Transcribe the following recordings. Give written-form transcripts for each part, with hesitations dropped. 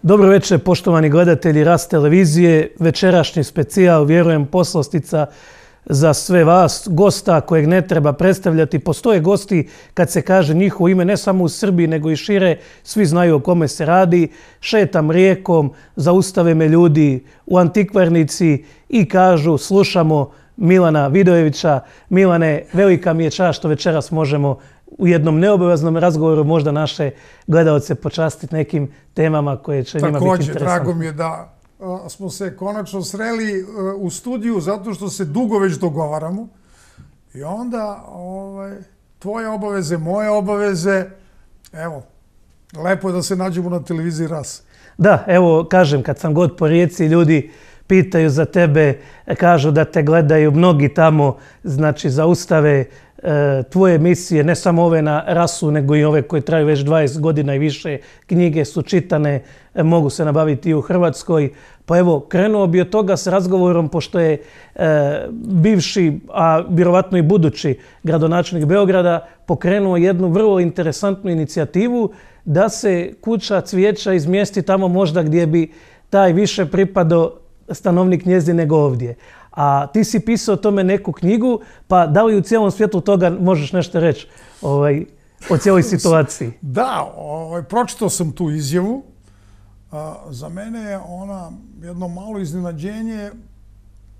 Dobro večer, poštovani gledatelji Rast televizije. Večerašnji specijal, vjerujem, poslastica za sve vas. Gosta kojeg ne treba predstavljati. Postoje gosti kad se kaže njihovo ime ne samo u Srbiji nego i šire. Svi znaju o kome se radi. Šetam rijekom, zaustave me ljudi u antikvarnici i kažu slušamo Milana Vidojevića. Milane, velika mi je čast što večeras možemo u jednom neobaveznom razgovoru možda naše gledalce počastiti nekim temama koje će njima biti interesantne. Također, drago mi je da smo se konačno sreli u studiju zato što se dugo već dogovaramo. I onda tvoje obaveze, moje obaveze, evo, lepo je da se nađemo na televiziji Ras. Da, evo, kažem, kad sam god po Rijeci, ljudi pitaju za tebe, kažu da te gledaju mnogi tamo, znači zaustave tvoje emisije, ne samo ove na Rasu, nego i ove koje traju već 20 godina i više. Knjige su čitane, mogu se nabaviti i u Hrvatskoj. Pa evo, krenuo bi od toga s razgovorom, pošto je bivši, a vjerovatno i budući gradonačelnik Beograda pokrenuo jednu vrlo interesantnu inicijativu da se kuća cvijeća izmjesti tamo možda gdje bi taj više pripadao stanovnik njezin nego ovdje. A ti si pisao o tome neku knjigu, pa da li u cijelom svijetu toga možeš nešto reći o cijeloj situaciji? Da, pročitao sam tu izjavu. Za mene je ona jedno malo iznenađenje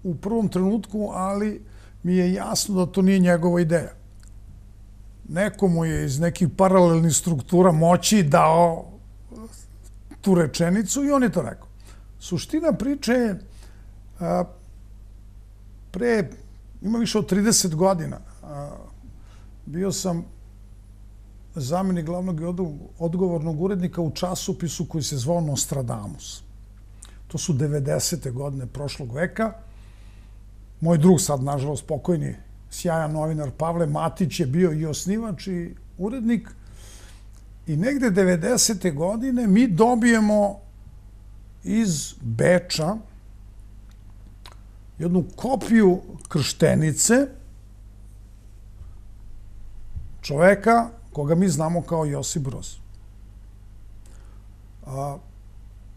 u prvom trenutku, ali mi je jasno da to nije njegova ideja. Nekomu je iz nekih paralelnih struktura moći dao tu rečenicu i on je to rekao. Suština priče je ima više od 30 godina. Bio sam zamjenik glavnog i odgovornog urednika u časopisu koji se zvao Nostradamus. To su 90. godine prošlog veka. Moj drug, sad nažalost pokojni, sjajan novinar Pavle Matić je bio i osnivač i urednik. I negde 90. godine mi dobijemo iz Beča jednu kopiju krštenice čoveka koga mi znamo kao Josip Broz.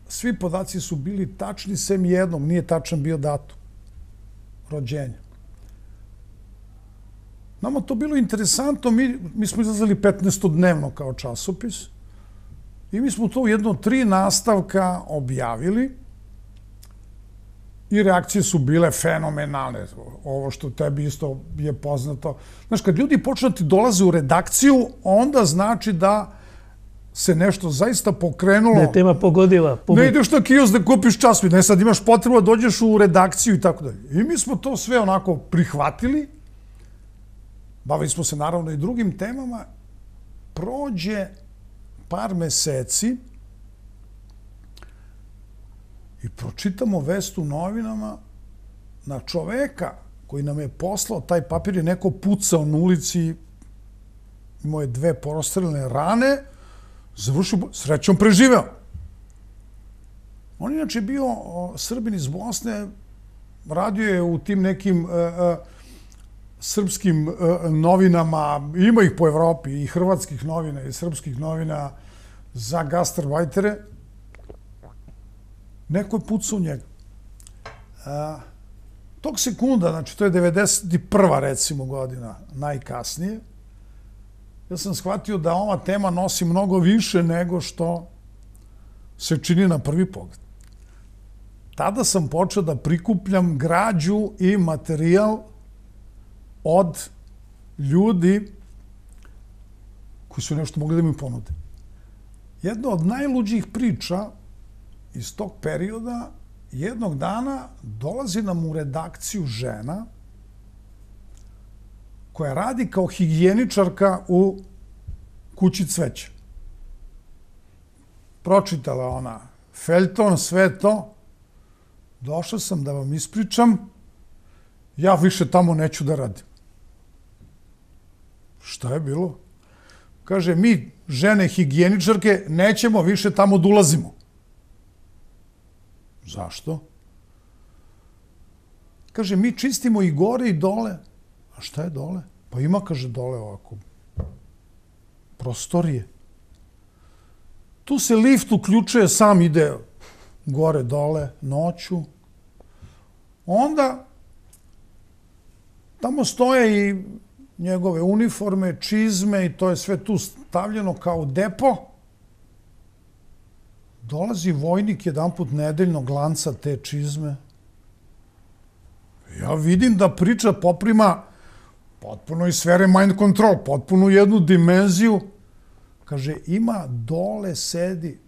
Svi podaci su bili tačni, sem jednom, nije tačan bio datum rođenja. Nama to bilo interesantno, mi smo izlazili 15-dnevno kao časopis i mi smo to u jedno 3 nastavka objavili. I reakcije su bile fenomenalne. Ovo što tebi isto je poznato. Znaš, kad ljudi počnu ti dolaze u redakciju, onda znači da se nešto zaista pokrenulo. Da je tema pogodila. Ne ideš na kiosk da kupiš časopis. Ne, sad imaš potrebu da dođeš u redakciju i tako dalje. I mi smo to sve onako prihvatili. Bavili smo se naravno i drugim temama. Prođe par meseci i pročitamo vest u novinama na čoveka koji nam je poslao taj papir, je neko pucao na ulici, imao je 2 prostreljene rane, završio, srećom preživeo. On inače bio Srbin iz Bosne, radio je u tim nekim srpskim novinama, ima ih po Evropi, i hrvatskih novina i srpskih novina za gastarbajtere. Neko je pucao u njega. Tog sekunda, znači to je 91. recimo godina, najkasnije, ja sam shvatio da ova tema nosi mnogo više nego što se čini na prvi pogled. Tada sam počeo da prikupljam građu i materijal od ljudi koji su nešto mogli da mi ponude. Jedna od najluđih priča iz tog perioda, jednog dana dolazi nam u redakciju žena koja radi kao higijeničarka u kući cveća. Pročitala ona feljton, sve to. Došao sam da vam ispričam, ja više tamo neću da radim. Šta je bilo? Kaže, mi, žene higijeničarke, nećemo više tamo da ulazimo. Zašto? Kaže, mi čistimo i gore i dole. A šta je dole? Pa ima, kaže, dole ovako prostorije. Tu se lift uključuje, sam ide gore, dole, noću. Onda tamo stoje i njegove uniforme, čizme i to je sve tu stavljeno kao depo. Dolazi vojnik jedanput nedeljno, glanca te čizme. Ja vidim da priča poprima potpuno iz sfere mind control, potpuno jednu dimenziju. Kaže, ima dole sedi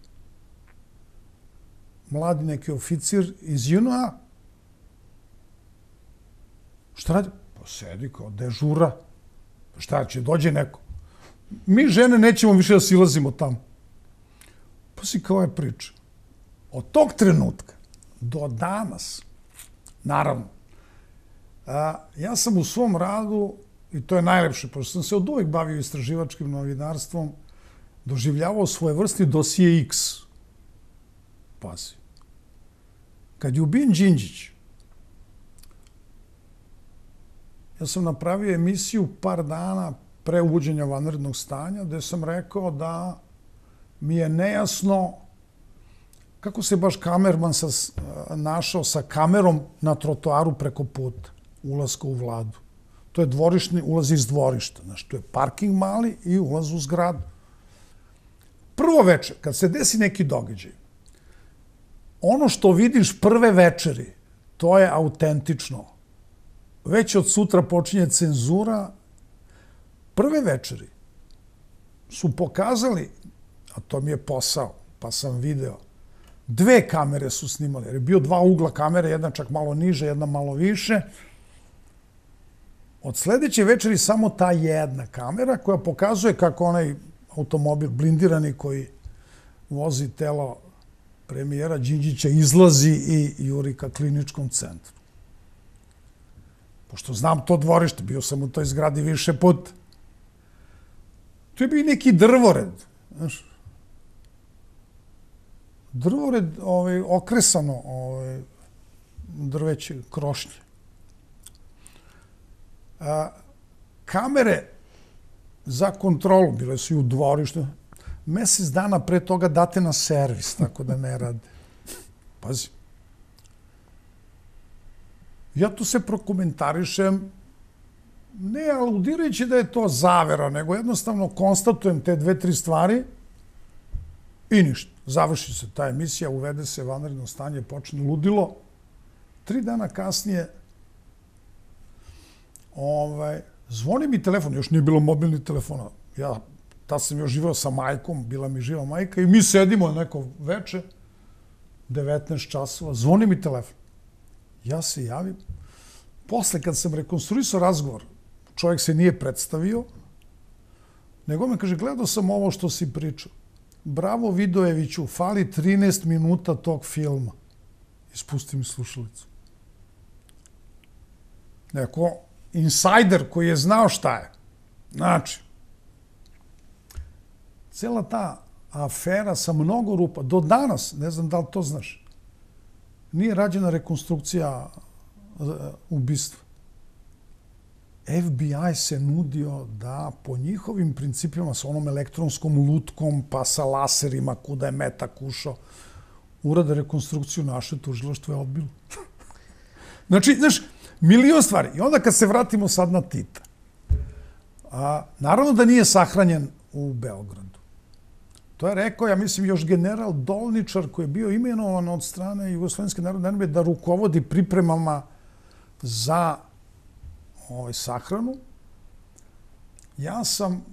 mladi neki oficir iz JNA. Šta radi? Pa sedi kao dežura. Šta će, dođe neko. Mi žene nećemo više da silazimo tamo. Pa si kao je priča. Od tog trenutka do danas, naravno, ja sam u svom radu, i to je najlepše, pošto sam se od uvek bavio istraživačkim novinarstvom, doživljavao svoje vrsti dosije X. Pazi. Kad je ubijen Đinđić, ja sam napravio emisiju par dana pre uvođenja vanrednog stanja, gde sam rekao da mi je nejasno kako se baš kamerman našao sa kamerom na trotoaru preko puta, ulaska u vladu. To je dvorišni ulaz iz dvorišta. Znači, to je parking mali i ulaz u zgradu. Prvo večer, kad se desi neki događaj, ono što vidiš prve večeri, to je autentično. Već od sutra počinje cenzura. Prve večeri su pokazali, a to mi je posao, pa sam video, 2 kamere su snimali, jer je bio 2 ugla kamere, jedna čak malo niže, jedna malo više. Od sledeće večeri samo ta jedna kamera koja pokazuje kako onaj automobil blindirani koji vozi telo premijera Đinđića izlazi i juri ka kliničkom centru. Pošto znam to dvorište, bio sam u toj zgradi više puta. Tu je bio neki drvored, znaš. Drvored okresano drveće, krošnje. Kamere za kontrolu, bile su i u dvorištu. Mesec dana pre toga date na servis, tako da ne rade. Pazi. Ja tu se prokomentarišem, ne aludirajući da je to zavera, nego jednostavno konstatujem te 2-3 stvari i ništa. Završi se ta emisija, uvede se vanredno stanje, počne ludilo. 3 dana kasnije zvoni mi telefon, još nije bilo mobilnih telefona. Ja tad sam još živao sa majkom, bila mi živa majka i mi sedimo neko veče, 19 časova, zvoni mi telefon. Ja se javim. Posle, kad sam rekonstruisao razgovor, čovjek se nije predstavio, nego me kaže, gledao sam ovo što si pričao. Bravo Vidojeviću, fali 13 minuta tog filma. Ispusti mi slušalicu. Neko insajder koji je znao šta je. Znači, cela ta afera sa mnogo rupa, do danas, ne znam da li to znaš, nije rađena rekonstrukcija ubistva. FBI se nudio da po njihovim principima, sa onom elektronskom lutkom, pa sa laserima, kuda je metak ušao, urade rekonstrukciju, naše tužilaštvo je odbilo. Znači, znaš, milion stvari. I onda kad se vratimo sad na Tita, naravno da nije sahranjen u Beogradu. To je rekao, ja mislim, još general Dolničar koji je bio imenovan od strane Jugoslovenske narodne armije da rukovodi pripremama za sahranu. Ja sam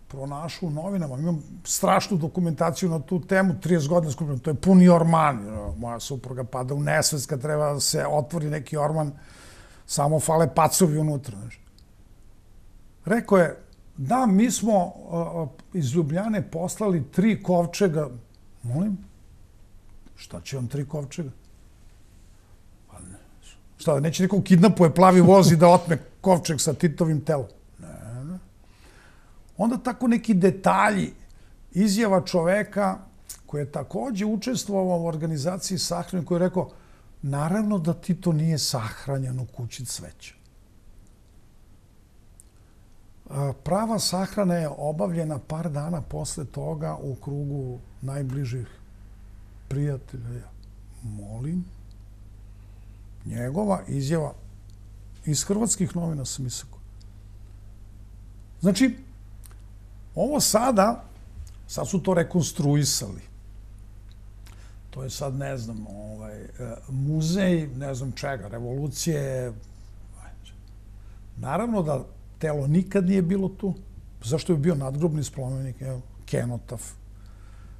pronašao u novinama, imam strašnu dokumentaciju na tu temu, 30 godina skupljeno, to je puni orman. Moja supruga pada u nesvest kad treba da se otvori neki orman, samo fale pacovi unutra. Rekao je, da, mi smo iz Ljubljane poslali 3 kovčega. Molim? Šta će vam 3 kovčega? Pa ne. Šta, neće neko kidnapuje plavi voz i da otme kovčeg sa Titovim telom? Ne. Onda tako neki detalji, izjava čoveka koji je takođe učestvovao u organizaciji sahrane, koji je rekao, naravno da Tito nije sahranjen u kući cveća. Prava sahrana je obavljena par dana posle toga u krugu najbližih prijatelja. Molim, njegova izjava iz hrvatskih novina sam isako. Znači, ovo sad su to rekonstruisali. To je sad, ne znam, muzej, ne znam čega, revolucije. Naravno da telo nikad nije bilo tu. Zašto je bio nadgrobni spomenik? Kenotaf.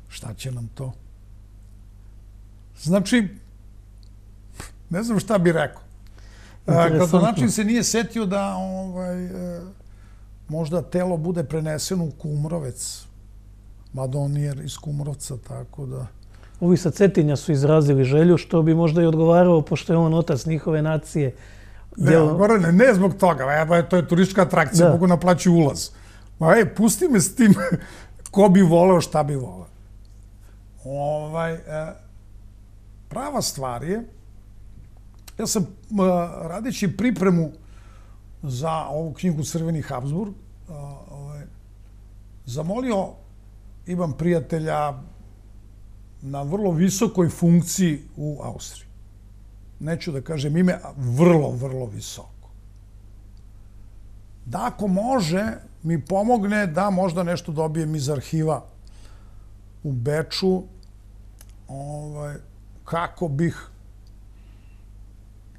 Šta će nam to? Znači, ne znam šta bi rekao. Gradonačelnik se nije setio da možda telo bude preneseno u Kumrovec. Mada on nije iz Kumrovca, tako da... Ovi sa Cetinja su izrazili želju, što bi možda i odgovarao, pošto je on otac njihove nacije. Ne zbog toga, to je turistička atrakcija, mogu naplaći ulaz. Pusti me s tim ko bi voleo, šta bi voleo. Prava stvar je, ja sam radeći pripremu za ovu knjigu Crveni Habsburg, zamolio, imam prijatelja na vrlo visokoj funkciji u Austriji. Neću da kažem ime, vrlo, vrlo visoko. Da ako može, mi pomogne da možda nešto dobijem iz arhiva u Beču, kako bih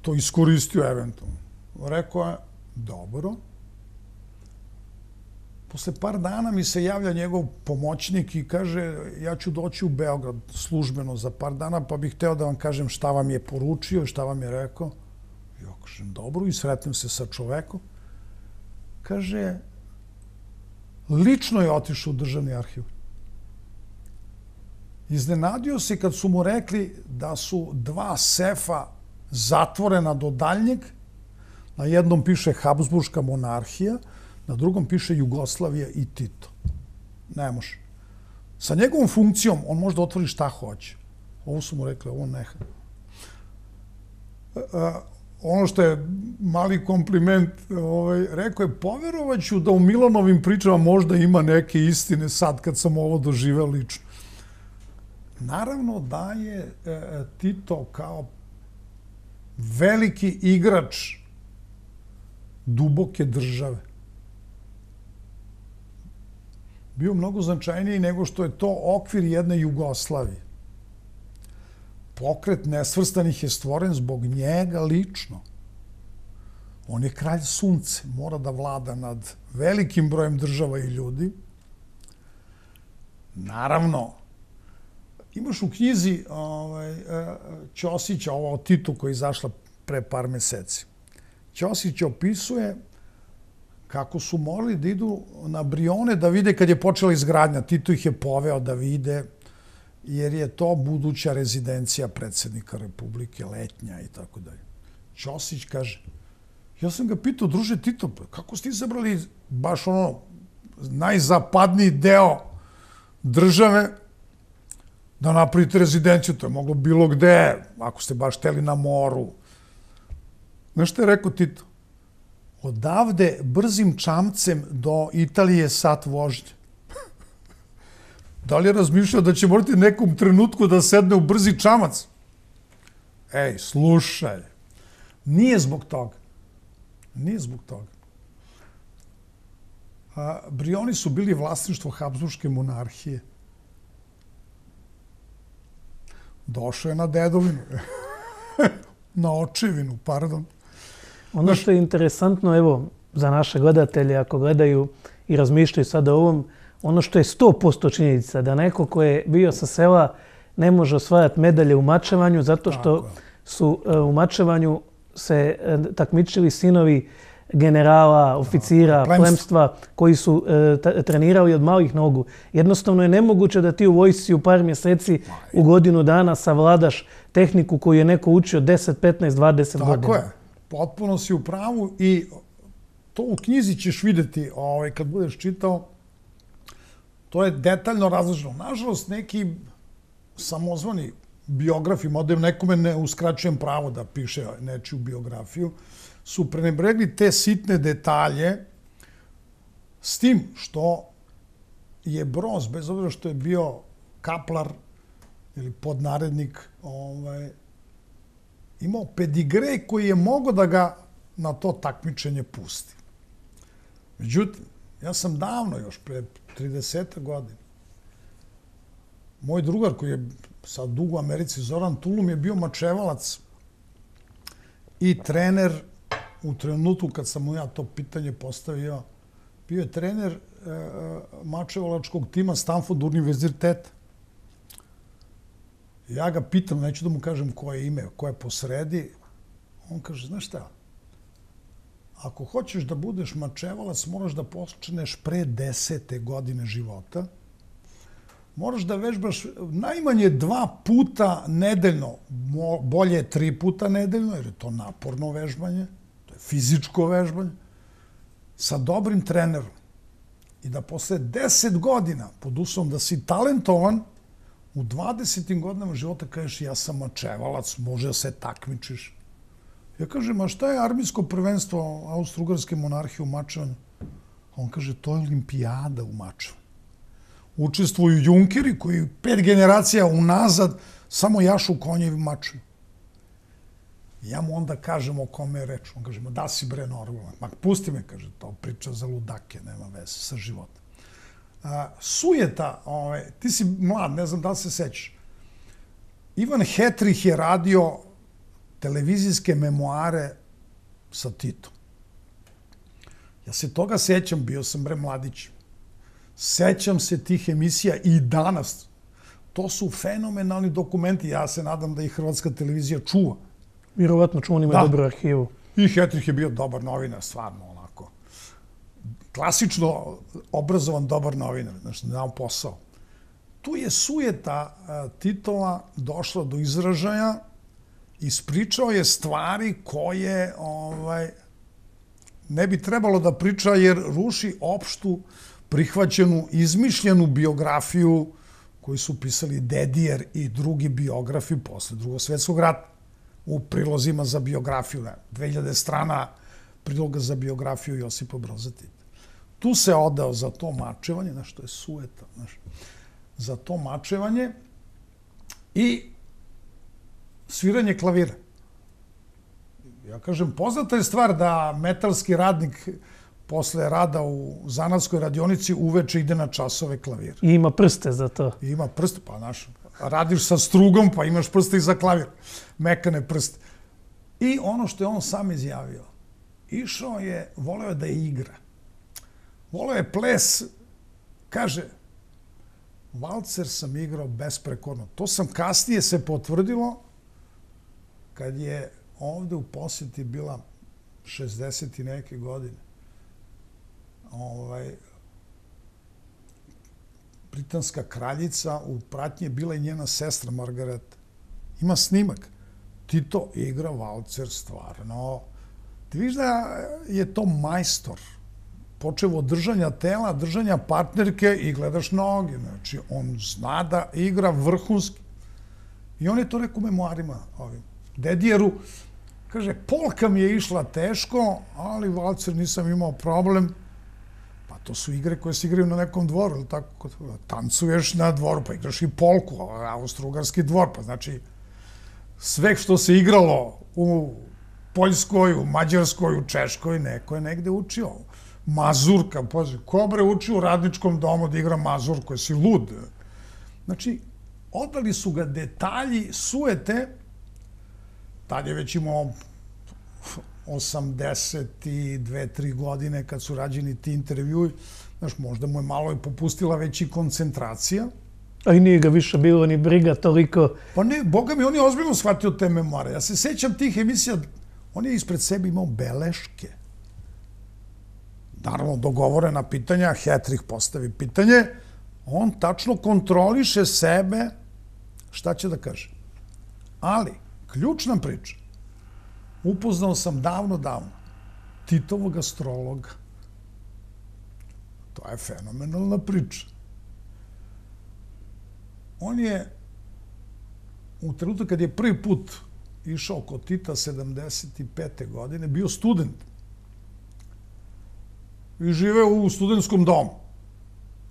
to iskoristio eventualno. Rekao je, dobro. Posle par dana mi se javlja njegov pomoćnik i kaže, ja ću doći u Beograd službeno za par dana, pa bih hteo da vam kažem šta vam je poručio, šta vam je rekao. Ja kažem, dobro, i sretnem se sa čovekom. Kaže, lično je otišao u državni arhiv. Iznenadio se kad su mu rekli da su 2 sefa zatvorena do daljnjeg. Na jednom piše Habsburška monarhija, na drugom piše Jugoslavija i Tito. Ne može. Sa njegovom funkcijom on može da otvori šta hoće. Ovo su mu rekli, ovo ne. Ono što je mali kompliment, rekao je, poverovaću da u Milanovim pričama možda ima neke istine sad kad sam ovo doživeo lično. Naravno da je Tito kao veliki igrač duboke države bio mnogo značajniji nego što je to okvir jedne Jugoslavije. Pokret nesvrstanih je stvoren zbog njega lično. On je kralj sunce, mora da vlada nad velikim brojem država i ljudi. Naravno, imaš u knjizi Ćosića, ovo o Titu koja je izašla pre par meseci. Ćosić opisuje kako su morali da idu na Brione da vide kad je počela izgradnja. Tito ih je poveo da vide, jer je to buduća rezidencija predsjednika Republike, letnja i tako dalje. Ćosić kaže, ja sam ga pitao, druže Tito, kako ste izabrali baš ono najzapadniji deo države da napravite rezidenciju? To je moglo bilo gde, ako ste baš hteli na moru. Znaš što je rekao Tito? Odavde brzim čamcem do Italije sat vožnje. Da li je razmišljao da će morati nekom trenutku da sedne u brzi čamac? Ej, slušaj, nije zbog toga. Nije zbog toga. Brioni su bili vlasništvo Habsburške monarhije. Došao je na dedovinu. Na očevinu, pardon. Ono što je interesantno, evo, za naše gledatelje, ako gledaju i razmišljaju sada o ovom, ono što je 100% činjenica, da neko ko je bio sa sela ne može osvajati medalje u mačevanju, zato što su u mačevanju se takmičili sinovi generala, oficira, plemstva, koji su trenirali od malih nogu. Jednostavno je nemoguće da ti u vojsci u par mjeseci, u godinu dana savladaš tehniku koju je neko učio 10, 15, 20 godina. Tako je. Potpuno si u pravu i to u knjizi ćeš vidjeti kad budeš čitao. To je detaljno razloženo. Nažalost, neki samozvani biografi, mada nekome ne uskraćujem pravo da piše nečiju biografiju, su prenebregli te sitne detalje S tim što je Broz, bez obzira što je bio kaplar ili podnarednik, imao pedigre koji je mogao da ga na to takmičenje pusti. Međutim, ja sam davno, još pre 30 godina, moj drugar koji je sad dugo u Americi, Zoran Tulum, je bio mačevalac i trener u trenutku kad sam mu ja to pitanje postavio. Bio je trener mačevalačkog tima Stanford univerziteta. Ja ga pitam, neću da mu kažem koje ime, ko je posredi. On kaže, znaš šta, ako hoćeš da budeš mačevalac, moraš da počneš pre 10. godine života. Moraš da vežbaš najmanje 2 puta nedeljno, bolje 3 puta nedeljno, jer je to naporno vežbanje, to je fizičko vežbanje, sa dobrim trenerom. I da posle 10 godina, pod uslovom da si talentovan, u 20. godinama života kažeš ja sam mačevalac, može da se takmičiš. Ja kažem, a šta je armijsko prvenstvo Austro-Ugarske monarhije u mačevanju? On kaže, to je olimpijada u mačevanju. Učestvuju junkeri koji 5 generacija unazad samo jašu konjevi maču. Ja mu onda kažem o kome je reč. On kaže, ma da si bre normalan. Ma pusti me, kaže, to priča za ludake, nema veze sa životom. Sujeta, ti si mlad, ne znam da li se sećaš. Ivan Hetrih je radio televizijske memoare sa Titom. Ja se toga sećam, bio sam bre mladić. Sećam se tih emisija i danas. To su fenomenalni dokumenti. Ja se nadam da ih Hrvatska televizija čuva. Vjerovatno čuva, on ima dobru arhivu. I Hetrih je bio dobar novinar, stvarno onako. Klasično obrazovan dobar novinar, znači znao posao. Tu je sujeta Titova došla do izražaja, ispričao je stvari koje ne bi trebalo da priča jer ruši opštu prihvaćenu, izmišljenu biografiju koju su pisali Dedijer i drugi biografi posle Drugog svjetskog rata u prilozima za biografiju. 2000 strana priloga za biografiju Josipa Broza Tita. Tu se odao za to mačevanje, znaš, to je sujeta, znaš, za to mačevanje i sviranje klavira. Ja kažem, poznata je stvar da metalski radnik posle rada u zanatskoj radionici uveče ide na časove klavira. I ima prste za to. I ima prste, pa znaš, radiš sa strugom, pa imaš prste i za klavir. Mekane prste. I ono što je on sam izjavio, išao je, voleo je da je igra. Voleo je ples, kaže, valcer sam igrao besprekorno. To sam kasnije se potvrdilo kad je ovde u posjeti bila 60 i neke godine. Britanska kraljica, u pratnji je bila i njena sestra Margareta. Ima snimak. Tito igra valcer stvarno. Ti viš da je to majstor. Počevo od držanja tela, držanja partnerke i gledaš noge. Znači, on zna da igra vrhunski. I on je to rekao u memoarima ovim. Dedijeru, kaže, polka mi je išla teško, ali valcer nisam imao problem. Pa to su igre koje se igraju na nekom dvoru, ili tako? Tancuješ na dvoru, pa igraš i polku, austro-ugarski dvor, pa znači sve što se igralo u Poljskoj, u Mađarskoj, u Češkoj, neko je negde učio. Mazurka, pozdrav, ko bre uči u radničkom domu da igra mazurku, jesi lud? Znači, odali su ga detalji, sujete, tad je već imao 82-3 godine kad su rađeni ti intervjui. Znaš, možda mu je malo i popustila već i koncentracija. A i nije ga više bilo ni briga toliko. Pa ne, boga mi, on je ozbiljno shvatio te memoare. Ja se sećam tih emisija, on je ispred sebe imao beleške. Naravno, dogovorena pitanja, Hetrih postavi pitanje, on tačno kontroliše sebe, šta će da kaže. Ali, ključna priča, upoznao sam davno, Titovog astrologa. To je fenomenalna priča. On je, u trenutku kad je prvi put išao kod Tita 75. godine, bio student. i živeo u studentskom domu.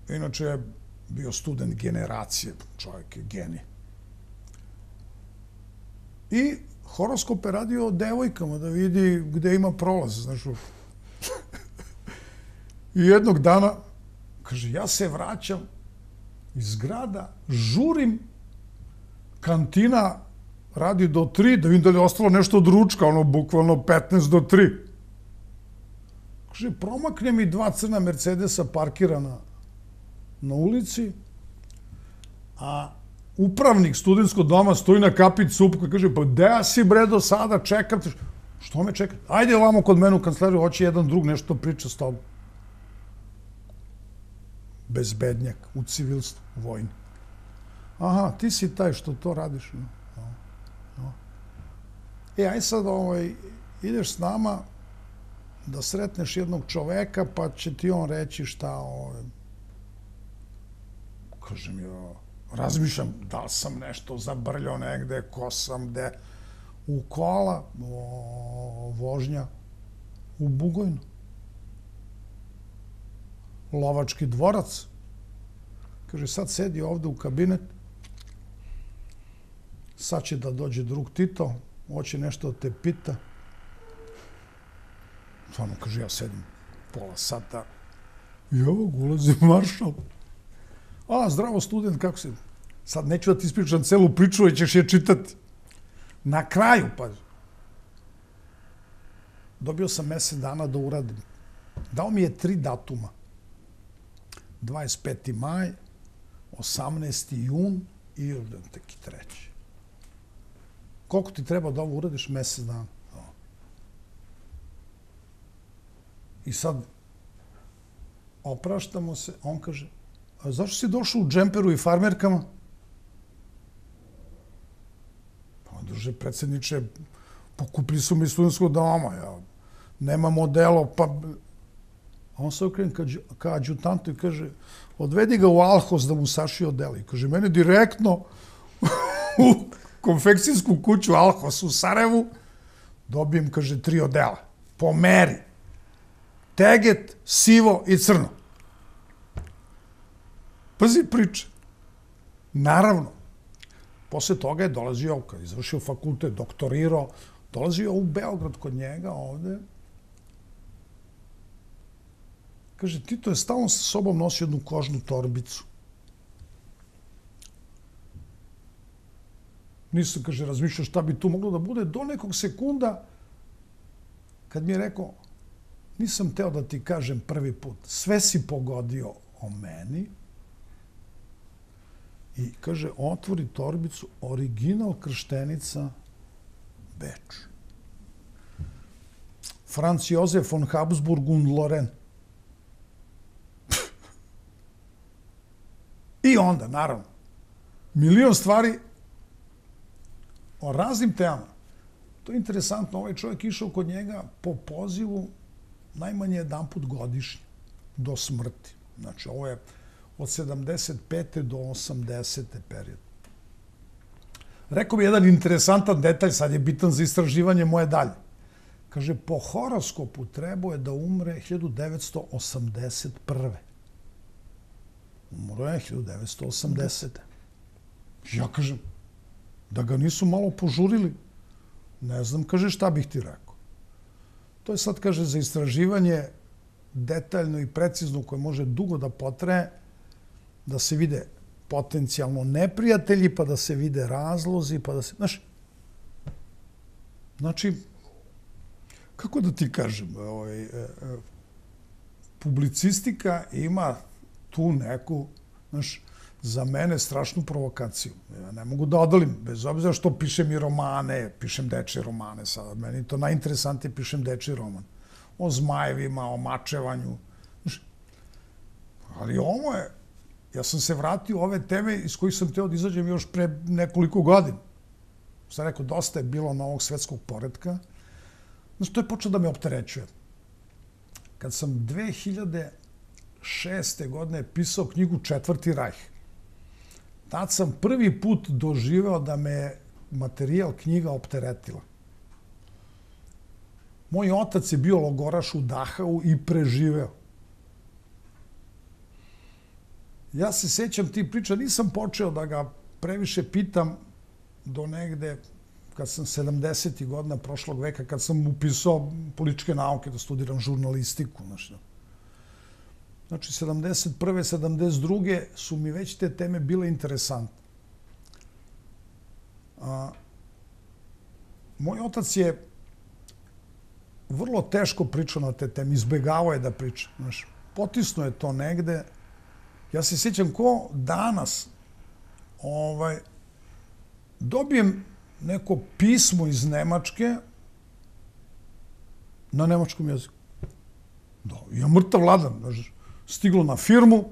Inače je bio student generacije, čovjek je genij. I horoskop je radio o devojkama da vidi gde ima prolaz, znaš. I jednog dana, kaže, ja se vraćam iz grada, žurim, kantina radi do 3, da vidim da li je ostalo nešto od ručka, ono, bukvalno 15 do 3. Kaže, promakne mi 2 crna Mercedesa parkirana na ulici, a upravnik studentskog doma stoji na kapit supku i kaže, pa gde si bre do sada, čekam te. Što me čekate? Ajde ovamo kod mene u kancelariju, hoće jedan drug nešto priča s tobom. Bezbednjak, u civilstvu, u vojni. Aha, ti si taj što to radiš. No. Aj sad ideš s nama da sretneš jednog čoveka, pa će ti on reći šta kažem, razmišljam da li sam nešto zabrljao negde, ko sam, gde. U kola, vožnja u Bugojnu. Lovački dvorac. Kaže, sad sedi ovde u kabinet, sad će da dođe drug Tito, hoće nešto da te pita. Stvarno, kaže, ja sedim pola sata i ovog ulazi maršal. A, zdravo student, kako si? Sad neću da ti ispričam celu priču, jer ćeš je čitati. Na kraju, pa, dobio sam mesec dana da uradim. Dao mi je 3 datuma. 25. maj, 18. jun i teki 3. Koliko ti treba da ovo uradiš? Mesec dana. I sad opraštamo se, on kaže, a zašto si došao u džemperu i farmerkama? Pa druže, predsjedniče, pokupili su mi studentskog doma, ja nemam odelo, pa... A on se okrene ka adjutantu i kaže, odvedi ga u Alhos da mu saši odelo. I kaže, mene direktno u konfekcijsku kuću Alhos u Sarajevu dobijem, kaže, 3 odela. Po meri. Teget, sivo i crno. Pazi priče. Naravno, posle toga je dolazio, kad je izvršio fakultet, doktorirao, dolazio u Beograd kod njega ovde. Kaže, Tito je stalno sa sobom nosio jednu kožnu torbicu. Nisam, kaže, razmišljao šta bi tu moglo da bude do nekog sekunda kad mi je rekao, nisam teo da ti kažem prvi put, sve si pogodio o meni. I kaže, otvori torbicu, original krštenica Beč. Franz Josef von Habsburg und Lorraine. I onda, naravno, milion stvari o raznim temama. To je interesantno, ovaj čovjek išao kod njega po pozivu najmanje jedanput godišnje, do smrti. Znači, ovo je od 75. do 80. period. Rekao bi jedan interesantan detalj, sad je bitan za istraživanje moje dalje. Kaže, po horoskopu trebao je da umre 1981. Umro je 1980. Ja kažem, da ga nisu malo požurili, ne znam, kaže, šta bih ti rekao. To je sad, kaže, za istraživanje detaljno i precizno koje može dugo da potraje, da se vide potencijalno neprijatelji, pa da se vide razlozi, pa da se... Znači, kako da ti kažem, publicistika ima tu neku, za mene strašnu provokaciju. Ja ne mogu da odolim, bez obzira što pišem i romane, pišem dečje romane sada. Meni to najinteresantije, pišem dečji roman. O zmajevima, o mačevanju. Ali ovo je... Ja sam se vratio u ove teme iz kojih sam teo da izađem još pre nekoliko godina. Sam rekao, dosta je bilo novog svetskog poretka. Znači, to je počeo da me opterećuje. Kad sam 2006. godine pisao knjigu Četvrti rajh, tad sam prvi put doživeo da me materijal knjiga opteretila. Moj otac je bio logoraš u Dahau i preživeo. Ja se sećam ti priča, nisam počeo da ga previše pitam do negde kad sam 70. godina prošlog veka, kad sam upisao političke nauke da studiram žurnalistiku. Znači, 71. 72. su mi već te teme bile interesantne. Moj otac je vrlo teško pričao na te teme, izbegavao je da priča. Potisnuo je to negde. Ja se sjećam ko danas dobijem neko pismo iz Nemačke na nemačkom jeziku. Da, ja mrtav ladan. Stiglo na firmu,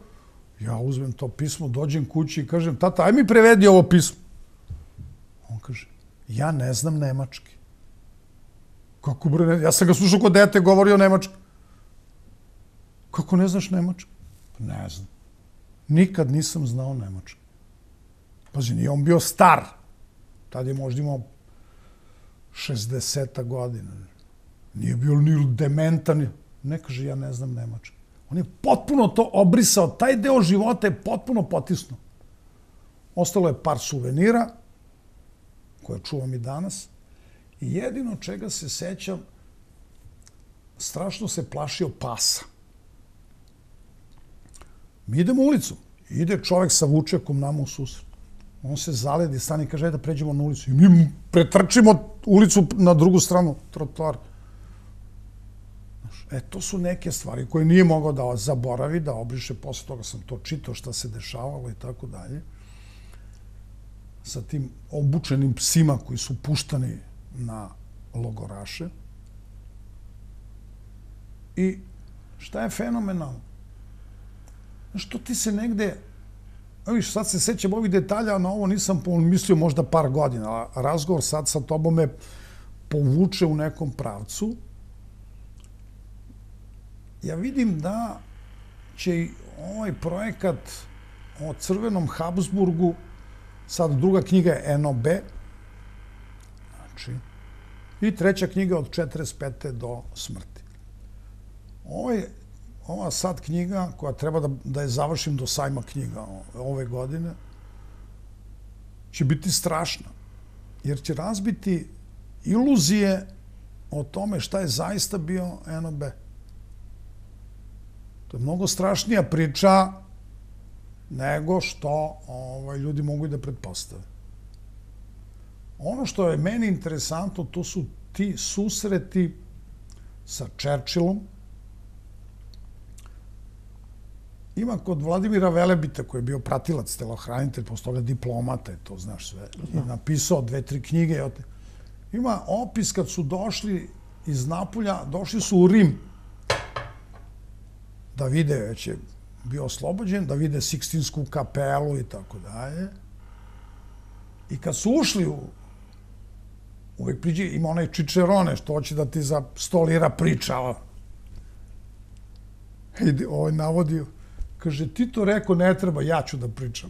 ja uzmem to pismo, dođem kući i kažem, tata, aj mi prevedi ovo pismo. On kaže, ja ne znam nemački. Kako bre, ja sam ga slušao kod dete, govorio nemački. Kako ne znaš nemački? Ne znam. Nikad nisam znao nemački. Pazi, nije on bio star. Tad je možda imao 60 godina. Nije bio ni dementan. Ne kaže, ja ne znam nemački. On je potpuno to obrisao. Taj deo života je potpuno potisnuo. Ostalo je par suvenira, koje čuvam i danas. I jedino čega se sećam, strašno se plašio pasa. Mi idemo ulicom. Ide čovek sa vučekom nama u susret. On se zaledi, stane i kaže, da pređemo na ulicu. I mi pretrčimo ulicu na drugu stranu trotoara. To su neke stvari koje nije mogao da zaboravi, da obriše. Posle toga sam to čitao šta se dešavalo i tako dalje. Sa tim obučenim psima koji su puštani na logoraše. I šta je fenomenalno? Znaš, to ti se negde... Viš, sad se sećam ovih detalja, na ovo nisam mislio možda par godina. Razgovor sad sa tobom me povuče u nekom pravcu. Ja vidim da će i ovaj projekat o Crvenom Habsburgu, sad druga knjiga je NOB, znači, i treća knjiga od 45. do smrti. Ova sad knjiga, koja treba da je završim do sajma knjiga ove godine, će biti strašna, jer će razbiti iluzije o tome šta je zaista bio NOB. To je mnogo strašnija priča nego što ljudi mogu i da pretpostave. Ono što je meni interesantno, to su ti susreti sa Churchillom. Ima kod Vladimira Velebita, koji je bio pratilac, telohranitelj, posle toga diplomata, to znaš sve, i napisao 2-3 knjige. Ima opis kad su došli iz Napulja, došli su u Rim, da vide, već je bio oslobođen, da vide Sikstinsku kapelu i tako dalje. I kad su ušli uvek priđe, ima onaj Čičerone, što hoće da ti za 100 lira priča. I ovaj navodio, kaže, ti to rekao, ne treba, ja ću da pričam.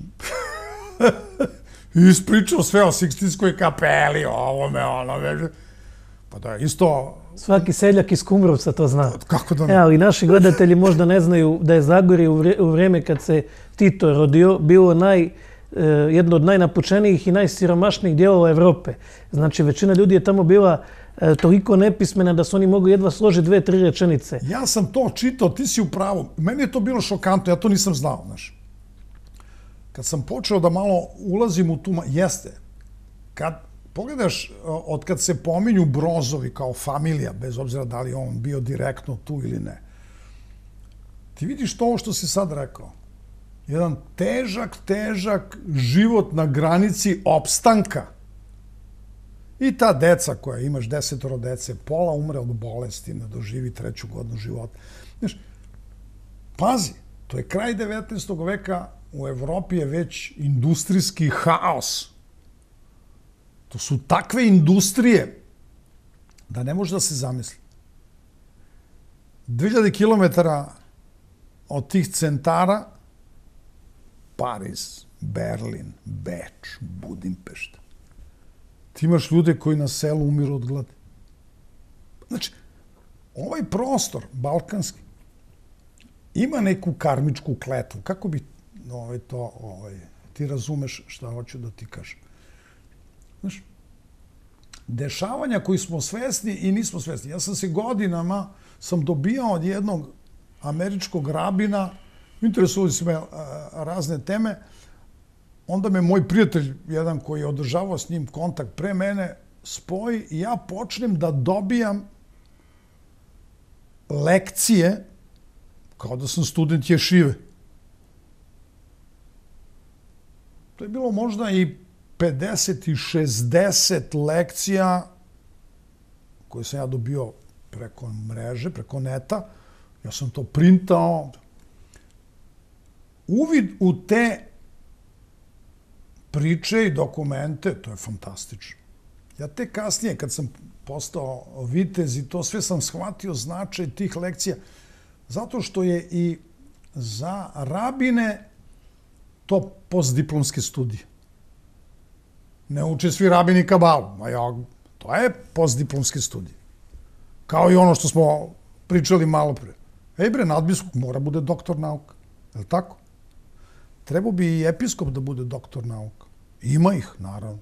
I ispričao sve o Sikstinskoj kapeli, ovome, onome. Pa da, isto... Svaki seljak iz Kumrovca to zna. Kako da ne? Ali naši gledatelji možda ne znaju da je Zagorje u vreme kad se Tito rodio bilo jedno od najnapučenijih i najsiromašnijih dijelova Evrope. Znači, većina ljudi je tamo bila toliko nepismena da su oni mogli jedva složiti 2-3 rečenice. Ja sam to čitao, ti si u pravu. Meni je to bilo šokantno, ja to nisam znao, znaš. Kad sam počeo da malo ulazim u tu... Jeste. Kad pogledaš, od kad se pominju Brozovi kao familija, bez obzira da li on bio direktno tu ili ne, ti vidiš to što si sad rekao. Jedan težak život na granici opstanka. I ta deca koja imaš 10 dece, pola umre od bolesti, ne doživi 3. godinu života. Znaš, pazi, to je kraj 19. veka, u Evropi je već industrijski haos. To su takve industrije da ne može da se zamisli. 2000 kilometara od tih centara, Pariz, Berlin, Beč, Budimpešta. Ti imaš ljude koji na selu umiru od gladi. Znači, ovaj prostor, balkanski, ima neku karmičku kletvu. Kako bi ti razumeš šta hoću da ti kažem. Znaš, dešavanja koji smo svesni i nismo svesni. Ja sam se godinama dobijao od jednog američkog rabina, interesovali su me razne teme, onda me moj prijatelj, jedan koji je održavao s njim kontakt pre mene, spoji i ja počnem da dobijam lekcije kao da sam student ješive. To je bilo možda i 50 i 60 lekcija koje sam ja dobio preko mreže, preko neta. Ja sam to printao. Uvid u te priče i dokumente, to je fantastično. Ja tek kasnije, kad sam postao vitez i to sve sam shvatio značaj tih lekcija, zato što je i za rabine to postdiplomske studije. Ne uče svi rabini kabalu, to je postdiplomske studije. Kao i ono što smo pričali malo pre. Nadbiskup mora bude doktor nauka, je li tako? Trebao bi i episkop da bude doktor nauka. Ima ih, naravno.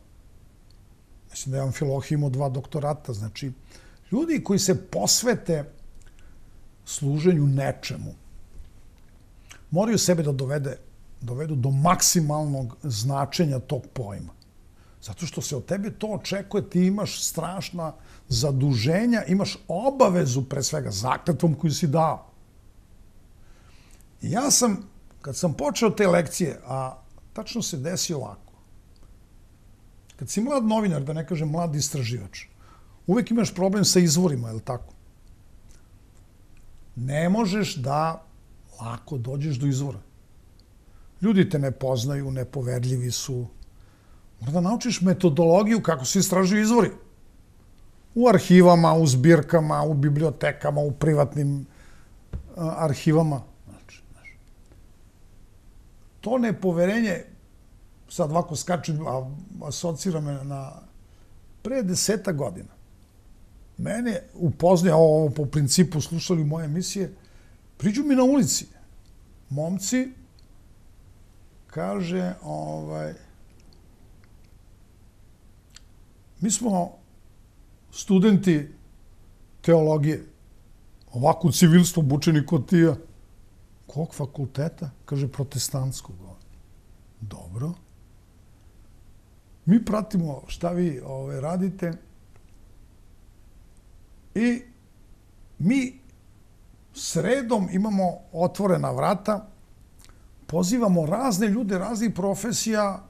Mislim da je Amfilohije imao 2 doktorata. Znači, ljudi koji se posvete služenju nečemu, moraju sebe da dovedu do maksimalnog značenja tog pojma. Zato što se od tebe to očekuje, ti imaš strašna zaduženja, imaš obavezu, pre svega, zakletvom koju si dao. I ja sam, kad sam počeo te lekcije, a tačno se desi ovako, kad si mlad novinar, da ne kažem mlad istraživač, uvek imaš problem sa izvorima, je li tako? Ne možeš da lako dođeš do izvora. Ljudi te ne poznaju, nepoverljivi su. Mora da naučiš metodologiju kako se istražuju izvori. U arhivama, u zbirkama, u bibliotekama, u privatnim arhivama. To nepoverenje, sad ovako skačem, asocira me na pre 10 godina. Mene upoznaje, ovo po principu slušali moje emisije, priđu mi na ulici. Momci, kaže, mi smo studenti teologije, ovako u civilstvu obučeni kod tija. Kog fakulteta? Kaže, protestantskog. Dobro. Mi pratimo šta vi radite i mi sredom imamo otvorena vrata, pozivamo razne ljude, raznih profesija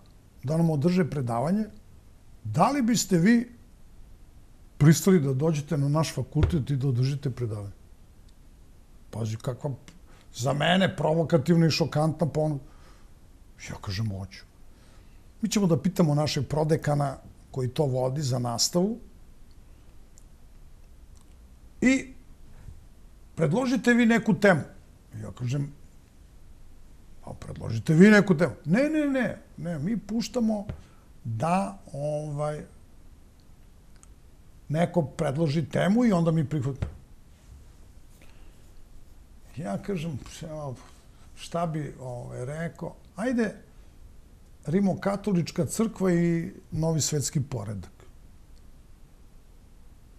da nam održe predavanje. Da li biste vi pristali da dođete na naš fakultet i da održite predavanje? Pazi, kakva za mene provokativna i šokantna ponuda. Ja kažem, hoću. Mi ćemo da pitamo našeg prodekana koji to vodi za nastavu i predložite vi neku temu. Ja kažem, pa predložite vi neku temu. Ne, mi puštamo da neko predloži temu i onda mi prihvatimo. Ja kažem, šta bi rekao, ajde Rimokatolička crkva i novi svetski poredak.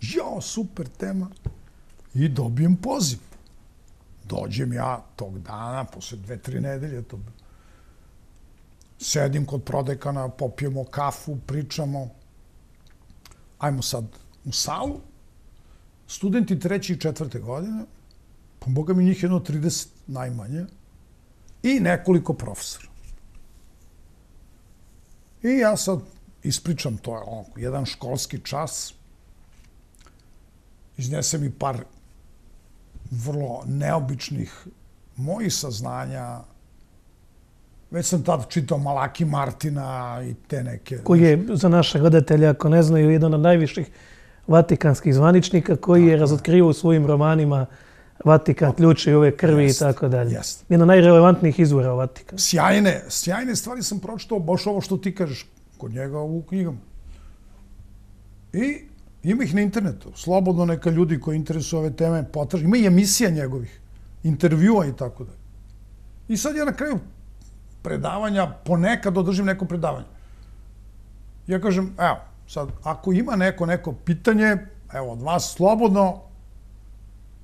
Jao, super tema. I dobijem poziv. Dođem ja tog dana, posle 2-3 nedelje, sedim kod prodekana, popijemo kafu, pričamo. Ajmo sad u salu. Studenti 3. i 4. godine, pa boga mi njih jedno 30 najmanje, i nekoliko profesora. I ja sad ispričam, to je jedan školski čas, iznesem i par vrlo neobičnih mojih saznanja. Već sam tad čitao Malaki Martina i te neke... Koji je, za naše gledatelje, ako ne znaju, jedan od najviših vatikanskih zvaničnika koji je razotkrivao u svojim romanima Vatikan, ključe ove krvi i tako dalje. Jedan od najrelevantnijih izvora o Vatikanu. Sjajne stvari sam pročitao, baš ovo što ti kažeš, kod njega u knjigama. I ima ih na internetu. Slobodno neka ljudi koji interesuju ove teme potraži. Ima i emisija njegovih, intervjua i tako dalje. I sad ja na kraju predavanja, ponekad održim neko predavanje. Ja kažem, evo, sad, ako ima neko pitanje, evo, od vas slobodno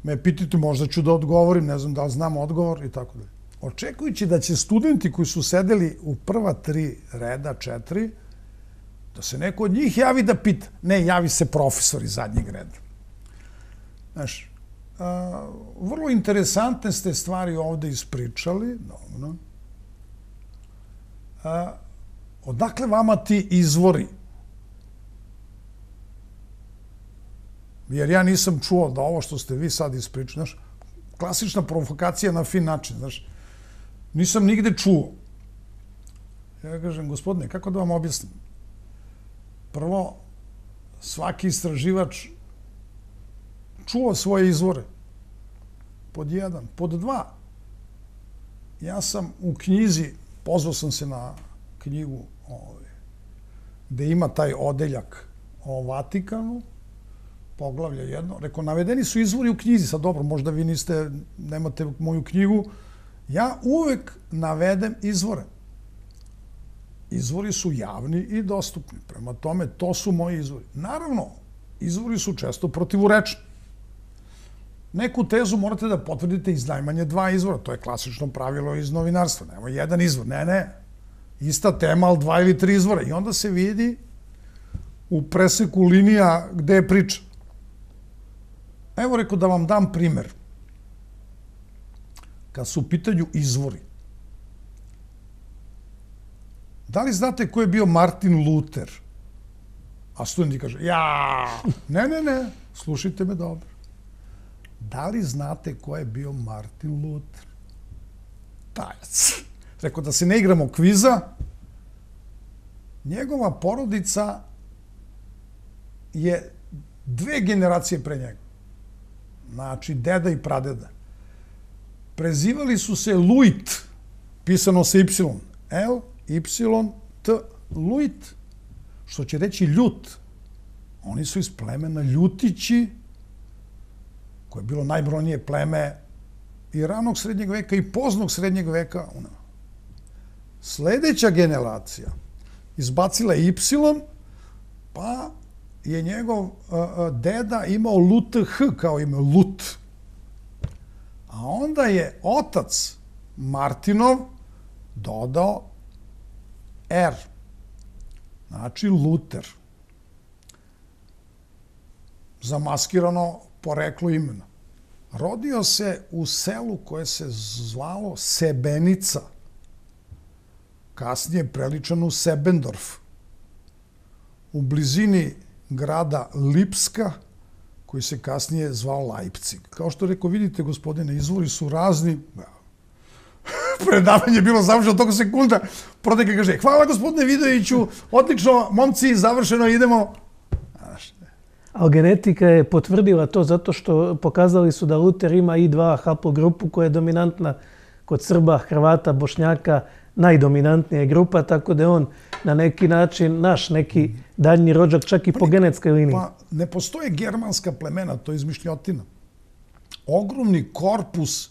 me pitajte, možda ću da odgovorim, ne znam da li znam odgovor i tako dalje. Očekujući da će studenti koji su sedeli u prva 3 reda, 4, da se neko od njih javi da pita. Ne, javi se profesor iz zadnjeg reda. Znaš, vrlo interesantne ste stvari ovde ispričali. Dobro. Odakle vama ti izvori? Jer ja nisam čuo da ovo što ste vi sad ispričali, znaš, klasična provokacija na fin način, znaš, nisam nigde čuo. Ja kažem, gospodine, kako da vam objasnim? Prvo, svaki istraživač čuo svoje izvore. Pod 1. Pod 2. Ja sam u knjizi, pozvao sam se na knjigu gde ima taj odeljak o Vatikanu, poglavlje 1. Rekao, navedeni su izvori u knjizi. Sad dobro, možda vi nemate moju knjigu. Ja uvek navedem izvore. Izvori su javni i dostupni. Prema tome, to su moji izvori. Naravno, izvori su često protivurečni. Neku tezu morate da potvrdite iz najmanje 2 izvora. To je klasično pravilo iz novinarstva. Nemo jedan izvor. Ne. Ista tema, ali 2 ili 3 izvora. I onda se vidi u preseku linija gde je priča. Evo, rekao da vam dam primer. Kad su u pitanju izvori. Da li znate ko je bio Martin Luther? A studenti kaže, ne, slušajte me dobro. Da li znate ko je bio Martin Luther? Tajac. Rekao da se ne igramo kviza. Njegova porodica je 2 generacije pre njega. Znači, deda i pradeda. Prezivali su se Luit, pisano sa Y. L, Y, T, Luit, što će reći ljut. Oni su iz plemena Ljutići, koje je bilo najbrojnije pleme i ranog srednjeg veka i poznog srednjeg veka. Sledeća generacija izbacila je Y, pa je njegov deda imao LUTH kao ime, Lut. A onda je otac Martinov dodao R. Znači Luter. Zamaskirano poreklo imena. Rodio se u selu koje se zvalo Sebenica. Kasnije preličano u Sebendorf. U blizini grada Lipska, koji se kasnije zvao Leipzig. Kao što rekao, vidite, gospodine, izvori su razni. Predavanje je bilo završeno toliko sekunda. Prodeka kaže, hvala gospodine Vidoviću, odlično, momci, završeno, idemo. Ali genetika je potvrdila to zato što pokazali su da Luther ima I2 haplogrupu koja je dominantna kod Srba, Hrvata, Bošnjaka, najdominantnija grupa, tako da je on na neki način naš neki daljni rođak, čak i po genetskoj liniji. Pa ne postoje germanska plemena, to je izmišljotina. Ogromni korpus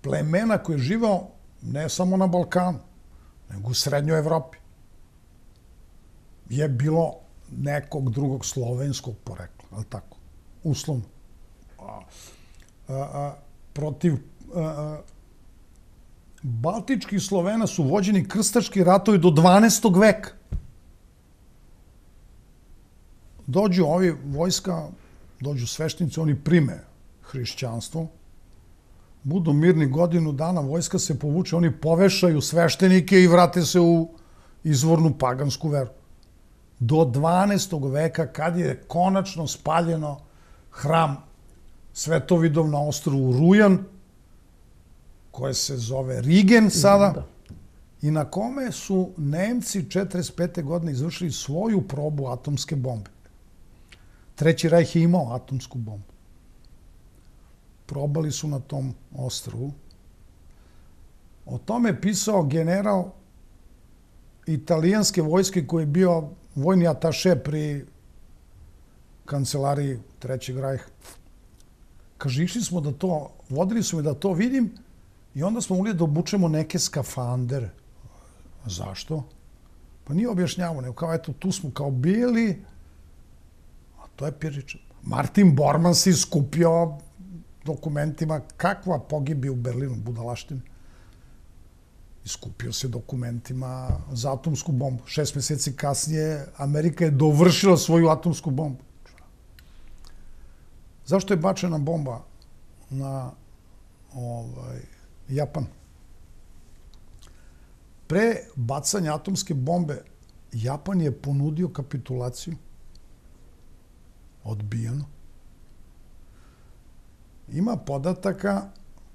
plemena koje je živao ne samo na Balkanu, nego u Srednjoj Evropi. Je bilo nekog drugog slovenskog porekla, ali tako, uslovno. Protiv baltičkih Slovena su vođeni krstaški ratovi do 12. veka. Dođu ovi vojska, dođu sveštenici, oni prime hrišćanstvo, budu mirni godinu dana, vojska se povuče, oni povešaju sveštenike i vrate se u izvornu pagansku veru. Do 12. veka, kad je konačno spaljeno hram Svetovidov na ostrvu Rujan, koje se zove Rigen sada, i na kome su Nemci 1945. godine izvršili svoju probu atomske bombe. Treći rajh je imao atomsku bombu. Probali su na tom ostrvu. O tome je pisao general italijanske vojske koji je bio vojni ataše pri kancelariji Trećeg rajha. Kaže, išli smo da to, vodili su me da to vidim I onda smo mogli da obučemo neke skafandere. Zašto? Pa nije objašnjavao, nego kao eto, tu smo kao bili, a to je Pirčić. Martin Bormann se iskupio dokumentima, kakva pogibi u Berlinu, budalaštine. Iskupio se dokumentima za atomsku bombu. 6 meseci kasnije Amerika je dovršila svoju atomsku bombu. Zašto je bačena bomba na Japan? Pre bacanja atomske bombe Japan je ponudio kapitulaciju. Odbijeno. Ima podataka,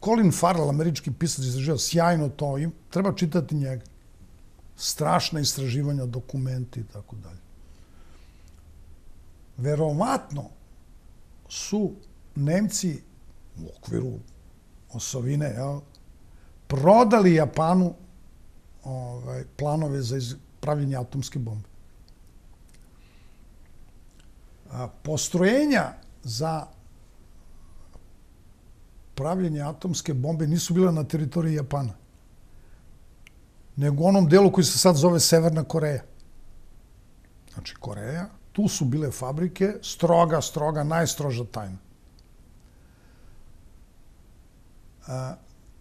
Colin Farrell, američki pisac, istraživao sjajno to, treba čitati njega. Strašna istraživanja, dokumenti i tako dalje. Verovatno su Nemci u okviru osovine prodali Japanu planove za pravljenje atomske bombe. Postrojenja za pravljenje atomske bombe nisu bila na teritoriji Japana, nego u onom delu koji se sad zove Severna Koreja. Znači, Koreja, tu su bile fabrike, stroga, najstroža tajna.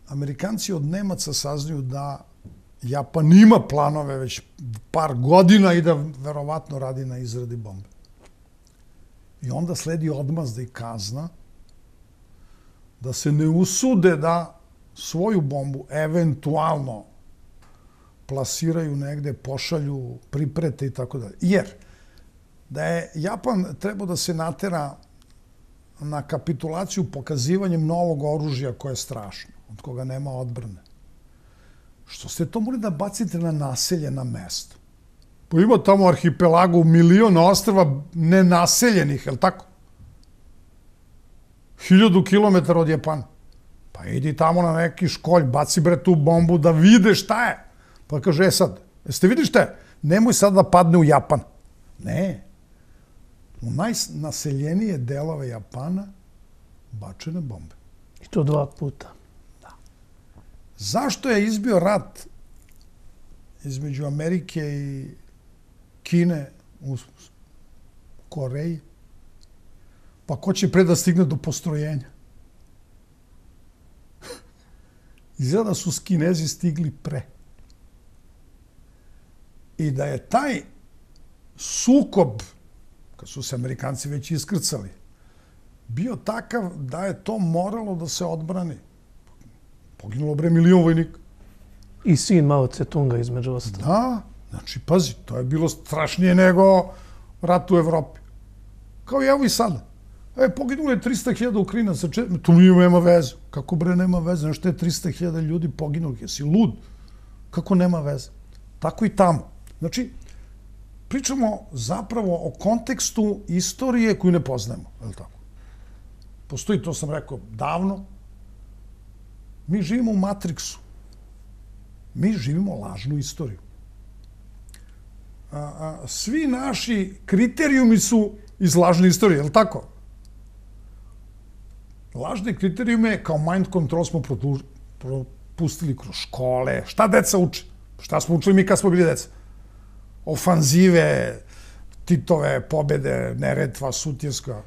Amerikanci od Nemaca saznaju da Japan ima planove već par godina i da verovatno radi na izradi bombe. I onda sledi odmazda i kazna da se ne usude da svoju bombu eventualno plasiraju negde, pošalju, priprete i tako dalje. Jer da je Japan trebao da se natera na kapitulaciju pokazivanjem novog oružja koje je strašno, od koga nema odbrane. Što ste to mogli da bacite na naseljena mesta? Pa ima tamo arhipelagu, milion ostrva nenaseljenih, je li tako? 1000 kilometara od Japana. Pa idi tamo na neki školj, baci bre tu bombu da vide šta je. Pa kaže, sad, jeste vidi šta je? Nemoj sad da padne u Japan. Ne. U najnaseljenije delove Japana bačene bombe. I to 2 puta. Da. Zašto je izbio rat između Amerike i Kine u Koreji? Pa ko će pre da stigne do postrojenja? Izgleda da su Kinezi stigli pre. I da je taj sukob, kad su se Amerikanci već iskrcali, bio takav da je to moralo da se odbrani. Poginulo bre milion vojnika. I sin Mao Tse-tunga između ostalo. Da, znači, pazi, to je bilo strašnije nego rat u Evropi. Kao i evo i sada. Poginulo je 300.000 Ukrajinaca, tu nema veze. Kako bre nema veze? Znaš što je 300.000 ljudi poginulih? Jesi lud? Kako nema veze? Tako i tamo. Znači, pričamo zapravo o kontekstu istorije koju ne poznajemo. Je li tako? Postoji, to sam rekao davno, mi živimo u Matrixu. Mi živimo lažnu istoriju. Svi naši kriterijumi su iz lažne istorije, je li tako? Lažne kriterijume kao mind control smo propustili kroz škole. Šta deca uče? Šta smo učili mi kad smo bili deca? Ofanzive, Titove, pobede, Neretva, Sutjeska.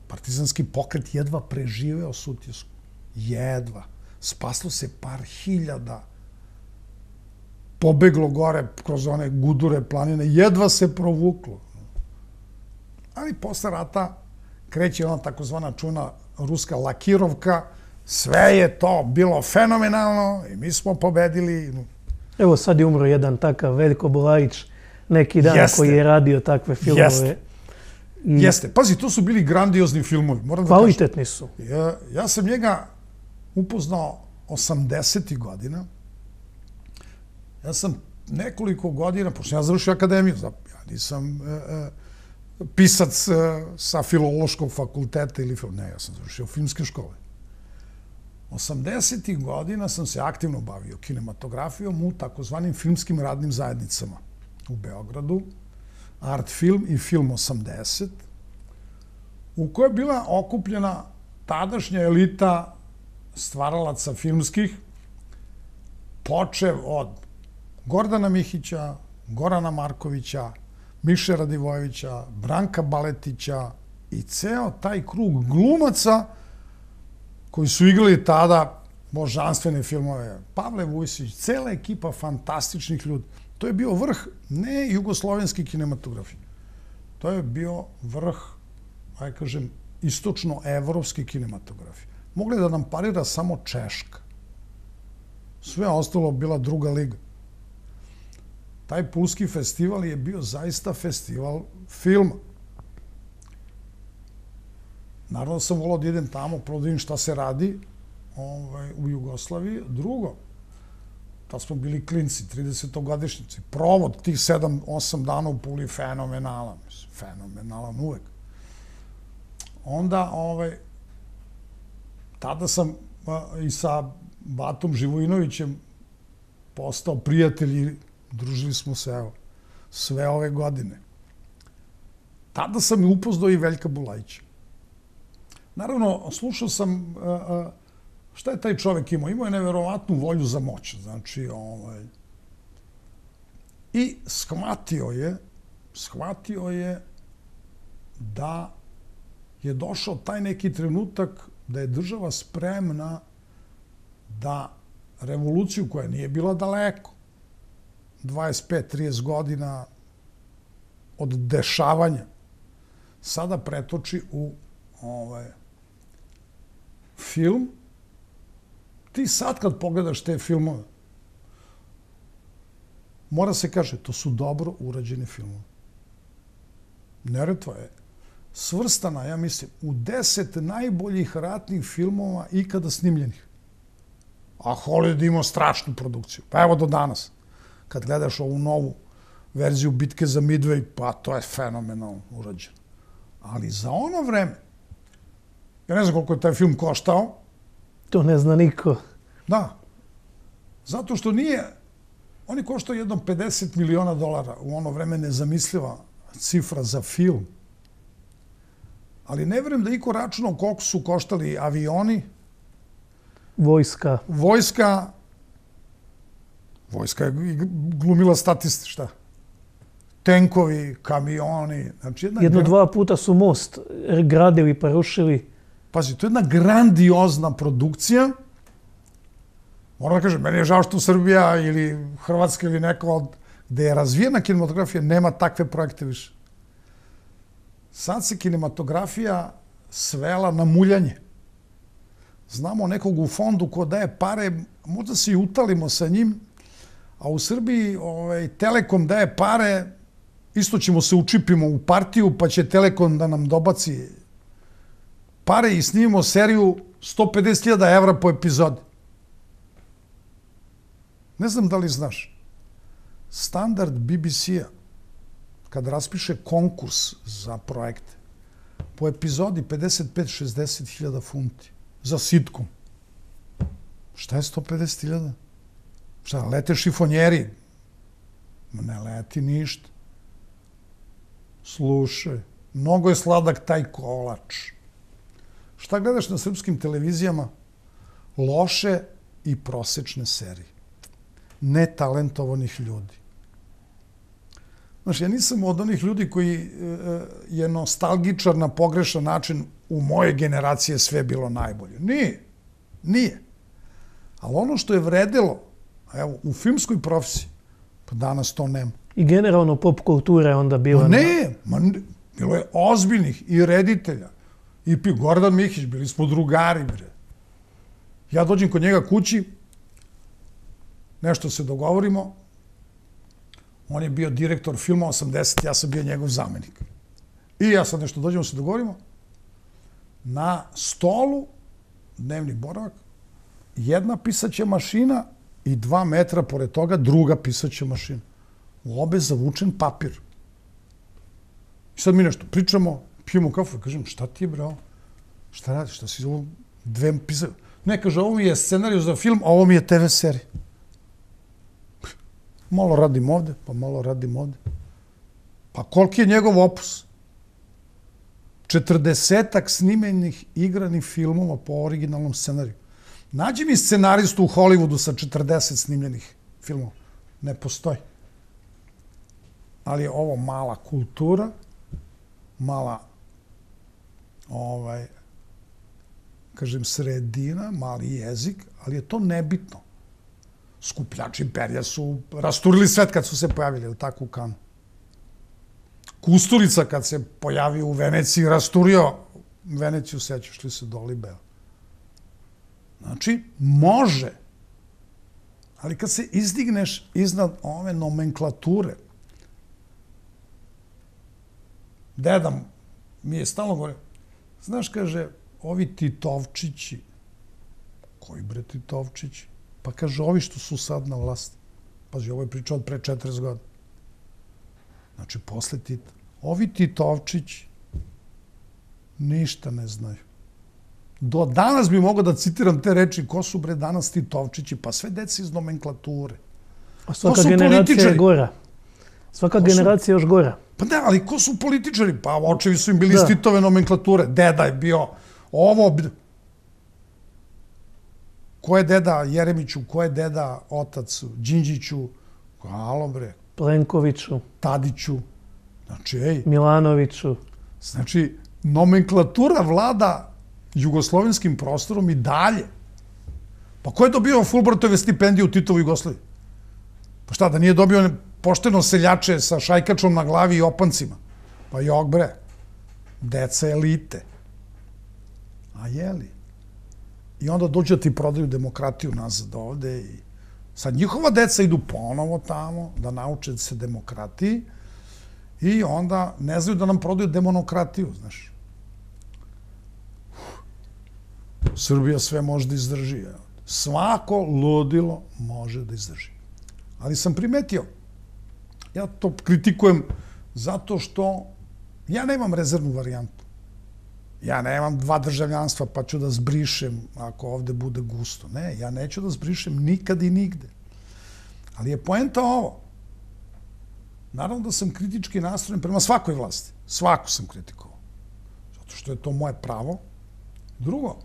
Partizanski pokret jedva preživeo Sutjesku. Jedva. Spaslo se par hiljada. Pobeglo gore kroz one gudure planine. Jedva se provuklo. Ali posle rata kreće ona takozvana čuvena ruska lakirovka. Sve je to bilo fenomenalno i mi smo pobedili. Evo sad je umro jedan takav Veljko Bulajić neki dan koji je radio takve filmove. Jeste. Pazi, to su bili grandiozni filmovi. Kvalitetni su. Ja sam njega upoznao 80. godina. Ja sam nekoliko godina, pošto ja završio akademiju, ja nisam pisac sa filološkog fakulteta ili ne, ja sam završio filmske škole. 80. godina sam se aktivno bavio kinematografijom u takozvanim filmskim radnim zajednicama u Beogradu, Art Film i Film 80, u kojoj je bila okupljena tadašnja elita stvaralaca filmskih, počev od Gordana Mihića, Gorana Markovića, Miše Radivojevića, Branka Baletića i ceo taj krug glumaca koji su igrali tada božanstvene filmove. Pavle Vujsić, cela ekipa fantastičnih ljudi. To je bio vrh ne jugoslovenske kinematografije. To je bio vrh, aj kažem, istočno-evropske kinematografije. Mogli da nam parira samo Češka. Sve ostalo bila druga liga. Taj Pulski festival je bio zaista festival filma. Naravno sam volao da idem tamo, prvo da vidim šta se radi u Jugoslaviji. Drugo, tad smo bili klinci, 30-godišnjici. Provod tih 7-8 dana u Puli fenomenalan. Fenomenalan uvek. Onda, tada sam i sa Batom Živojinovićem postao prijatelji, družili smo se, evo, sve ove godine. Tada sam upoznao i Veljka Bulajića. Naravno, slušao sam šta je taj čovek imao. Imao je neverovatnu volju za moć. Znači, i shvatio je da je došao taj neki trenutak da je država spremna da revoluciju koja nije bila daleko, 25-30 godina od dešavanja, sada pretoči u film. Ti sad kad pogledaš te filmove, mora se kaže, to su dobro urađeni filmovi. Neretva je svrstana, ja mislim, u 10 najboljih ratnih filmova ikada snimljenih. A Hollywood imao strašnu produkciju. Pa evo do danas. Kad gledaš ovu novu verziju Bitke za Midway, pa to je fenomenalno urađeno. Ali za ono vreme, ja ne znam koliko je taj film koštao. To ne zna niko. Da. Zato što nije, on je koštao jedno $50 miliona. U ono vreme nezamisliva cifra za film. Ali ne verujem da iko računao koliko su koštali avioni. Vojska. Vojska je glumila statisti, šta? Tenkovi, kamioni. Znači Dva puta su most gradili pa rušili. Pazi, to je jedna grandiozna produkcija. Moram da kažem, meni je žao što Srbija ili Hrvatska ili neko gde je razvijena kinematografija nema takve projekte više. Sad se kinematografija svela na muljanje. Znamo nekog u fondu ko daje pare, možda se i utalimo sa njim, a u Srbiji Telekom daje pare, isto ćemo se učipimo u partiju, pa će Telekom da nam dobaci pare i snimimo seriju 150.000 evra po epizodi. Ne znam da li znaš, standard BBC-a, kad raspiše konkurs za projekte, po epizodi 55-60.000 funti za sitkom. Šta je 150.000? Šta, lete šifonjeri? Ne leti ništa. Slušaj, mnogo je sladak taj kolač. Šta gledaš na srpskim televizijama? Loše i prosečne serije. Netalentovanih ljudi. Znaš, ja nisam od onih ljudi koji je nostalgičar na pogrešan način u moje generacije sve bilo najbolje. Nije. Ali ono što je vredilo, evo, u filmskoj profesiji, pa danas to nema. I generalno pop kultura je onda bila... Bilo je ozbiljnih i reditelja. I Gordan Mihić, bili smo drugari, bre. Ja dođem kod njega kući, nešto se dogovorimo, on je bio direktor filma 80, ja sam bio njegov zamenik. I ja sad nešto dođemo, se dogovorimo, na stolu, dnevni boravak, jedna pisaća mašina i 2 metra pored toga druga pisaća mašina. U obe zavučen papir. I sad mi nešto pričamo, pijemo kafu i kažem, šta ti je, bravo? Šta radiš? Šta si ovo 2 pisaće? Ne, kaže, ovo mi je scenariju za film, a ovo mi je TV serija. Malo radim ovde, pa malo radim ovde. Pa koliki je njegov opus? 40-ak snimenih igranih filmova po originalnom scenariju. Nađi mi scenaristu u Hollywoodu sa 40 snimljenih filmova. Ne postoji. Ali je ovo mala kultura, mala, kažem, sredina, mali jezik, ali je to nebitno. Skupljači perja su rasturili svet kad su se pojavili, ili tako, u Kanu. Kusturica kad se pojavio u Veneciji, rasturio Veneciju, sećaš li se Dolibea. Znači, može. Ali kad se izdigneš iznad ove nomenklature, deda mi je stalno govorio, znaš, kaže, ovi Titovčići, koji bre Titovčići? Pa kaže, ovi što su sad na vlasti. Pazi, ovo je priča od pre 40 godina. Znači, posle Tita. Ovi Titovčići ništa ne znaju. Do danas bi mogao da citiram te reči, ko su bre danas Titovčići? Pa sve deci iz nomenklature. A svaka generacija je gora. Svaka generacija je još gora. Pa da, ali ko su političari? Pa očevi su im bili iz Titove nomenklature. Deda je bio ovo. Ko je deda Jeremiću? Ko je deda otac Đinđiću? Halo bre. Plenkoviću. Tadiću. Znači, ej. Milanoviću. Znači, nomenklatura vlada jugoslovenskim prostorom i dalje. Pa ko je dobio Fulbrightove stipendije u Titovoj Jugoslaviji? Pa šta, da nije dobio pošteno seljače sa šajkačom na glavi i opancima? Pa jok bre, deca elite. A jeli? I onda dođu da ti prodaju demokratiju nazad ovde i sad njihova deca idu ponovo tamo da nauče se demokratiji i onda ne znaju da nam prodaju demonokratiju, znaš. Srbija sve može da izdrži. Svako ludilo može da izdrži. Ali sam primetio, ja to kritikujem zato što ja nemam rezervnu varijantu. Ja nemam 2 državljanstva pa ću da zbrišem ako ovde bude gusto. Ne, ja neću da zbrišem nikad i nigde. Ali je poenta ovo. Naravno da sam kritički nastrojen prema svakoj vlasti. Svaku sam kritikovao. Zato što je to moje pravo. Drugo,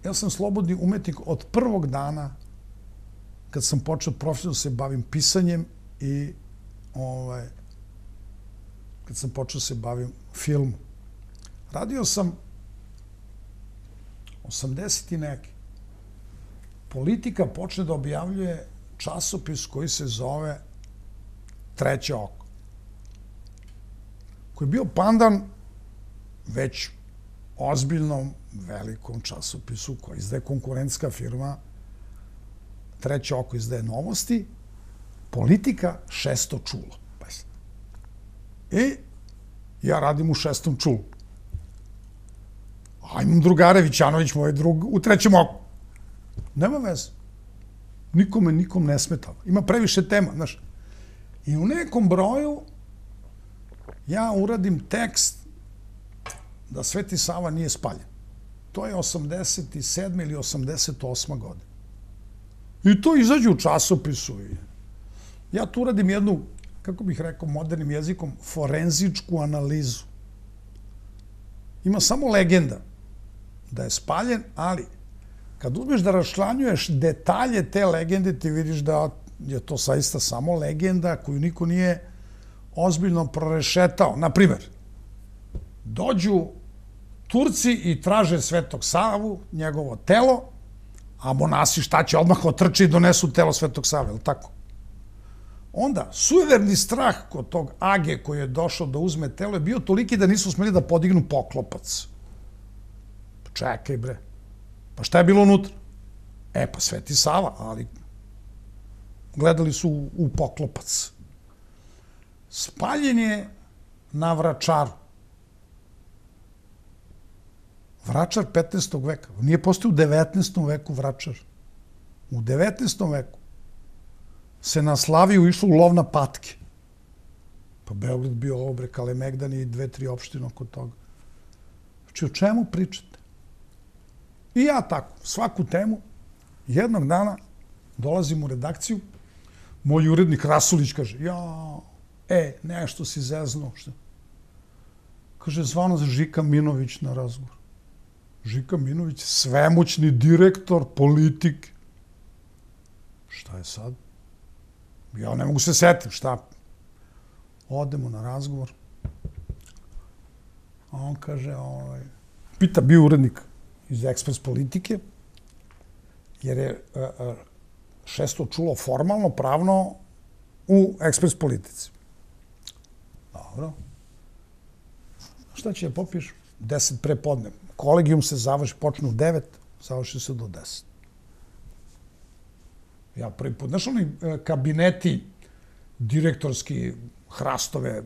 ja sam slobodni umetnik od prvog dana kad sam počeo profesionalno se bavim pisanjem i kad sam počeo se bavim filmom. Radio sam 80 i neki. Politika počne da objavljuje časopis koji se zove Treće oko. Koji je bio pandan već ozbiljnom, velikom časopisu koji izdaje konkurentska firma. Treće oko izdaje novosti. Politika, 6. čulo. I ja radim u 6. čulu. A imam drugare, Vićanović, moj drug, u 3. oku. Nema veze. Nikom ne smeta. Ima previše tema, znaš. I u nekom broju ja uradim tekst da Sveti Sava nije spaljen. To je 87. ili 88. godina. I to izađe u časopisu. Ja tu uradim jednu, kako bih rekao modernim jezikom, forenzičku analizu. Ima samo legenda da je spaljen, ali kad uzmeš da raščlanjuješ detalje te legende, ti vidiš da je to saista samo legenda koju niko nije ozbiljno prorešetao. Naprimer, dođu Turci i traže Svetog Savu, njegovo telo, a monasi šta će, odmah otrče i donesu telo Svetog Save, je li tako? Onda, sujeverni strah kod tog Age koji je došao da uzme telo je bio toliki da nisu smeli da podignu poklopac. Čekaj bre, pa šta je bilo unutra? Pa Sveti Sava, ali gledali su u poklopac. Spaljen je na Vračaru. Vračar 15. veka. Nije postao u 19. veku Vračar. U 19. veku se na Slaviju išlo u lov na patke. Pa Beograd bio ovo bre, Kalemegdan i 2-3 opštine oko toga. Znači, o čemu pričate? I ja tako, svaku temu, jednog dana dolazim u redakciju, moj urednik Rasulić kaže, nešto si zeznuo. Kaže, zvao nas Žika Minović na razgovor. Žika Minović, svemoćni direktor, politik. Šta je sad? Ja ne mogu se setim, šta? Odemo na razgovor. A on kaže, pita bio urednik iz Ekspres politike, jer je šesto čulo formalno, pravno u Ekspres politici. Dobro. Šta će da popiš? 10 pre podne. Kolegijum se završi, počne u 9, završi se do 10. Ja prvi put, znaš oni kabineti direktorski, hrastove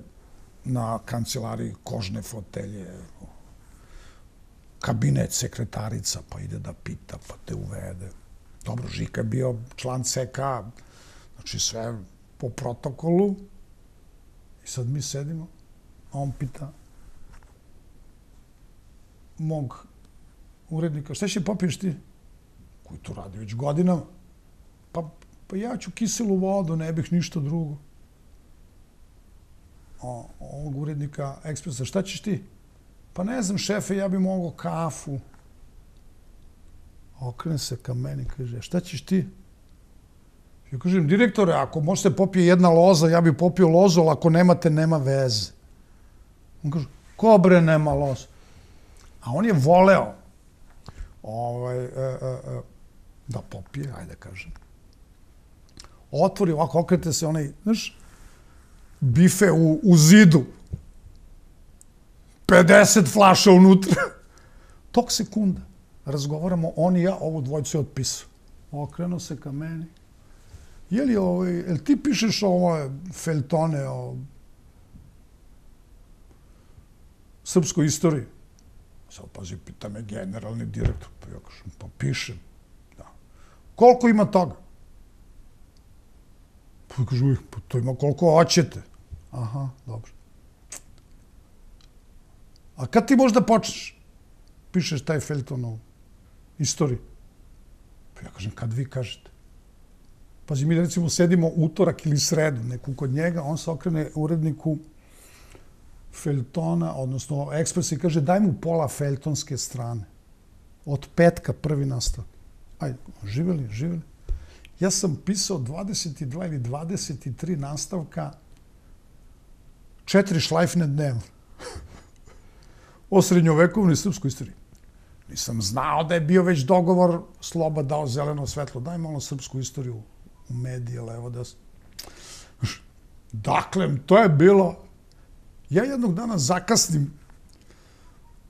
na kancelariji, kožne fotelje, kabinet sekretarica, pa ide da pita, pa te uvede. Dobro, Žika je bio član CK, znači sve po protokolu. I sad mi sedimo, a on pita mog urednika, šta će popiješ ti? Koji to radi već godinama? Pa ja ću kiselu vodu, ne bih ništa drugo. Ovog urednika Ekspresa, šta ćeš ti? Pa ne znam, šefe, ja bih mogao kafu. Okrene se ka meni, kaže, šta ćeš ti? Ja kažem, direktore, ako možete popije jedna loza, ja bih popio lozu, ali ako nemate, nema veze. On kaže, ko bre nema loza? A on je voleo da popije, ajde kažem. Otvori, ovako okrete se onaj, znaš, bife u zidu. 50 flaša unutra. Tok sekunda. Razgovaramo, on i ja, ovu dvojicu je otpisao. Okrenuo se ka meni. Jel ti pišeš ovo feljtone o srpskoj istoriji? Sad pazi, pita me generalni direktor. Pa ja kažem, pa pišem. Koliko ima toga? Pa kažu, pa to ima koliko hoćete. Aha, dobro. A kad ti možda počneš? Pišeš taj feljton o istoriji. Pa ja kažem, kad vi kažete? Pazi, mi recimo sedimo utorak ili sredu, neku kod njega, on se okrene uredniku feljtona, odnosno Ekspres i kaže, daj mu pola feljtonske strane. Od petka prvi nastavak. Ajde, živeli. Ja sam pisao 22 ili 23 nastavka, 4 šlajfne dnevno. O srednjovekovnoj srpskoj istoriji. Nisam znao da je bio već dogovor, Sloba dao zeleno svetlo, daj malo srpsku istoriju u medije, levo da... Dakle, to je bilo... Ja jednog dana zakasnim.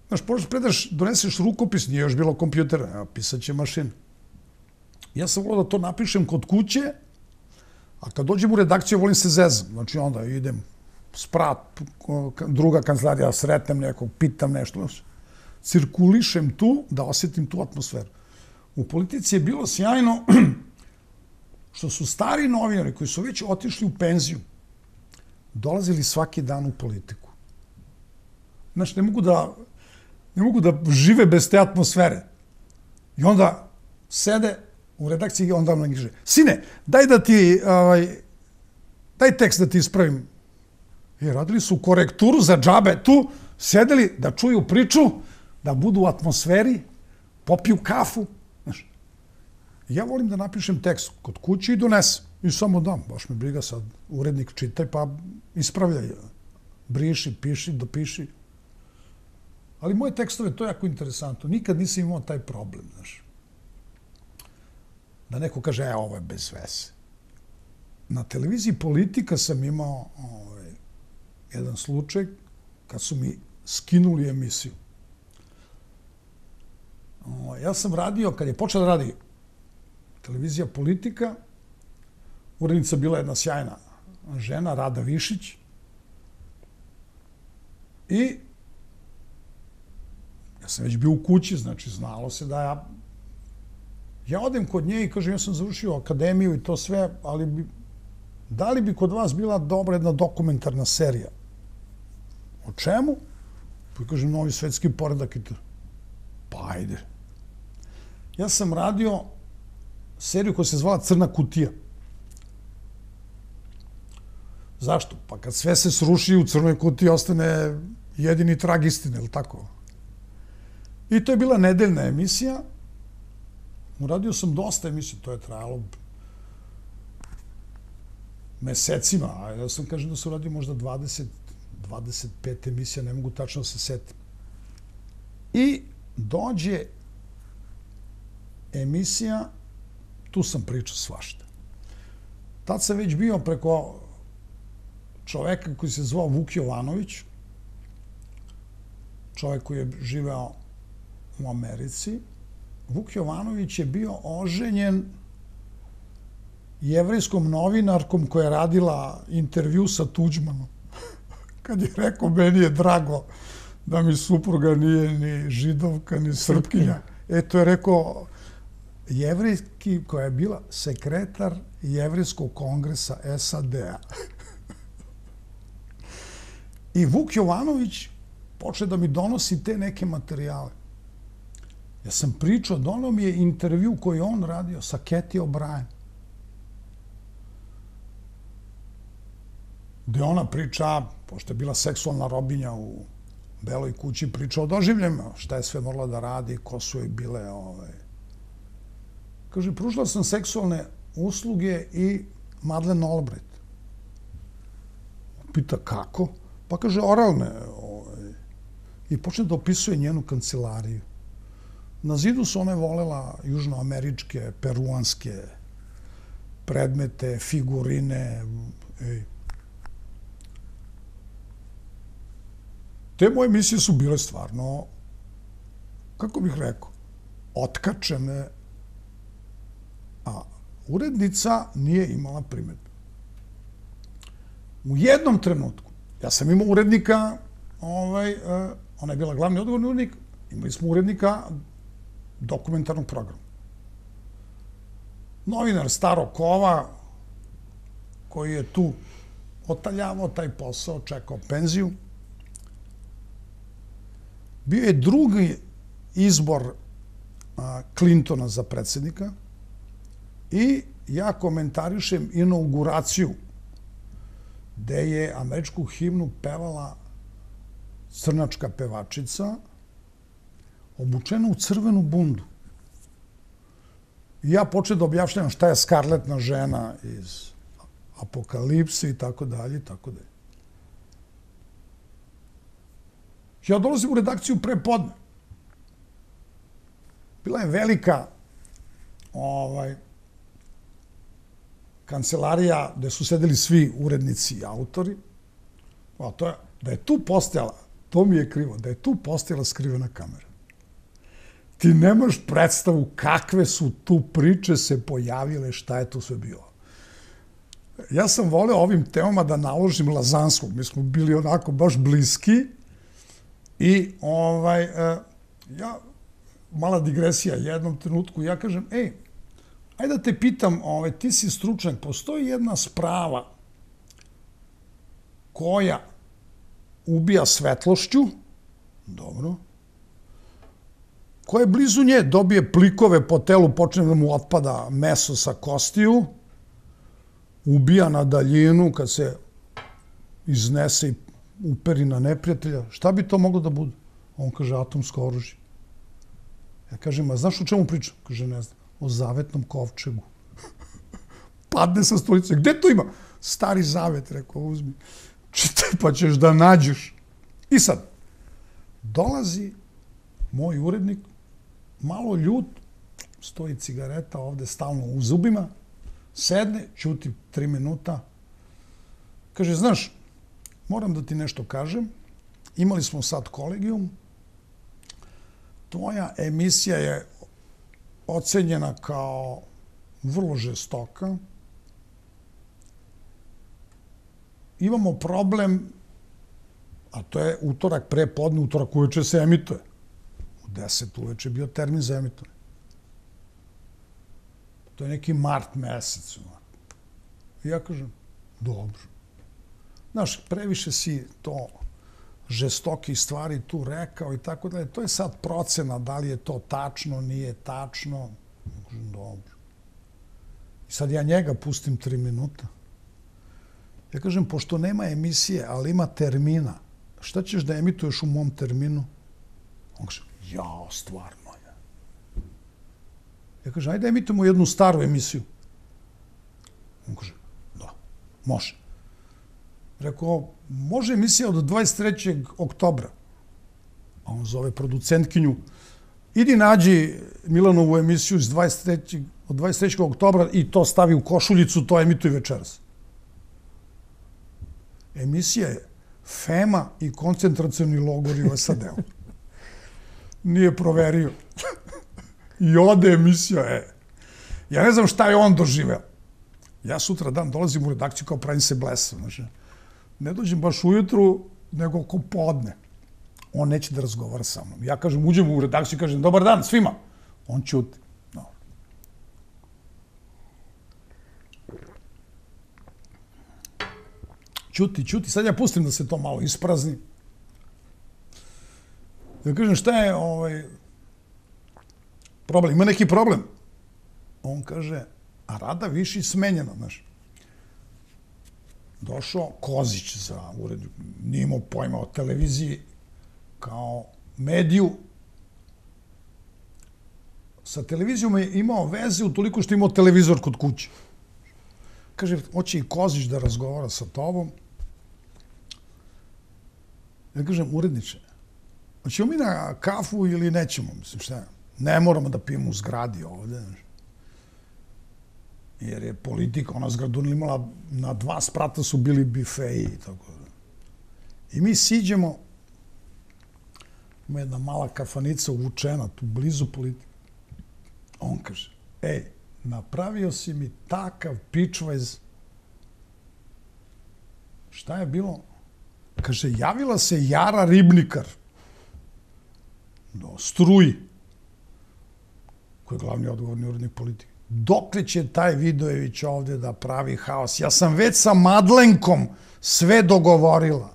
Znaš, predaš, doneseš rukopis, nije još bilo kompjutera, evo, pisat će mašina. Ja sam volio da to napišem kod kuće, a kad dođem u redakciju, volim se zezam. Znači, onda idem sprat, druga kancelarija, sretnem nekog, pitam nešto. Cirkulišem tu, da osjetim tu atmosferu. U politici je bilo sjajno što su stari novinari koji su već otišli u penziju, dolazili svaki dan u politiku. Znaš, ne mogu da žive bez te atmosfere. I onda sede u redakciji i onda nam kaže, sine, daj tekst da ti ispravim. I radili su korekturu za džabe tu, sedeli da čuju priču, da budu u atmosferi, popiju kafu. Znaš, ja volim da napišem tekst kod kuće i donesem. I samo dam, baš me briga sad, urednik čitaj pa ispravljaj. Briši, piši, dopiši. Ali moje tekstove, to je jako interesantno. Nikad nisam imao taj problem, znaš. Da neko kaže, ovo je bez veze. Na televiziji Politika sam imao jedan slučaj kad su mi skinuli emisiju. Ja sam radio, kad je počela da radi televizija Politika, urednica bila jedna sjajna žena, Rada Višić, i ja sam već bio u kući, znači znalo se da ja odem kod nje i kažem, ja sam završio akademiju i to sve, ali da li bi kod vas bila dobra jedna dokumentarna serija? O čemu? Pa kažem, novi svetski poredak i to. Pa ajde. Ja sam radio seriju koja se zvala Crna kutija. Zašto? Pa kad sve se sruši, u crnoj kutiji ostane jedini trag istine, ili tako? I to je bila nedeljna emisija. Uradio sam dosta emisija, to je trajalo mesecima, a ja sam kažem da sam uradio možda 25 emisija, ne mogu tačno da se setim. I dođe emisija, tu sam pričao svašta. Tad sam već bio preko čoveka koji se zvao Vuk Jovanović, čovek koji je živeo u Americi. Vuk Jovanović je bio oženjen jevrejskom novinarkom koja je radila intervju sa Tuđmanom. Kad je rekao, meni je drago da mi supruga nije ni židovka, ni srpkinja. To je rekao jevrejski koja je bila sekretar Jevrejskog kongresa SAD-a. I Vuk Jovanović počeo da mi donosi te neke materijale. Ja sam pričao, donao mi je intervju koji on radio sa Cathy O'Brien. Gde ona priča, pošto je bila seksualna robinja u Beloj kući, priča o doživljajima, šta je sve morala da radi, ko su joj bile. Kaže, pružila sam seksualne usluge i Madeleine Albright. Pita kako? Pa kaže, oralne. I počne da opisuje njenu kancelariju. Na zidu su one volela južnoameričke, peruanske predmete, figurine. Te moje emisije su bile stvarno, kako bih rekao, otkačene, a urednica nije imala primedbe. U jednom trenutku, ja sam imao urednika, ona je bila glavni odgovorni urednik, imali smo urednika dokumentarnog programa. Novinar starog kova, koji je tu otaljavao taj posao, čekao penziju. Bio je drugi izbor Clintona za predsjednika i ja komentarišem inauguraciju gde je američku himnu pevala crnačka pevačica obučena u crvenu bundu. I ja počeo da objašnjavam šta je skarletna žena iz Apokalipse i tako dalje, i tako dalje. Ja dolazim u redakciju pre podne. Bila je velika kancelarija gde su sedeli svi urednici i autori. Da je tu postojala, to mi je krivo, da je tu postojala skrivena kamera. Ti nemaš predstavu kakve su tu priče se pojavile, šta je tu sve bilo. Ja sam voleo ovim temama da naložim Lazanskog. Mi smo bili onako baš bliski. I ja, mala digresija, jednom trenutku, ja kažem, ajde da te pitam, ti si stručnjak, postoji jedna sprava koja ubija svetlošću, dobro, koja je blizu nje, dobije plikove po telu, počne da mu otpada meso sa kostiju, ubija na daljinu kad se iznese i uperi na neprijatelja. Šta bi to moglo da bude? On kaže, atomsko oružje. Ja kažem, a znaš o čemu pričam? Kaže, ne znam, o zavetnom kovčegu. Padne sa stolice. Gde to ima? Stari zavet, rekao, uzmi. Čitaj, pa ćeš da nađeš. I sad, dolazi moj urednik, malo ljut, stoji cigareta ovde stalno u zubima, sedne, ćuti 3 minuta, kaže, znaš, moram da ti nešto kažem, imali smo sad kolegijum, tvoja emisija je ocenjena kao vrlo žestoka, imamo problem, a to je utorak pre podne, utorak uveče se emituje. U 10 uveče je bio termin za emitovanje. To je neki mart mesec. I ja kažem, dobro. Znaš, previše si to žestokih stvari tu rekao i tako dalje. To je sad procena, da li je to tačno, nije tačno. Kažem, dobro. I sad ja njega pustim 3 minuta. Ja kažem, pošto nema emisije, ali ima termina, šta ćeš da emituješ u mom terminu? On kaže, Jao, stvarno. Ja kažem, ajde emitujemo jednu staru emisiju. On kaže, da, može. Rekao, može emisija od 23. oktobra. A on zove producentkinju, idi nađi Milanovu emisiju od 23. oktobra i to stavi u košuljicu, to emituj večeras. Emisija je FEMA i koncentracioni logori u SAD-u. Nije proverio. I ode emisija, Ja ne znam šta je on doživeo. Ja sutra dan dolazim u redakciju kao pravim se blesa. Znači, ne dođem baš ujutru, nego oko podne. On neće da razgovara sa mnom. Ja kažem, uđem u redakciju i kažem, dobar dan svima. On ćuti. No. Ćuti. Sad ja pustim da se to malo isprazni. Ja kažem, šta je problem? Ima neki problem? On kaže, a Rada Višić smenjena, znaš. Došao Kozić za ured, nije imao pojma o televiziji kao mediju. Sa televizijom je imao veze utoliko što je imao televizor kod kuće. Kaže, hoće i Kozić da razgovara sa tobom. Ja kažem, uredniče, hoćemo mi na kafu ili nećemo? Mislim, šta je? Ne moramo da pijemo u zgradi ovde. Jer je politika, ona zgradu imala, na 2 sprata su bili bifeji i tako da. I mi siđemo, ima jedna mala kafanica uvučena, tu blizu politike. On kaže, napravio si mi takav pičvajz. Šta je bilo? Kaže, javila se Jara Ribnikar do Struji, koji je glavni odgovorni urednik politike. Dokle će taj Vidojević ovde da pravi haos? Ja sam već sa Madlenkom sve dogovorila.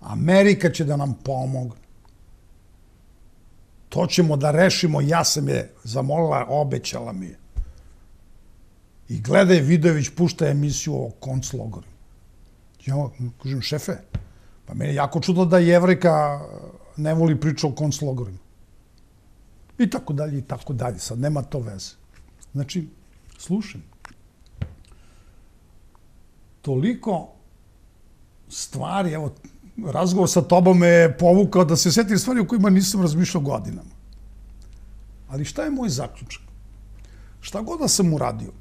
Amerika će da nam pomogne. To ćemo da rešimo. Ja sam je zamolila, obećala mi je. I gledaj, Vidojević pušta emisiju o konclogorima. Ja kažem, šefe, pa meni je jako čudno da Jevrejka ne voli priču o konclogorima. I tako dalje, i tako dalje. Sad nema to veze. Znači, slušaj, toliko stvari, evo, razgovor sa tobom me je povukao da se setim stvari o kojima nisam razmišljao godinama. Ali šta je moj zaključak? Šta god da sam uradio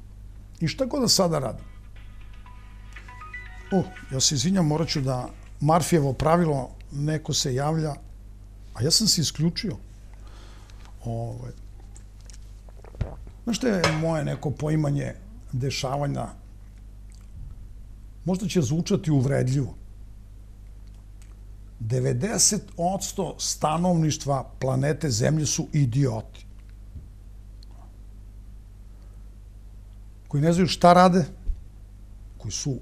i šta god da sada radim. Ja se izvinjam, morat ću da Marfijevo pravilo, neko se javlja, a ja sam se isključio. Znaš što je moje neko poimanje dešavanja? Možda će zvučati uvredljivo. 90% stanovništva planete Zemlje su idioti. Koji ne znaju šta rade, koji su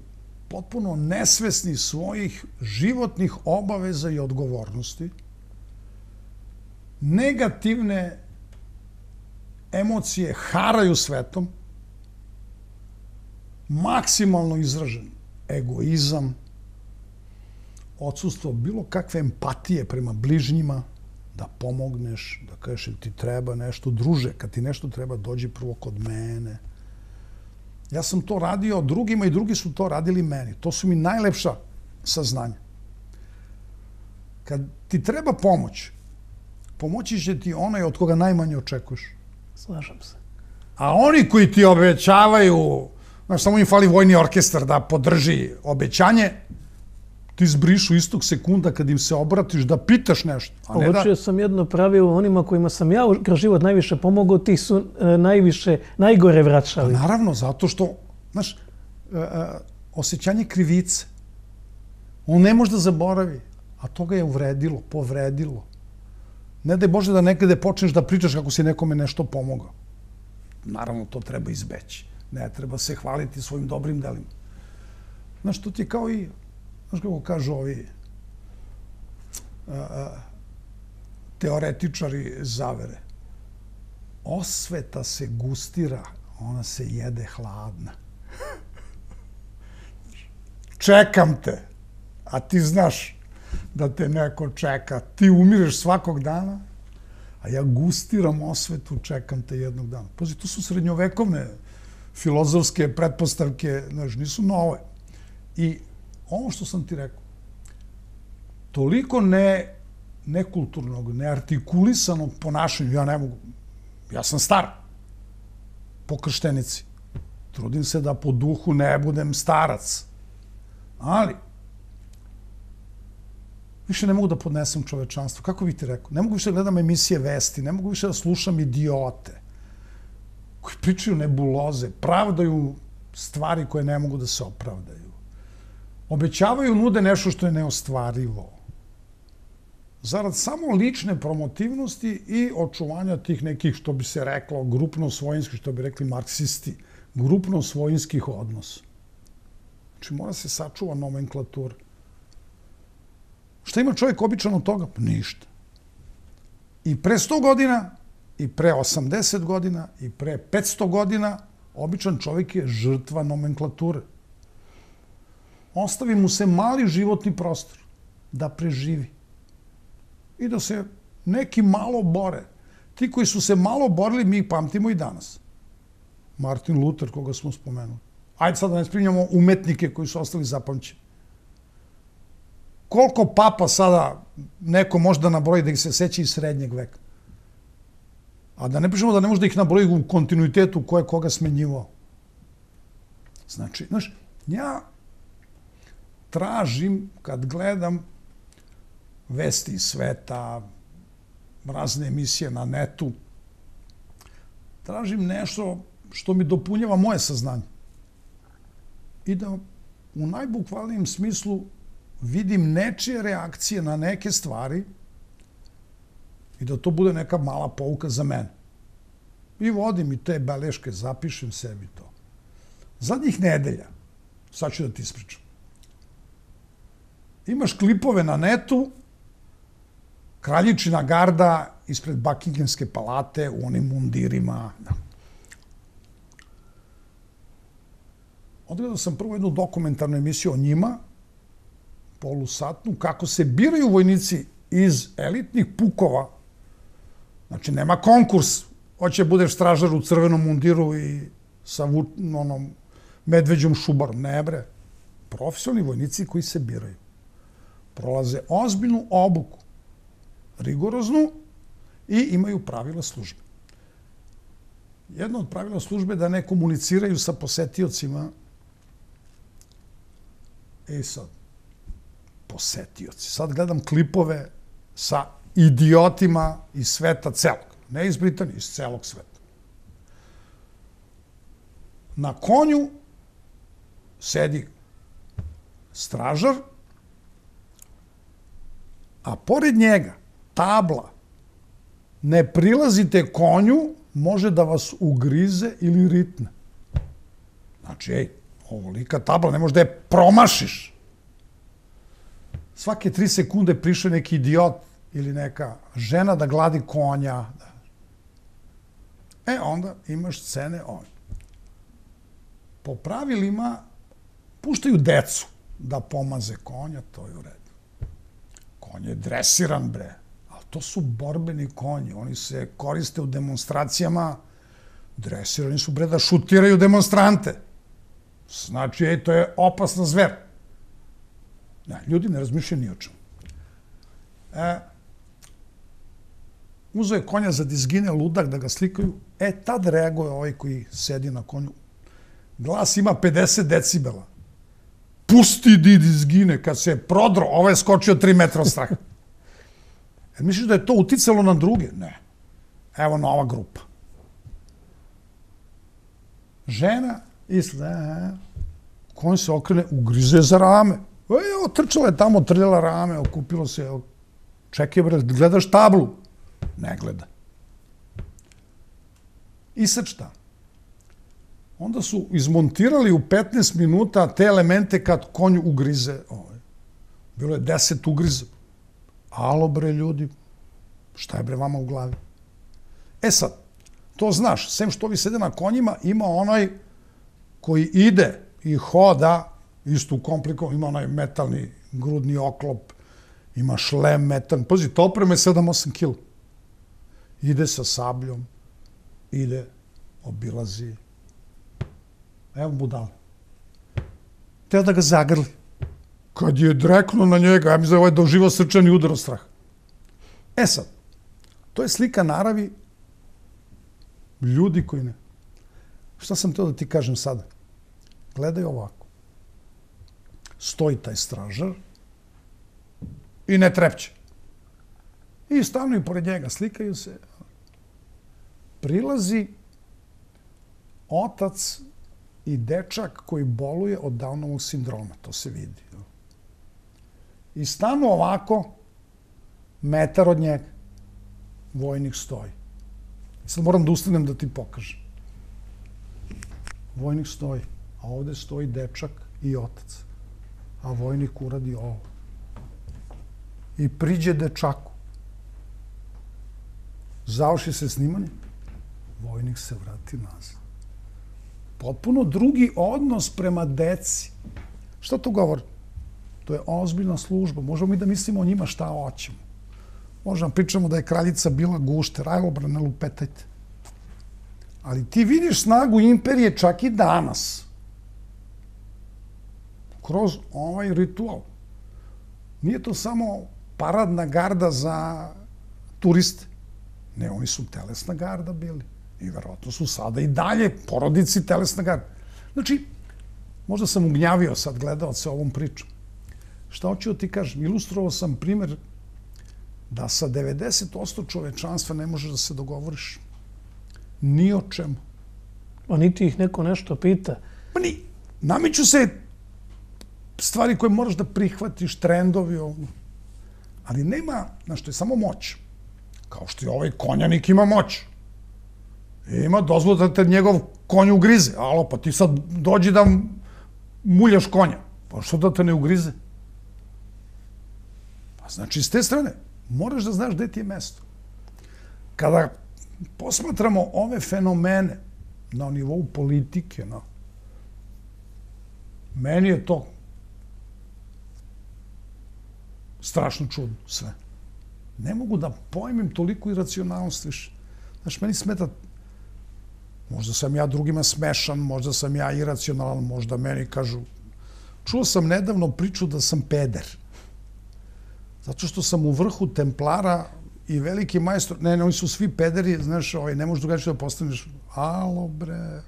potpuno nesvesni svojih životnih obaveza i odgovornosti, negativne emocije haraju svetom, maksimalno izražen egoizam, odsustvo bilo kakve empatije prema bližnjima, da pomogneš, da kažeš ti treba nešto, druže, kad ti nešto treba, dođi prvo kod mene. Ja sam to radio drugima i drugi su to radili meni. To su mi najlepša saznanja. Kad ti treba pomoć, pomoći će ti onaj od koga najmanje očekuješ. Slažem se. A oni koji ti obećavaju, znaš, samo im fali vojni orkestar da podrži obećanje, ti zbrišu istog sekunda kad im se obratiš da pitaš nešto. Uočio sam jedno pravilo, onima kojima sam ja kroz život najviše pomogao, ti su najgore vraćali. Naravno, zato što, znaš, osjećanje krivice, on ne može da zaboravi, a to ga je uvredilo, povredilo. Ne daj Bože da nekada počneš da pričaš kako si nekome nešto pomogao. Naravno, to treba izbeći. Ne treba se hvaliti svojim dobrim delima. Znaš, to ti je kao i, znaš kako kažu ovi teoretičari zavere. Osveta se gustira, ona se jede hladna. Čekam te, a ti znaš da te neko čeka. Ti umireš svakog dana, a ja gustiram osvetu, čekam te jednog dana. Pazi, to su srednjovekovne filozofske pretpostavke, znaš, nisu nove. I ovo što sam ti rekao, toliko nekulturnog, neartikulisanog ponašanja, ja ne mogu, ja sam star, po krštenici. Trudim se da po duhu ne budem starac. Ali, više ne mogu da podnesem čovečanstvo. Kako bih ti rekao? Ne mogu više da gledam emisije vesti, ne mogu više da slušam idiote koji pričaju nebuloze, pravdaju stvari koje ne mogu da se opravdaju. Obećavaju, nude nešto što je neostvarivo. Zarad samo lične promotivnosti i očuvanja tih nekih, što bi se reklo, grupno-svojinskih, što bi rekli marksisti, grupno-svojinskih odnosa. Znači, mora se sačuva nomenklatura. Šta ima čovjek običan od toga? Ništa. I pre 100 godina, i pre 80 godina, i pre 500 godina, običan čovjek je žrtva nomenklature. Ostavi mu se mali životni prostor da preživi. I da se neki malo bore. Ti koji su se malo borili, mi ih pamtimo i danas. Martin Luther, koga smo spomenuli. Ajde sad da ne spominjamo umetnike koji su ostali zapamćeni. Koliko papa sada neko može da nabroji da ih se seća iz srednjeg veka? A da ne pričamo da ne može da ih nabroji u kontinuitetu ko je koga smenjivao. Znači, znaš, ja tražim, kad gledam vesti iz sveta, razne emisije na netu, tražim nešto što mi dopunjava moje saznanje. I da u najbukvalnijem smislu vidim nečije reakcije na neke stvari i da to bude neka mala pouka za mene. I vodim i te beleške, zapišem sebi to. Zadnjih nedelja, sad ću da ti ispričam, imaš klipove na netu, kraljičina garda ispred Buckinghamske palate u onim mundirima. Odgledao sam prvo jednu dokumentarnu emisiju o njima, polusatnu, kako se biraju vojnici iz elitnih pukova. Znači, nema konkurs. Hoće budeš stražar u crvenom mundiru i sa medveđom šubarom. Ne, bre. Profesionalni vojnici koji se biraju. Prolaze ozbiljnu obuku, rigoroznu, i imaju pravila službe. Jedno od pravila službe je da ne komuniciraju sa posetiocima. Sad, posetioci. Sad gledam klipove sa idiotima iz sveta celog. Ne iz Britanije, iz celog sveta. Na konju sedi stražar, a pored njega tabla: ne prilazite konju, može da vas ugrize ili ritne. Znači, ovolika tabla, ne možeš da je promašiš. Svake 3 sekunde priše neki idiot ili neka žena da gladi konja. Onda imaš scene ove. Po pravilima puštaju decu da pomaze konja, to je u redu. Konj je dresiran, bre. Ali to su borbeni konji. Oni se koriste u demonstracijama. Dresirani su, bre, da šutiraju demonstrante. Znači, to je opasna zver. Ljudi ne razmišljaju ni o čemu. Uzeo je konja za dizgine, ludak, da ga slikaju. Tad reaguje ovaj koji sedi na konju. Glas ima 50 decibela. Pusti di dizgine, kad se prodro, ovaj je skočio 3 metra od straha. Misliš da je to uticalo na druge? Ne. Evo nova grupa. Žena, konj se okrene, ugrize za rame. Otrčala je tamo, trljala rame, okupilo se. Čekaj, bre, gledaš tablu? Ne gleda. I sad šta? Onda su izmontirali u 15 minuta te elemente kad konj ugrize. Bilo je 10 ugriza. Alo, bre, ljudi, šta je, bre, vama u glavi? Sad, to znaš, sem što ovi sede na konjima, ima onaj koji ide i hoda, isto komplikovan, ima onaj metalni grudni oklop, ima šlem metalni. Pazi, to oprema je 7-8 kila. ide sa sabljom, ide, obilazi. Evo budale. Teo da ga zagrli. Kad je dreknuo na njega, ja mislim da je doživao srčani udar od straha. E sad, to je slika naravi ljudi koji ne. Šta sam teo da ti kažem sada? Gledaj ovako. Stoji taj stražar i ne trepće. I stavno i pored njega, slikaju se. Prilazi otac i dečak koji boluje od Downovog sindroma, to se vidi. I stanu ovako, metar od njega, vojnik stoji. Sad moram da ustanem da ti pokažem. Vojnik stoji, a ovde stoji dečak i otac. A vojnik uradi ovo. I priđe dečaku. Završi se snimanje, vojnik se vrati nazad. Potpuno drugi odnos prema deci. Šta to govori? To je ozbiljna služba. Možemo mi da mislimo o njima šta hoćemo. Možemo pričamo da je kraljica bila gušter, aj obrane lupetajte. Ali ti vidiš snagu imperije čak i danas. Kroz ovaj ritual. Nije to samo paradna garda za turiste. Ne, oni su telesna garda bili. I verovatno su sada i dalje porodici telesna garda. Znači, možda sam ugnjavio sad gledalce ovom pričom. Šta hoću da ti kažem? Ilustrovao sam primer da sa 90% čovečanstva ne možeš da se dogovoriš ni o čemu. A niti ih neko nešto pita. Pa ni. Nameću se stvari koje moraš da prihvatiš, trendovi ovdje. Ali nema, znaš, to je samo moć. Kao što i ovaj konjanik ima moć. Ima dozvolu da te njegov konj ugrize. Alo, pa ti sad dođi da muljaš konja. Pa što da te ne ugrize? Pa znači, s te strane, moraš da znaš gde ti je mesto. Kada posmatramo ove fenomene na nivou politike, meni je to strašno čudno sve. Ne mogu da pojmim toliko iracionalnost više. Znaš, meni smeta, možda sam ja drugima smešan, možda sam ja iracionalan, možda meni kažu... Čuo sam nedavno priču da sam peder. Zato što sam u vrhu Templara i veliki majstor... Ne, oni su svi pederi, znaš, ne možeš drugačije da postaneš. Alo, bre,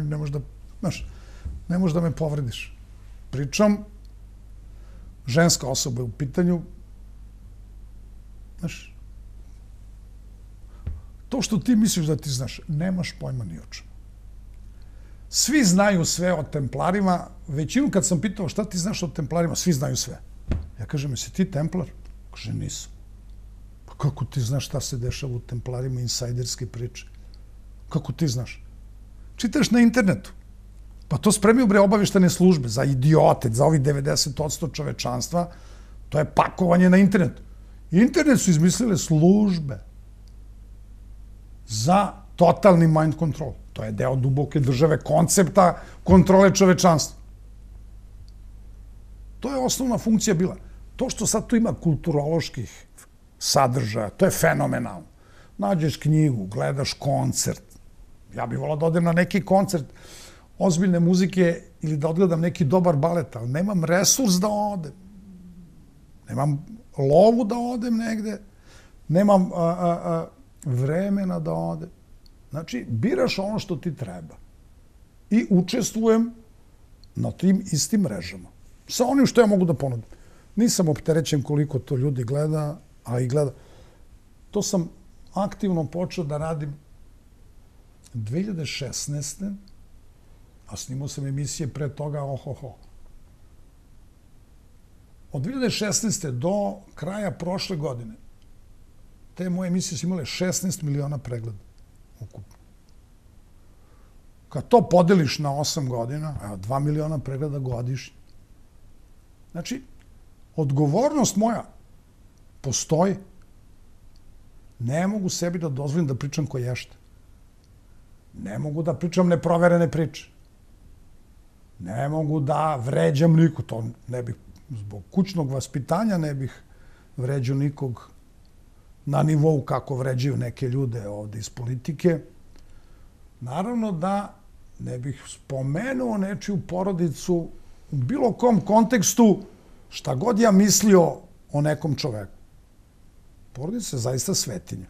ne možeš da... Znaš, ne možeš da me povrediš. Pričam, ženska osoba je u pitanju. Znaš, to što ti misliš da ti znaš, nemaš pojma ni o čemu. Svi znaju sve o Templarima. Većinu kad sam pitao šta ti znaš o Templarima, svi znaju sve. Ja kažem, jesi ti Templar? Kaže, nisam. Pa kako ti znaš šta se dešava u Templarima, insajderske priče? Kako ti znaš? Čitaš na internetu. Pa to spremio bre obaveštane službe za idiote, za ovih 90% čovečanstva. To je pakovanje na internetu. Internet su izmislile službe za totalni mind control. To je deo duboke države, koncepta kontrole čovečanstva. To je osnovna funkcija bila. To što sad tu ima kulturoloških sadržaja, to je fenomenalno. Nađeš knjigu, gledaš koncert. Ja bih volao da odem na neki koncert ozbiljne muzike ili da odgledam neki dobar balet, ali nemam resurs da odem. Nemam lovu da odem negde, nemam vremena da odem. Znači, biraš ono što ti treba. I učestvujem na tim istim mrežama. Sa onim što ja mogu da ponudim. Nisam opterećen koliko to ljudi gleda, a i gleda. To sam aktivno počeo da radim 2016. A snimao sam emisije pre toga, ohoho. Od 2016. do kraja prošle godine te moje emisije su imale 16 miliona pregleda ukupno. Kad to podeliš na 8 godina, 2 miliona pregleda godišnje. Znači, odgovornost moja postoji. Ne mogu sebi da dozvolim da pričam ko ješta. Ne mogu da pričam neproverene priče. Ne mogu da vređam nikog. To ne bih, zbog kućnog vaspitanja ne bih vređao nikog. na nivou kako vređaju neke ljude ovde iz politike. Naravno da ne bih spomenuo nečiju porodicu u bilo kom kontekstu šta god ja mislio o nekom čoveku. Porodica je zaista svetinja.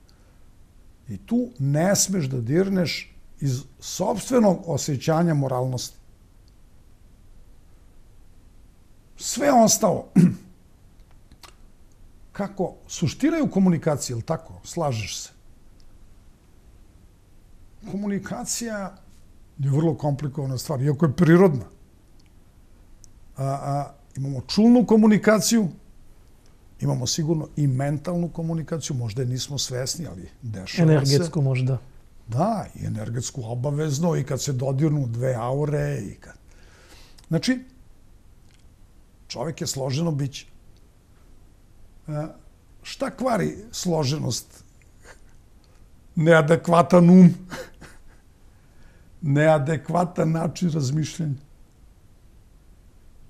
I tu ne smeš da dirneš iz sopstvenog osjećanja moralnosti. Sve ostalo, kako suština je u komunikaciji, ili tako? Slažeš se. Komunikacija je vrlo komplikovana stvar, iako je prirodna. Imamo čulnu komunikaciju, imamo sigurno i mentalnu komunikaciju, možda je nismo svesni, ali dešava se. Energetsku možda. Da, i energetsku obavezno, i kad se dodirnu dve aure. Znači, čovjek je složeno biće. Šta kvari složenost? Neadekvatan um, neadekvatan način razmišljanja.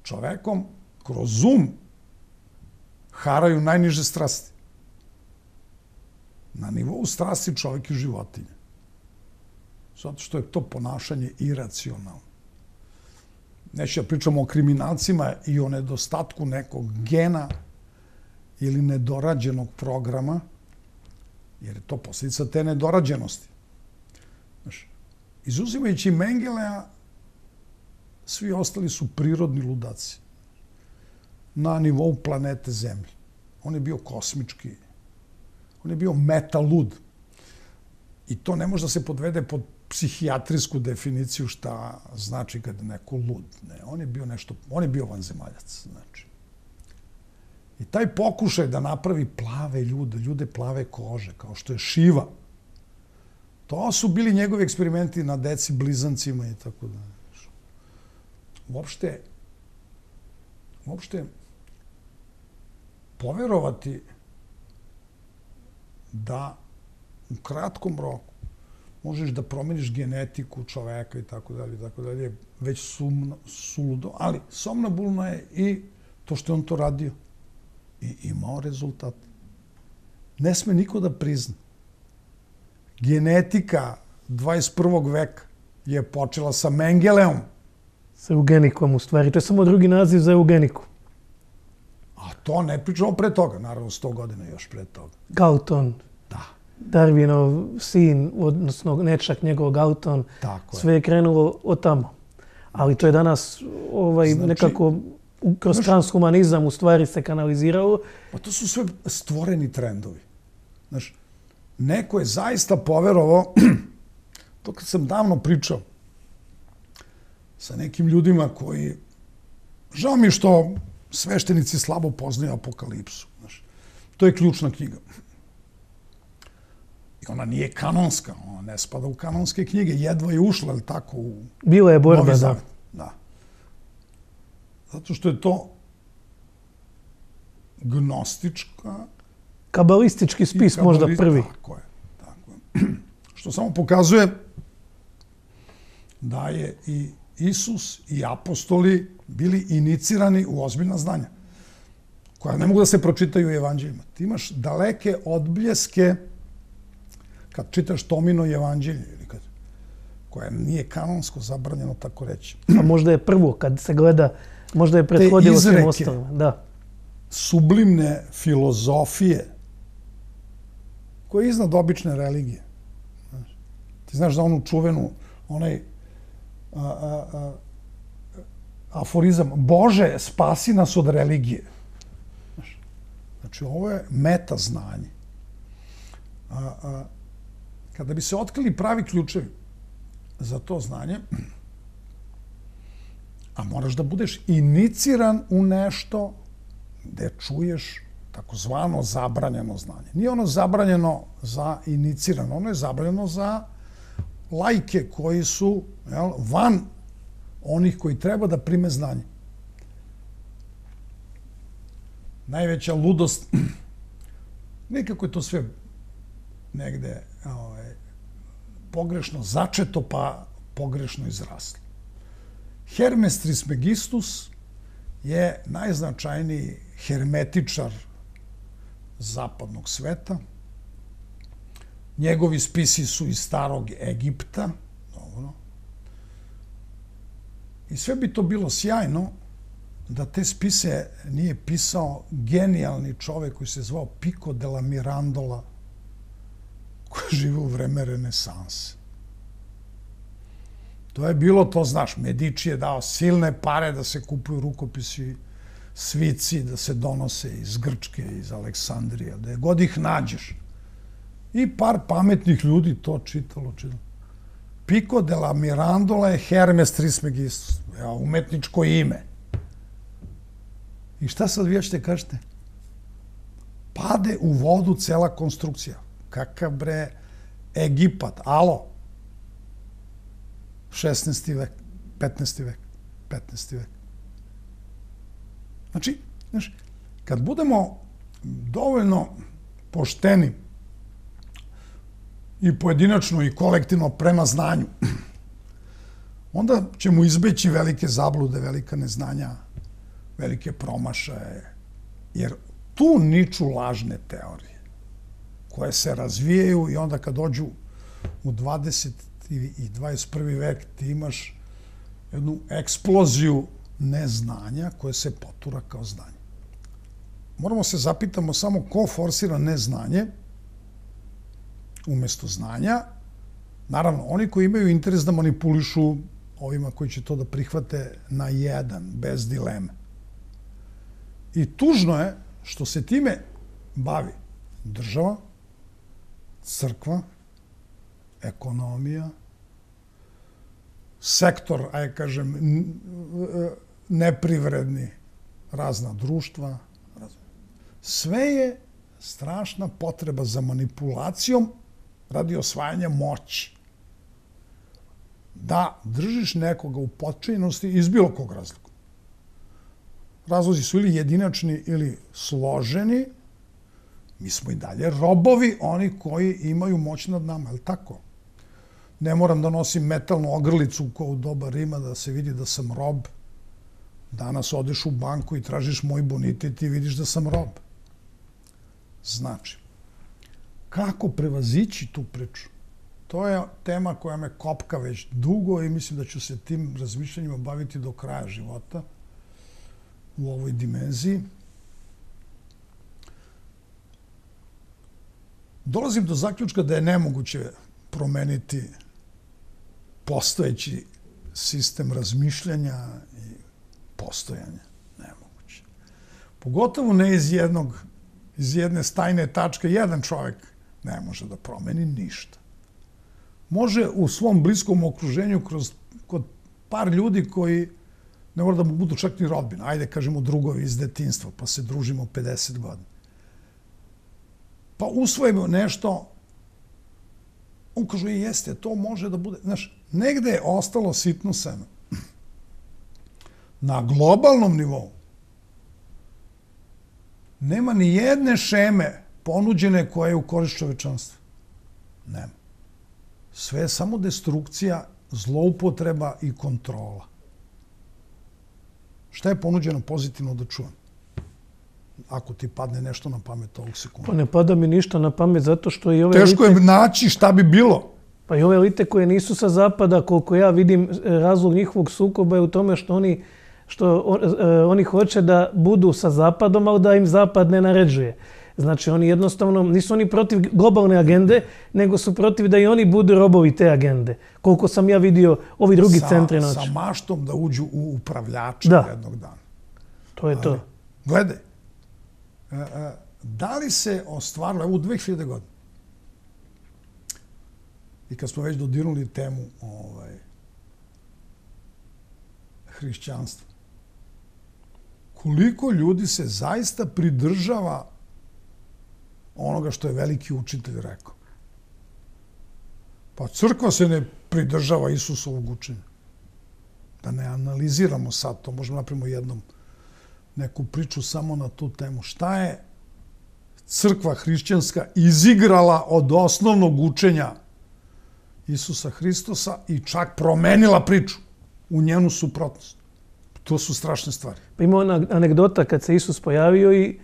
Čovekom kroz um haraju najniže strasti. Na nivou strasti čovjek je životinja. Zato što je to ponašanje iracionalno. Neću da pričamo o kriminalcima i o nedostatku nekog gena ili nedorađenog programa, jer je to posljedica te nedorađenosti. Znaš, izuzimajući Mengelea, svi ostali su prirodni ludaci na nivou planete Zemlje. On je bio kosmički, on je bio metalud. I to ne može da se podvede pod psihijatrijsku definiciju šta znači kad je neko lud. Ne, on je bio vanzemaljac, znači. I taj pokušaj da napravi plave ljude plave kože, kao što je Šiva, to su bili njegovi eksperimenti na deci, blizancima i tako da. Uopšte poverovati da u kratkom roku možeš da promeniš genetiku čoveka i tako dalje, već suludo, ali somnambulno je i to što je on to radio i imao rezultat. Ne sme niko da prizna. Genetika 21. veka je počela sa Mengeleom. Sa eugenikom, u stvari. To je samo drugi naziv za eugeniku. A to ne pričamo pre toga, naravno 100 godina još pre toga. Galton. Da. Darwinov sin, odnosno nečak njegov Galton. Tako je. Sve je krenulo od tamo. Ali to je danas nekako kroz transhumanizam u stvari se kanaliziralo. Pa to su sve stvoreni trendovi. Znaš, neko je zaista poverovao, to kad sam davno pričao sa nekim ljudima koji, žao mi što sveštenici slabo poznaju Apokalipsu. Znaš, to je ključna knjiga. I ona nije kanonska, ona ne spada u kanonske knjige, jedva je ušla, ali tako, u bila je borba, Novi Zavet. Da. Zato što je to gnostička... Kabalistički spis možda prvi. Tako je. Što samo pokazuje da je i Isus i apostoli bili inicirani u ozbiljna znanja, koja ne mogu da se pročitaju u evanđeljima. Ti imaš daleke odbljeske kad čitaš Tomino evanđelje, koje nije kanonsko zabranjeno tako reći. A možda je prvo kad se gleda, možda je prethodilo svim ostalima. Da. Sublimne filozofije koje je iznad obične religije. Ti znaš za onu čuvenu, onaj aforizam, Bože, spasi nas od religije. Znači, ovo je meta znanje. Kada bi se otkrili pravi ključevi za to znanje, a moraš da budeš iniciran u nešto gde čuješ takozvano zabranjeno znanje. Nije ono zabranjeno za inicirano, ono je zabranjeno za laike koji su van onih koji treba da prime znanje. Najveća ludost, nekako je to sve negde pogrešno začeto pa pogrešno izraslo. Hermes Trismegistus je najznačajniji hermetičar zapadnog sveta, Njegovi spisi su iz starog Egipta. Dobro. I sve bi to bilo sjajno da te spise nije pisao genijalni čovek koji se zvao Pico della Mirandola, koji žive u vreme renesanse. To je bilo, to znaš, Medici je dao silne pare da se kupuju rukopisi, svici, da se donose iz Grčke, iz Aleksandrije, da je god ih nađeš. I par pametnih ljudi to čitalo. Pico della Mirandola je Hermes Trismegistus, umetničko ime. I šta sad vi ćete kažete? Pade u vodu cela konstrukcija. Kakav bre Egipat, alo? 16. vek, 15. vek, 15. vek. Znači, kad budemo dovoljno pošteni i pojedinačno i kolektivno prema znanju, onda ćemo izbeći velike zablude, velika neznanja, velike promašaje, jer tu niču lažne teorije koje se razvijaju i onda kad dođu u 20. i 21. vek ti imaš jednu eksploziju neznanja koje se potura kao znanje. Moramo se zapitamo samo ko forsira neznanje umesto znanja. Naravno, oni koji imaju interes da manipulišu ovima koji će to da prihvate na jedan, bez dileme. I tužno je što se time bavi država, crkva, ekonomija, sektor, ajde kažem, neprivredni, razna društva. Sve je strašna potreba za manipulacijom radi osvajanja moći. Da držiš nekoga u potčinjenosti iz bilo kog razloga. Razlozi su ili jedinačni ili složeni. Mi smo i dalje robovi, oni koji imaju moć nad nama, je li tako? Ne moram da nosim metalnu ogrlicu kao u doba Rima da se vidi da sam rob. Danas odeš u banku i tražiš moj bonitet i vidiš da sam rob. Znači, kako prevazići tu priču? To je tema koja me kopka već dugo i mislim da ću se tim razmišljanjima baviti do kraja života u ovoj dimenziji. Dolazim do zaključka da je nemoguće promeniti postojeći sistem razmišljanja i postojanja. Nemoguće. Pogotovo ne iz jedne stajne tačke. Jedan čovjek ne može da promeni ništa. Može u svom bliskom okruženju kod par ljudi koji ne mora da mu budu čak ni rodbina. Ajde, kažemo, drugovi iz detinjstva, pa se družimo 50 godina. Pa usvojimo nešto, on kaže, jeste, to može da bude. Znaš, negde je ostalo sitno seme. Na globalnom nivou nema ni jedne šeme ponuđene koja je u korist čovečanstva. Nema. Sve je samo destrukcija, zloupotreba i kontrola. Šta je ponuđeno pozitivno da čujem? Ako ti padne nešto na pamet ovog sekunda. Pa ne pada mi ništa na pamet zato što i ove teško je naći šta bi bilo. Pa i ove elite koje nisu sa zapada, koliko ja vidim, razlog njihovog sukoba je u tome što oni hoće da budu sa zapadom, ali da im zapad ne naređuje. Znači, oni jednostavno, nisu oni protiv globalne agende, nego su protiv da i oni budu robovi te agende. Koliko sam ja vidio ovi drugi centri noći. Sa maštom da uđu u upravljača jednog dana. To je to. Gledaj, da li se ostvarilo, evo u 2000 godina, i kad smo već dodirnuli temu hrišćanstva, koliko ljudi se zaista pridržava onoga što je veliki učitelj rekao? Pa crkva se ne pridržava Isusovog učenja. Da ne analiziramo sad to, možemo napravimo jednom neku priču samo na tu temu. Šta je crkva hrišćanska izigrala od osnovnog učenja Isusa Hristosa i čak promenila priču u njenu suprotnost? To su strašne stvari. Pa ima ona anegdota kad se Isus pojavio i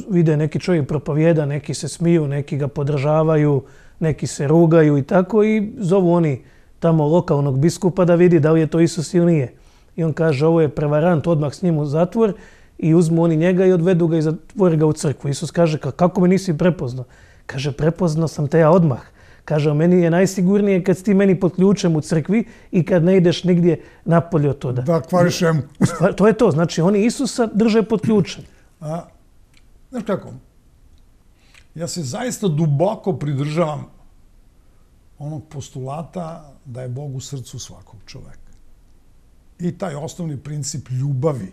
vide neki čovjek propovjeda, neki se smiju, neki ga podržavaju, neki se rugaju i tako i zovu oni tamo lokalnog biskupa da vidi da li je to Isus ili nije. I on kaže ovo je prevarant, odmah s njim u zatvor i uzmu oni njega i odvedu ga i zatvore ga u crkvu. Isus kaže kako me nisi prepoznao? Kaže prepoznao sam te ja odmah. Kaže meni je najsigurnije kad si ti meni pod ključem u crkvi i kad ne ideš nigdje napolje od toga. Da kvariš emu. To je to. Znači oni Isusa drže pod ključem. Znaš kako? Ja se zaista duboko pridržavam onog postulata da je Bog u srcu svakog čoveka. I taj osnovni princip ljubavi,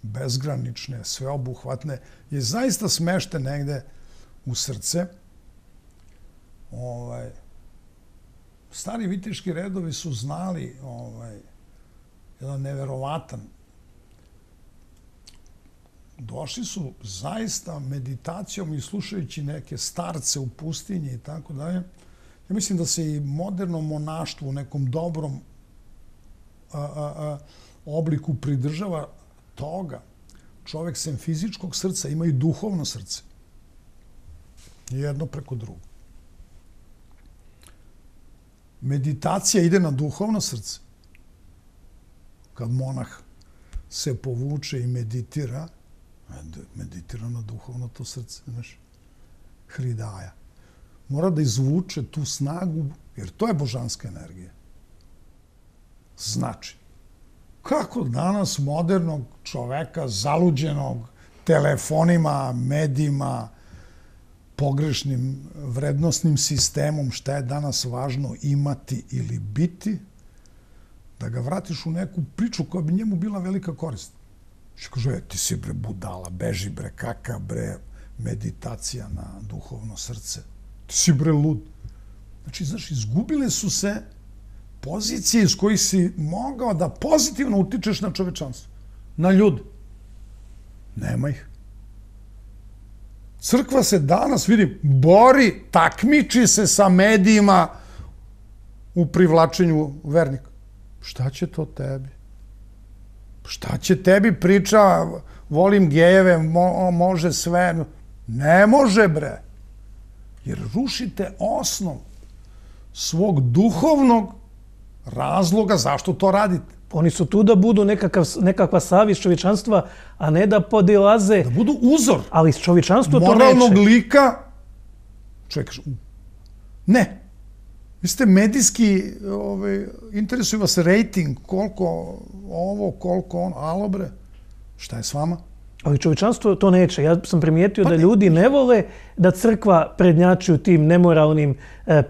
bezgranične, sveobuhvatne, je zaista smešten negde u srce. Stari viteški redovi su znali jedan neverovatan. Došli su zaista meditacijom i slušajući neke starce u pustinji i tako dalje. Ja mislim da se i moderno monaštvo u nekom dobrom obliku pridržava toga. Čovek sem fizičkog srca ima i duhovno srce. Jedno preko drugog. Meditacija ide na duhovno srce. Kad monah se povuče i meditira na duhovno to srce, znaš, hridaja. Mora da izvuče tu snagu, jer to je božanska energija. Znači, kako danas modernog čoveka, zaluđenog telefonima, medijima, pogrešnim vrednostnim sistemom, šta je danas važno imati ili biti, da ga vratiš u neku priču koja bi njemu bila velika korist. Što kaže, ti si bre budala, beži bre, kaka bre, meditacija na duhovno srce. Ti si bre lud. Znači, znaš, izgubile su se pozicije iz kojih si mogao da pozitivno utičeš na čovečanstvo, na ljude. Nema ih. Crkva se danas, vidim, bori, takmiči se sa medijima u privlačenju vernika. Šta će to tebi? Šta će tebi priča, volim gejeve, može sve. Ne može, bre. Jer rušite osnov svog duhovnog razloga zašto to radite. Oni su tu da budu nekakva savjest čovječanstva, a ne da podilaze. Da budu uzor. Ali čovječanstvo to neće. Moralnog lika. Čovjek kaže, ne. Vi ste medijski, interesuju vas rating, koliko ovo, koliko ono. Alo bre, šta je s vama? Ali čovječanstvo to neće. Ja sam primijetio da ljudi ne vole da crkva prednjači u tim nemoralnim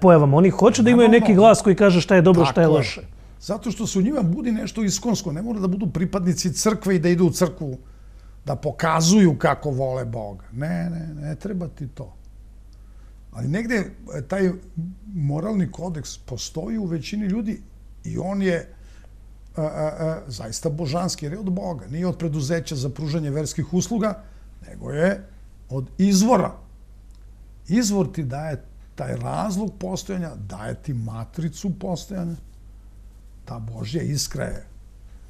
pojavama. Oni hoće da imaju neki glas koji kaže šta je dobro, šta je loše. Zato što se u njima budi nešto iskonsko. Ne mora da budu pripadnici crkve i da idu u crkvu, da pokazuju kako vole Boga. Ne treba ti to. Ali negde taj moralni kodeks postoji u većini ljudi i on je zaista božanski, jer je od Boga. Nije od preduzeća za pružanje verskih usluga, nego je od izvora. Izvor ti daje taj razlog postojanja, daje ti matricu postojanja. Ta Božja iskra je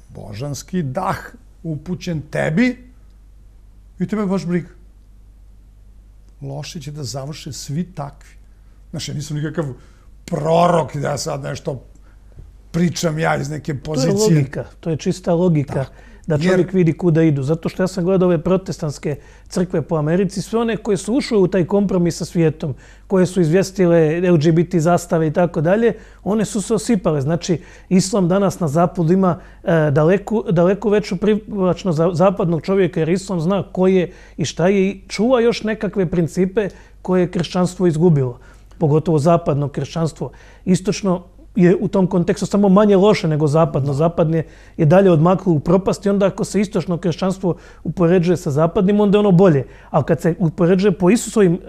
božanski dah upućen tebi i tebe baš briga. Loše će da završe svi takvi. Znaš, ja nisam nikakav prorok da ja sad nešto pričam ja iz neke pozicije. To je logika, to je čista logika da čovjek vidi kuda idu. Zato što ja sam gledao ove protestantske crkve po Americi, sve one koje su ušle u taj kompromis sa svijetom, koje su izvjestile LGBT zastave i tako dalje, one su se osipale. Znači, islam danas na zapadu ima daleko veću privlačnost zapadnog čovjeka, jer islam zna ko je i šta je i čuva još nekakve principe koje je kršćanstvo izgubilo. Pogotovo zapadno kršćanstvo. Istočno je u tom kontekstu samo manje loše nego zapadno. Zapadne je dalje odmaklo u propast i onda ako se istočno kršćanstvo upoređuje sa zapadnim, onda je ono bolje. Ali kad se upoređuje po Isusovim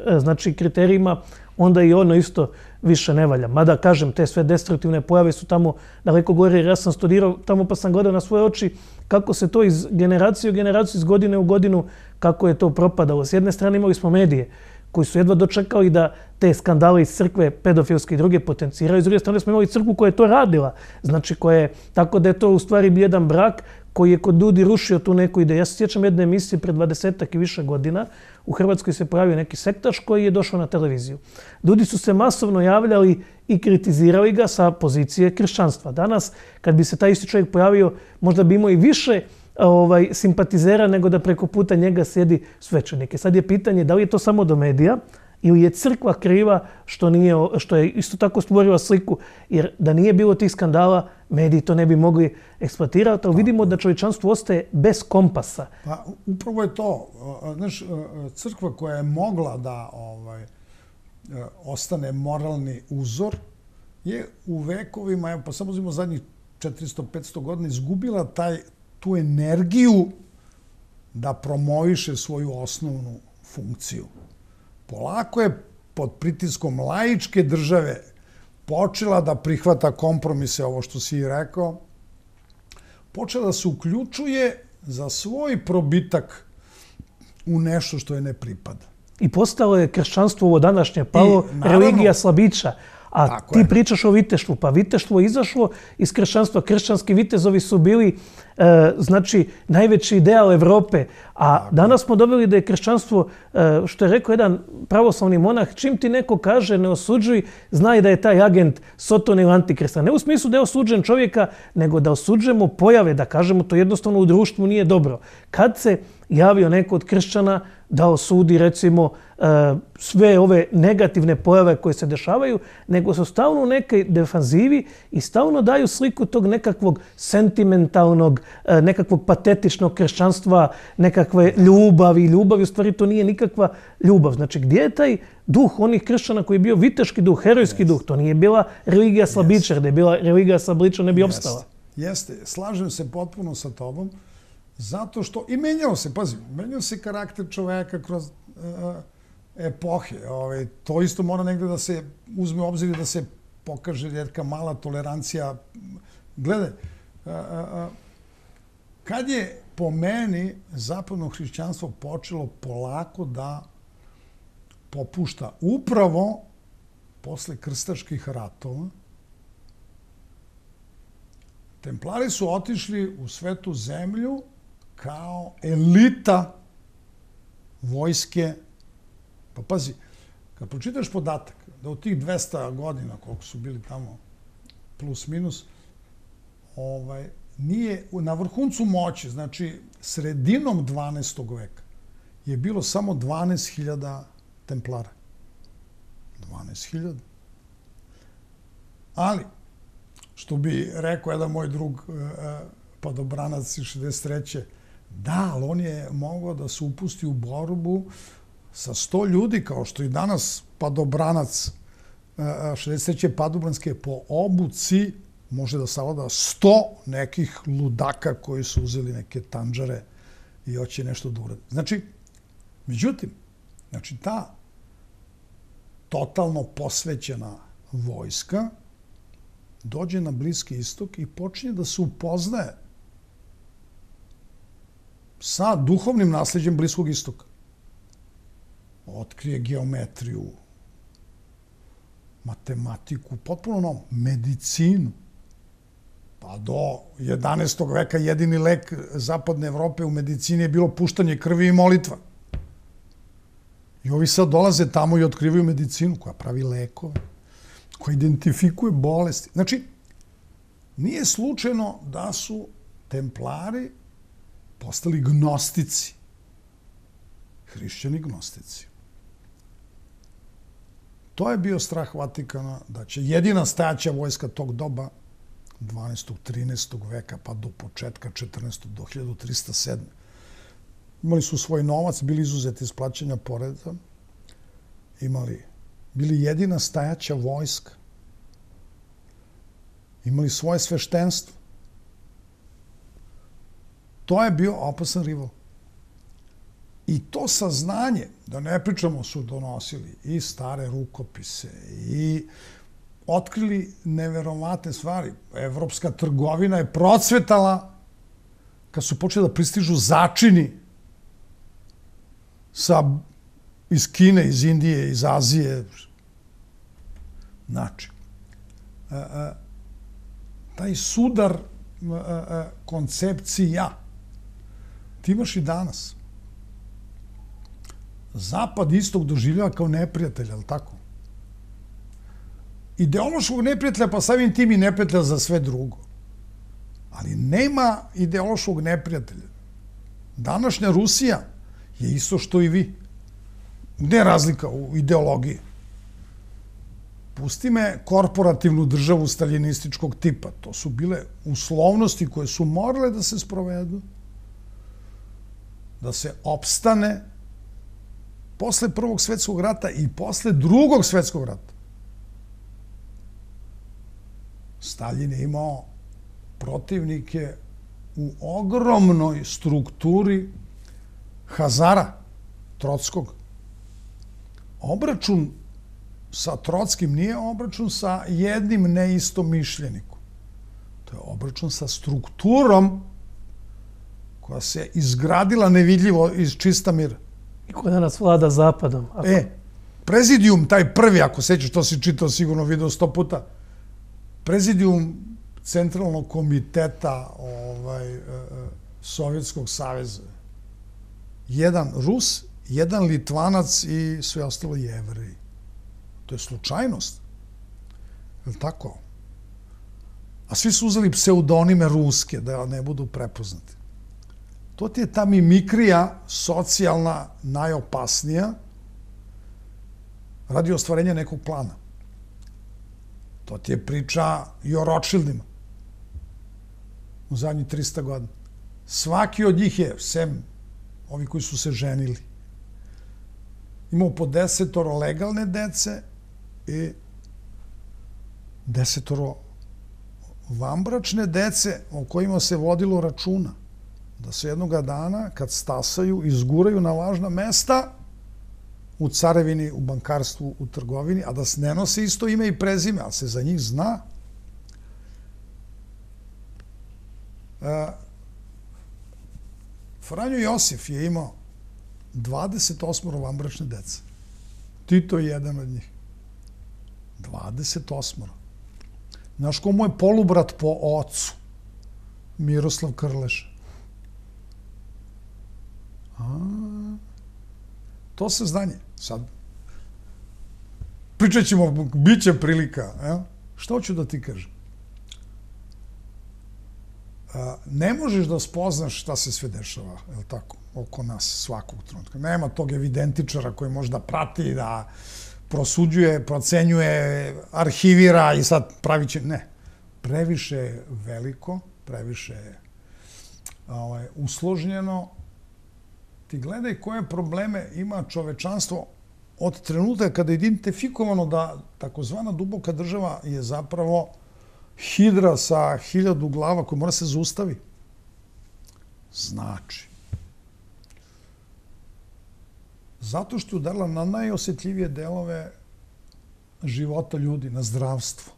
kriterijima, onda i ono isto više ne valja. Mada, kažem, te sve destruktivne pojave su tamo daleko gore, jer ja sam studirao tamo pa sam gledao na svoje oči kako se to iz generacije u generaciju, iz godine u godinu, kako je to propadalo. S jedne strane imali smo medije koji su jedva dočekali da te skandale iz crkve, pedofilske i druge potenciraju. S druge strane smo imali crkvu koja je to radila. Znači, tako da je to u stvari jedan brak koji je kod ljudi rušio tu neku ideju. Ja se sjećam jedne emisije pred 20-ak i više godina. U Hrvatskoj se pojavio neki sektaš koji je došao na televiziju. Ljudi su se masovno javljali i kritizirali ga sa pozicije kršćanstva. Danas, kad bi se taj isti čovjek pojavio, možda bi imao i više simpatizera nego da preko puta njega sjedi svećenik. Sad je pitanje da li je to samo do medija ili je crkva kriva što je isto tako stvorila sliku, jer da nije bilo tih skandala, mediji to ne bi mogli eksploatirati, ali vidimo da čovječanstvo ostaje bez kompasa. Pa upravo je to. Znaš, crkva koja je mogla da ostane moralni uzor je u vekovima, pa samo uzmimo zadnjih 400-500 godina, izgubila tu energiju da promoviše svoju osnovnu funkciju. Polako je pod pritiskom laičke države počela da prihvata kompromise, ovo što si i rekao, počela da se uključuje za svoj probitak u nešto što je ne pripada. I postalo je kršćanstvo ovo današnje palo, religija slabića. A ti pričaš o viteštvu, pa viteštvo je izašlo iz kršćanstva. Kršćanski vitezovi su bili znači najveći ideal Evrope. A danas smo dobili da je kršćanstvo, što je rekao jedan pravoslavni monah, čim ti neko kaže ne osuđuj, znaj da je taj agent Sotona ili Antikrista. Ne u smislu da je osuđen čovjeka, nego da osuđujemo pojave, da kažemo to jednostavno u društvu nije dobro. Kad se javio neko od kršćana da osudi recimo sve ove negativne pojave koje se dešavaju, nego su stalno u nekoj defanzivi i stalno daju sliku tog nekakvog sentimentalnog, nekakvog patetičnog kršćanstva, nekakve ljubavi. Ljubav u stvari to nije nikakva ljubav. Znači gdje je taj duh onih kršćana koji je bio viteški duh, herojski duh? To nije bila religija slabičar, da je bila religija slabičar ne bi opstala. Jeste, slažem se potpuno sa tobom, zato što i menjao se karakter čoveka kroz epohe. To isto mora negde da se uzme u obzir i da se pokaže neka mala tolerancija. Gledaj, kad je po meni zapadno hrišćanstvo počelo polako da popušta upravo posle krstaških ratova, Templari su otišli u svetu zemlju kao elita vojske. Pa pazi, kad pročitaš podatak da u tih 200 godina, koliko su bili tamo, plus minus, nije na vrhuncu moći, znači sredinom 12. veka, je bilo samo 12.000 templara. 12.000. Ali, što bi rekao jedan moj drug padobranac iz 63. Da, ali on je mogao da se upusti u borbu sa 100 ljudi, kao što i danas padobranac 63. padobranske po obuci može da savlada 100 nekih ludaka koji su uzeli neke tanđare i hoće nešto da urade. Znači, međutim, ta totalno posvećena vojska dođe na Bliski istok i počinje da se upoznaje sa duhovnim nasljeđem Bliskog istoka. Otkrije geometriju, matematiku, potpuno novo, medicinu. Pa do 11. veka jedini lek zapadne Evrope u medicini je bilo puštanje krvi i molitva. I ovi sad dolaze tamo i otkrivaju medicinu koja pravi lekove, koja identifikuje bolesti. Znači, nije slučajno da su templari postali gnostici, hrišćani gnostici. To je bio strah Vatikana da će jedina stajaća vojska tog doba, 12. 13. veka pa do početka 14. do 1307. Imali su svoj novac, bili izuzeti iz plaćanja poreza, bili jedina stajaća vojska, imali svoje sveštenstvo. To je bio opasan rival. I to saznanje, da ne pričamo, su donosili i stare rukopise i otkrili neverovatne stvari. Evropska trgovina je procvetala kad su počeli da pristižu začini sa iz Kine, iz Indije, iz Azije. Znači, taj sudar koncepcija ti imaš i danas. Zapad istog doživljava kao neprijatelja, ali tako? Ideološkog neprijatelja, pa samim tim i neprijatelja za sve drugo. Ali nema ideološkog neprijatelja. Današnja Rusija je isto što i vi. Gde je razlika u ideologiji? Pusti me korporativnu državu staljinističkog tipa. To su bile uslovnosti koje su morale da se sprovedu, da se opstane posle Prvog svetskog rata i posle Drugog svetskog rata. Staljin je imao protivnike u ogromnoj strukturi Hazara, Trockog. Obračun sa Trockim nije obračun sa jednim neistomišljenikom. To je obračun sa strukturom koja se izgradila nevidljivo iz čista mira. I koja danas vlada Zapadom. Prezidijum, taj prvi, ako sećaš, to si čitao, sigurno video 100 puta, prezidijum Centralnog komiteta Sovjetskog saveza. Jedan Rus, jedan Litvanac i sve ostalo Jevreji. To je slučajnost. Je li tako? A svi su uzeli pseudonime ruske, da ne budu prepoznati. To ti je ta mimikrija socijalna najopasnija radi ostvarenja nekog plana. To ti je priča i o Rothschildima u zadnjih 300 godina. Svaki od njih je, sem ovi koji su se ženili, imao po 10 legalne dece i 10 vanbračne dece o kojima se vodilo računa. Da se jednoga dana, kad stasaju, izguraju na važna mesta u carevini, u bankarstvu, u trgovini, a da ne nose isto ime i prezime, ali se za njih zna. Franjo Josif je imao 28 vanbračne dece. Tito je jedan od njih. 28. Znaš ko mu je polubrat po ocu? Miroslav Krleša. To se znanje. Sad, pričat ćemo, bit će prilika. Što hoću da ti kažem? Ne možeš da spoznaš šta se sve dešava, je li tako, oko nas svakog trenutka. Nema tog evidentičara koji može da prati, da prosuđuje, procenjuje, arhivira i sad pravit će... Ne. Previše je veliko, previše je usložnjeno. Ti gledaj koje probleme ima čovečanstvo od trenutka kada je identifikovano da takozvana duboka država je zapravo hidra sa 1000 glava koja mora se zaustavi. Znači, zato što je udarila na najosjetljivije delove života ljudi, na zdravstvo.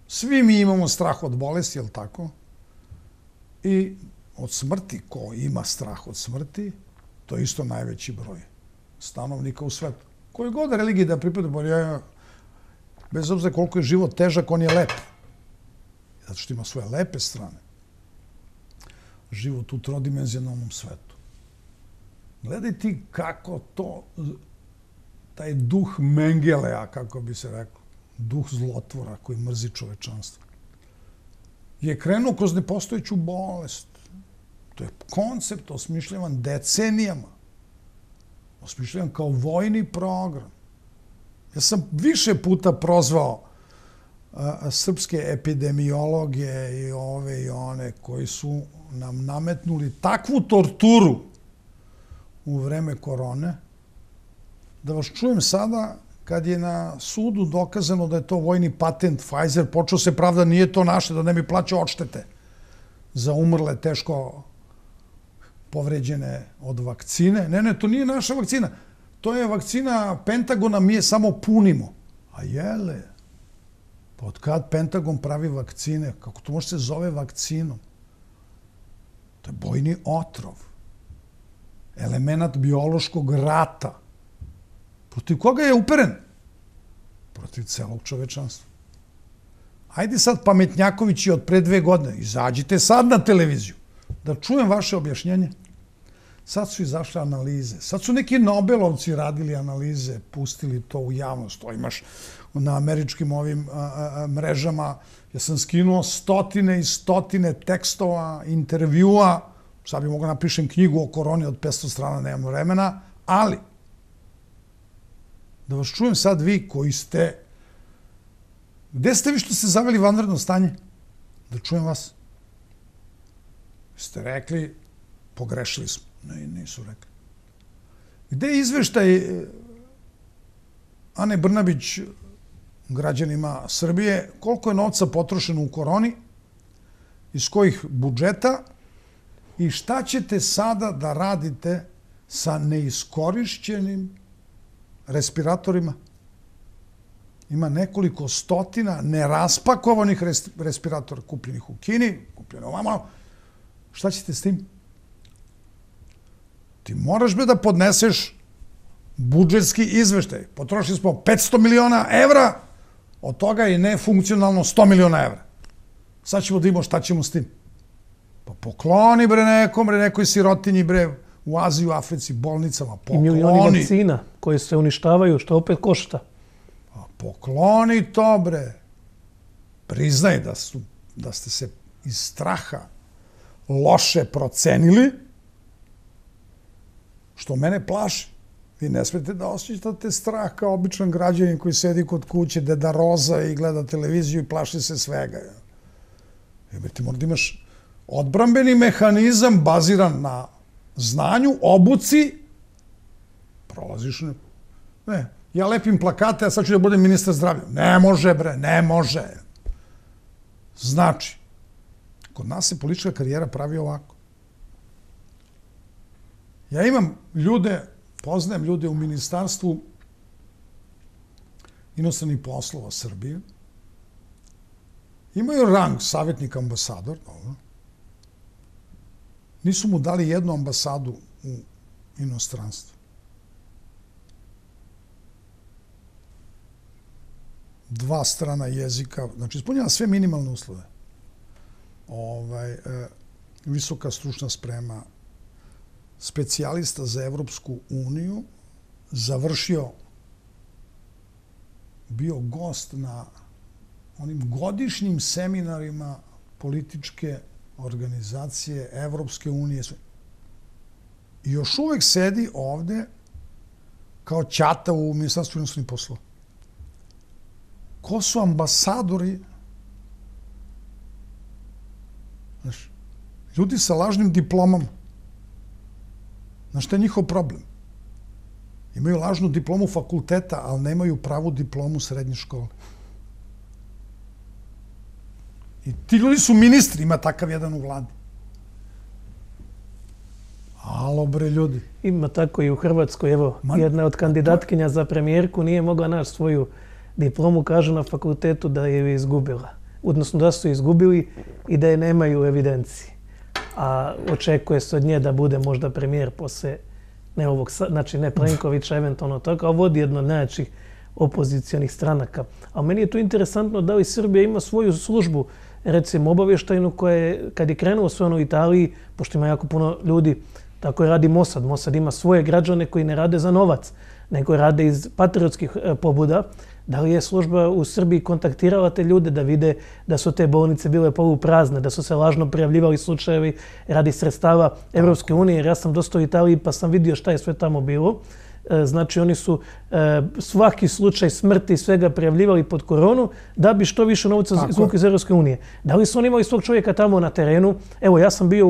Svi mi imamo strah od bolesti, je li tako? I od smrti, ko ima strah od smrti, to je isto najveći broj stanovnika u svetu. Koje god religije da pripada, bez obzira koliko je život težak, on je lep. Zato što ima svoje lepe strane. Život u trodimenzionalnom svetu. Gledaj ti kako to, taj duh Mengelea, kako bi se reklo, duh zlotvora koji mrzi čovečanstvo, je krenuo kroz nepostojeću bolest. To je koncept osmišljavan decenijama. Osmišljavan kao vojni program. Ja sam više puta prozvao srpske epidemiologe i ove i one koji su nam nametnuli takvu torturu u vreme korone, da vas čujem sada kad je na sudu dokazano da je to vojni patent Pfizer, počeo se pravda nije to naše, da ne bi plaćao odštete za umrle, teško povređene od vakcine. Ne, to nije naša vakcina. To je vakcina Pentagona, mi je samo punimo. A jele, pa od kad Pentagon pravi vakcine? Kako to može se zove vakcinom? To je bojni otrov. Element biološkog rata. Protiv koga je uperen? Protiv celog čovečanstva. Ajde sad pametnjakovići od pre 2 godine, izađite sad na televiziju, da čujem vaše objašnjenje. Sad su izašle analize, sad su neki Nobelovci radili analize, pustili to u javnost, to imaš na američkim ovim mrežama. Ja sam skinuo stotine i stotine tekstova, intervjua, sad bi mogao napišem knjigu o koroni od 500 strana, nemam vremena, ali da vas čujem sad vi koji ste... Gde ste vi što ste zaveli vanredno stanje? Da čujem vas. Ste rekli, pogrešili smo. Ne, nisu rekli. Gde je izveštaj Ane Brnabić građanima Srbije, koliko je novca potrošeno u koroni, iz kojih budžeta i šta ćete sada da radite sa neiskorišćenim respiratorima? Ima nekoliko stotina neraspakovanih respiratora kupljenih u Kini, kupljeno ovamo. Šta ćete s tim? Ti moraš da podneseš budžetski izveštaj. Potrošili smo 500 miliona evra, od toga je nefunkcionalno 100 miliona evra. Sad ćemo da imamo šta ćemo s tim. Pa pokloni nekoj sirotinji u Aziji, u Africi, bolnicama. Pokloni. I milioni vakcina koje se uništavaju, što opet košta. Pokloni to, Priznaj da ste se iz straha loše procenili, što mene plaši. Vi ne smete da osjećate strah kao običan građanin koji sedi kod kuće, deda Roza i gleda televiziju i plaši se svega. Ti mora da imaš odbrambeni mehanizam baziran na znanju, obuci, prolaziš ne. Ja lepim plakate, a sad ću da budem ministar zdravlja. Ne može, ne može. Znači, kod nas se politička karijera pravi ovako. Ja imam poznajem ljude u Ministarstvu inostranih poslova Srbije. Imaju rang savjetnik ambasador. Nisu mu dali jednu ambasadu u inostranstvu. 2 strana jezika, znači ispunjava sve minimalne uslove. Visoka stručna sprema, specijalista za Evropsku uniju, završio, bio gost na onim godišnjim seminarima političke organizacije Evropske unije. I još uvek sedi ovde kao ćata u Ministarstvu inostranih poslova. Ko su ambasadori? Znaš, ljudi sa lažnim diplomama. Znaš, šta je njihov problem? Imaju lažnu diplomu fakulteta, ali nemaju pravu diplomu srednje škole. I ti ljudi su ministri, ima takav jedan u vladi. Alo, ljudi. Ima tako i u Hrvatskoj. Evo, jedna od kandidatkinja za premijerku nije mogla naći svoju diplomu, kažu na fakultetu da je izgubila. Odnosno da su izgubili i da je nemaju u evidenciji. A očekuje se od nje da bude možda premijer posle ne Plenkovića, eventualno tako, a vodi jedno od najjačih opozicionih stranaka. A meni je tu interesantno da li Srbija ima svoju službu, recimo obavještajnu, koja je, kad je krenuo sve ono u Italiji, pošto ima jako puno ljudi, tako je radi Mossad. Mossad ima svoje građane koji ne rade za novac, nego rade iz patriotskih pobuda. Da li je služba u Srbiji kontaktirala te ljude da vide da su te bolnice bile poluprazne, da su se lažno prijavljivali slučajevi radi sredstava Evropske unije? Jer ja sam dosta u Italiji pa sam vidio šta je sve tamo bilo. Znači, oni su svaki slučaj smrti i svega prijavljivali pod koronu da bi što više novca izvukli iz Evropske unije. Da li su oni imali svog čovjeka tamo na terenu? Evo, ja sam bio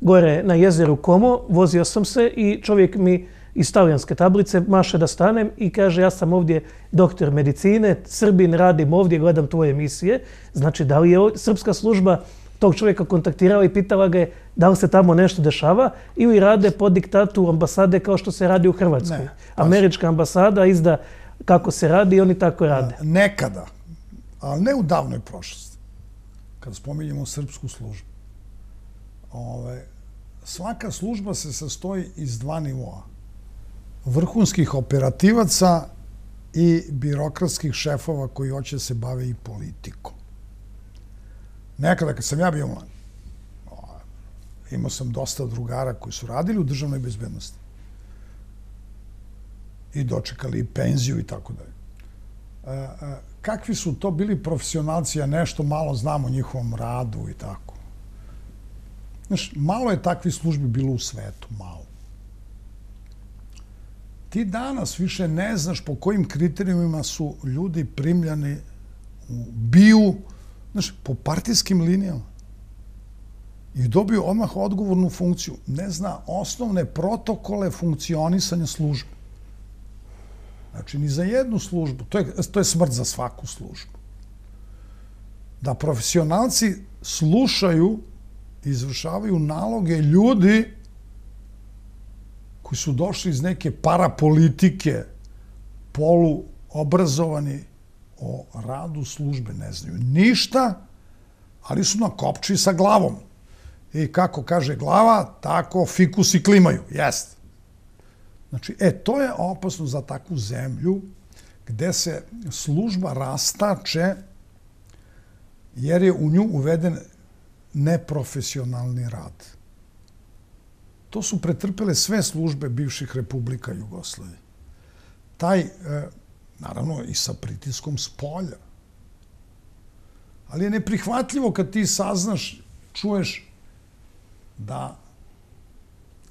gore na jezeru Como, vozio sam se i čovjek mi iz talijanske tablice maše da stanem i kaže ja sam ovdje doktor medicine, Srbin, radim ovdje, gledam tvoje emisije. Znači, da li je srpska služba tog čovjeka kontaktirala i pitala ga je da li se tamo nešto dešava ili rade po diktatu ambasade kao što se radi u Hrvatskoj? Američka ambasada izda kako se radi i oni tako rade. Nekada, ali ne u davnoj prošlosti, kad spominjemo srpsku službu, svaka služba se sastoji iz 2 nivoa. vrhunskih operativaca i birokratskih šefova koji hoće se bave i politikom. Nekada kad sam ja bio mlad, imao sam dosta drugara koji su radili u državnoj bezbednosti i dočekali penziju i tako dalje. Kakvi su to bili profesionalci, ja nešto malo znam o njihovom radu i tako. Znaš, malo je takvih službi bilo u svetu, malo. Ti danas više ne znaš po kojim kriterijumima su ljudi primljani u BIA, znaš, po partijskim linijama. I dobio odmah odgovornu funkciju. Ne zna osnovne protokole funkcionisanja službe. Znači, ni za jednu službu. To je smrt za svaku službu. Da profesionalci slušaju i izvršavaju naloge ljudi koji su došli iz neke parapolitike, poluobrazovani o radu službe, ne znaju ništa, ali su na kopči sa glavom. I kako kaže glava, tako fikusi klimaju. Jest. Znači, to je opasno za takvu zemlju gde se služba rastače jer je u nju uveden neprofesionalni rad. To su pretrpele sve službe bivših republika Jugoslavije. Naravno, i sa pritiskom s polja. Ali je neprihvatljivo kad ti saznaš, čuješ da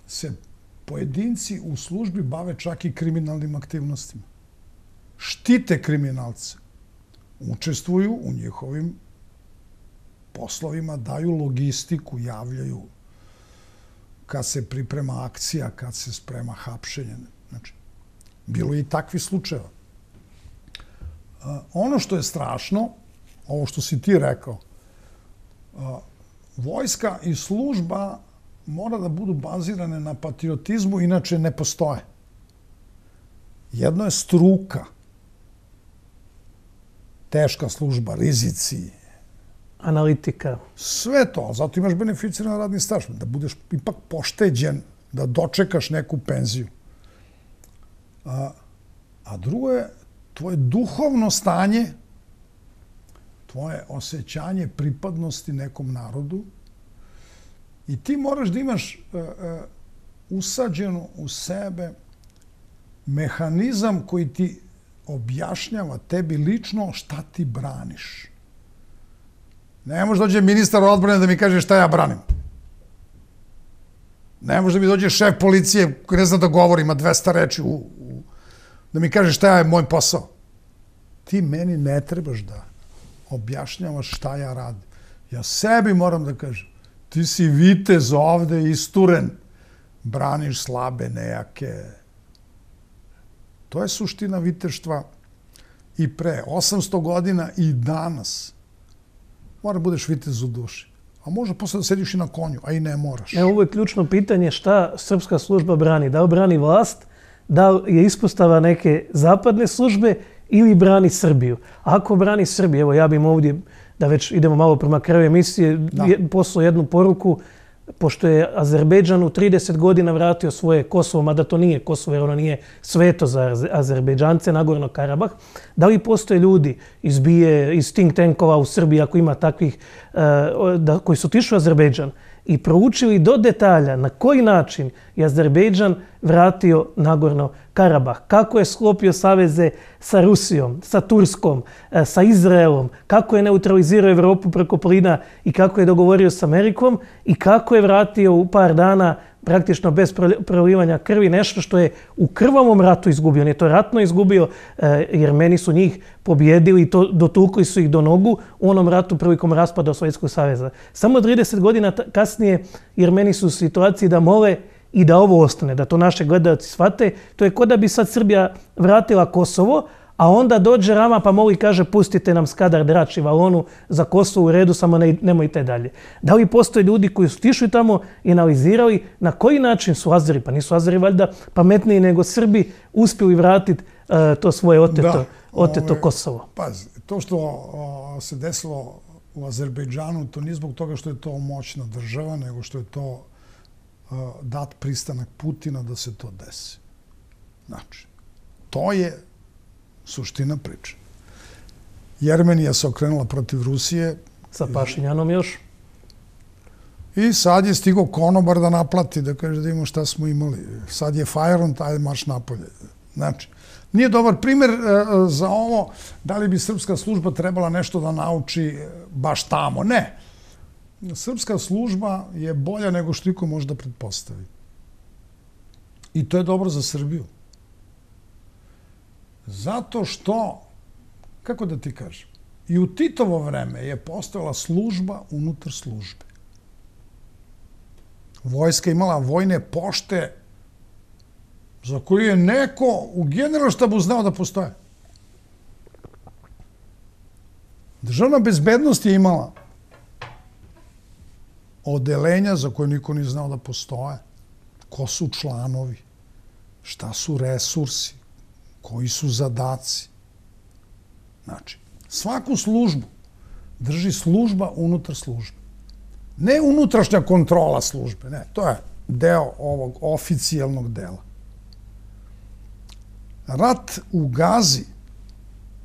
se pojedinci u službi bave čak i kriminalnim aktivnostima. Štite kriminalce. Učestvuju u njihovim poslovima, daju logistiku, javljaju kad se priprema akcija, kad se sprema hapšenje. Znači, bilo je i takvi slučajeva. Ono što je strašno, ovo što si ti rekao, vojska i služba mora da budu bazirane na patriotizmu, inače ne postoje. Jedno je struka, teška služba, rizici, analitika. Sve to, zato imaš beneficiran radni staž, da budeš ipak pošteđen, da dočekaš neku penziju. A drugo je tvoje duhovno stanje, tvoje osjećanje pripadnosti nekom narodu i ti moraš da imaš usađeno u sebe mehanizam koji ti objašnjava tebi lično šta ti braniš. Ne može dođe ministar odbrane da mi kaže šta ja branim. Ne može da mi dođe šef policije koji ne zna da govori, ima 200 reči, da mi kaže šta je moj posao. Ti meni ne trebaš da objašnjavaš šta ja radim. Ja sebi moram da kažem, ti si vitez ovde isturen, braniš slabe, nejake. To je suština viteštva i pre 800 godina i danas. Mora budeš vitez u duši. A može posle da sediš i na konju, a i ne moraš. Ovo je ključno pitanje šta srpska služba brani. Da li brani vlast, da li je ispostava neke zapadne službe ili brani Srbiju. Ako brani Srbiju, evo ja bih ovdje, da već idemo malo prema kraju emisije, poslao jednu poruku, pošto je Azerbejdžan u 30 godina vratio svoje Kosovo, mada to nije Kosovo, jer ono nije sveto za Azerbejdžance, Nagorno Karabah. Da li postoje ljudi iz BIA, iz think tankova u Srbiji, ako ima takvih, koji su otišli u Azerbejdžan i proučili do detalja na koji način je Azerbejdžan vratio Nagorno Karabah, kako je sklopio saveze sa Rusijom, sa Turskom, sa Izraelom, kako je neutralizirao Evropu preko plina i kako je dogovorio s Amerikom i kako je vratio u par dana praktično bez prolivanja krvi nešto što je u krvavom ratu izgubio. On je to ratno izgubio jer meni su njih pobjedili i dotukli su ih do nogu u onom ratu prilikom raspada Sovjetskog saveza. Samo 30 godina kasnije Jermeni su u situaciji da mole i da ovo ostane, da to naše gledalci shvate. To je kao da bi sad Srbija vratila Kosovo, a onda dođe Rama pa moli i kaže pustite nam Skadar, Drač i Valonu za Kosovo u redu, samo nemojte dalje. Da li postoje ljudi koji su tišli tamo i analizirali na koji način su Azeri, pa nisu Azeri valjda pametniji nego Srbi, uspjeli vratiti to svoje oteto Kosovo? Pazi, to što se desilo u Azerbejdžanu, to nije zbog toga što je to moćna država, nego što je to dat pristanak Putina da se to desi. Znači, to je suština priče. Jermenija se okrenula protiv Rusije. Sa Pašinjanom još? I sad je stigao konobar da naplati, da kaže da imamo šta smo imali. Sad je Fajront, ajde marš napolje. Znači, nije dobar primjer za ovo da li bi srpska služba trebala nešto da nauči baš tamo. Ne. Srpska služba je bolja nego što iko može da pretpostavi. I to je dobro za Srbiju. Zato što, kako da ti kažem, i u Titovo vreme je postojala služba unutar službe. Vojska imala vojne pošte za koju je neko u generalštabu znao da postoje. Državna bezbednost je imala odelenja za koje niko nije znao da postoje. Ko su članovi, šta su resursi, koji su zadaci. Znači, svaku službu drži služba unutar službe. Ne unutrašnja kontrola službe, ne, to je deo ovog oficijalnog dela. Rat u Gazi,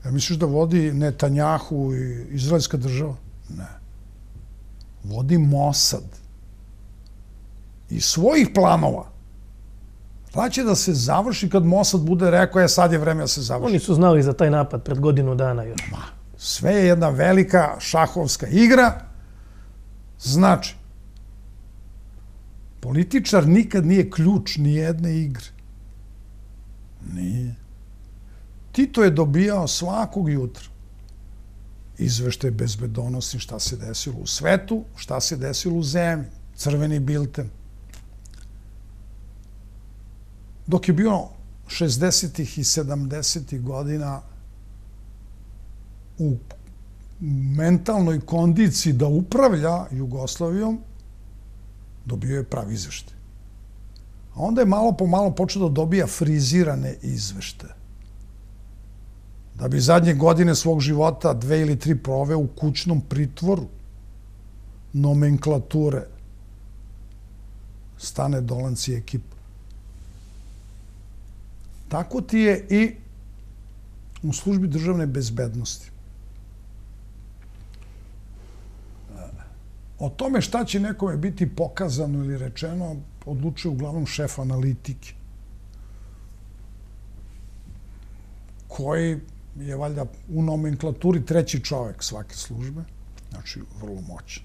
ja misliš da vodi Netanjahu i izraelska država? Ne. Vodi Mossad. Iz svojih planova. Rat će da se završi kad Mossad bude rekao, sad je vreme da se završi. Oni su znali za taj napad pred godinu dana još. Sve je jedna velika šahovska igra. Znači, političar nikad nije ključ ni jedne igre. Nije. Tito je dobijao svakog jutra izveštaj bezbedonosni šta se desilo u svetu, šta se desilo u zemlji, crveni bilten. Dok je bio 60. i 70. godina u mentalnoj kondiciji da upravlja Jugoslavijom, dobio je pravi izveštaj. A onda je malo po malo počeo da dobija frizirane izveštaje. Da bi zadnje godine svog života 2 ili 3 proveo u kućnom pritvoru nomenklature Stane Dolanci i ekipa. Tako ti je i u službi državne bezbednosti. O tome šta će nekome biti pokazano ili rečeno odlučuje uglavnom šef analitike, koji je valjda u nomenklaturi 3. čovek svake službe, znači vrlo moćan.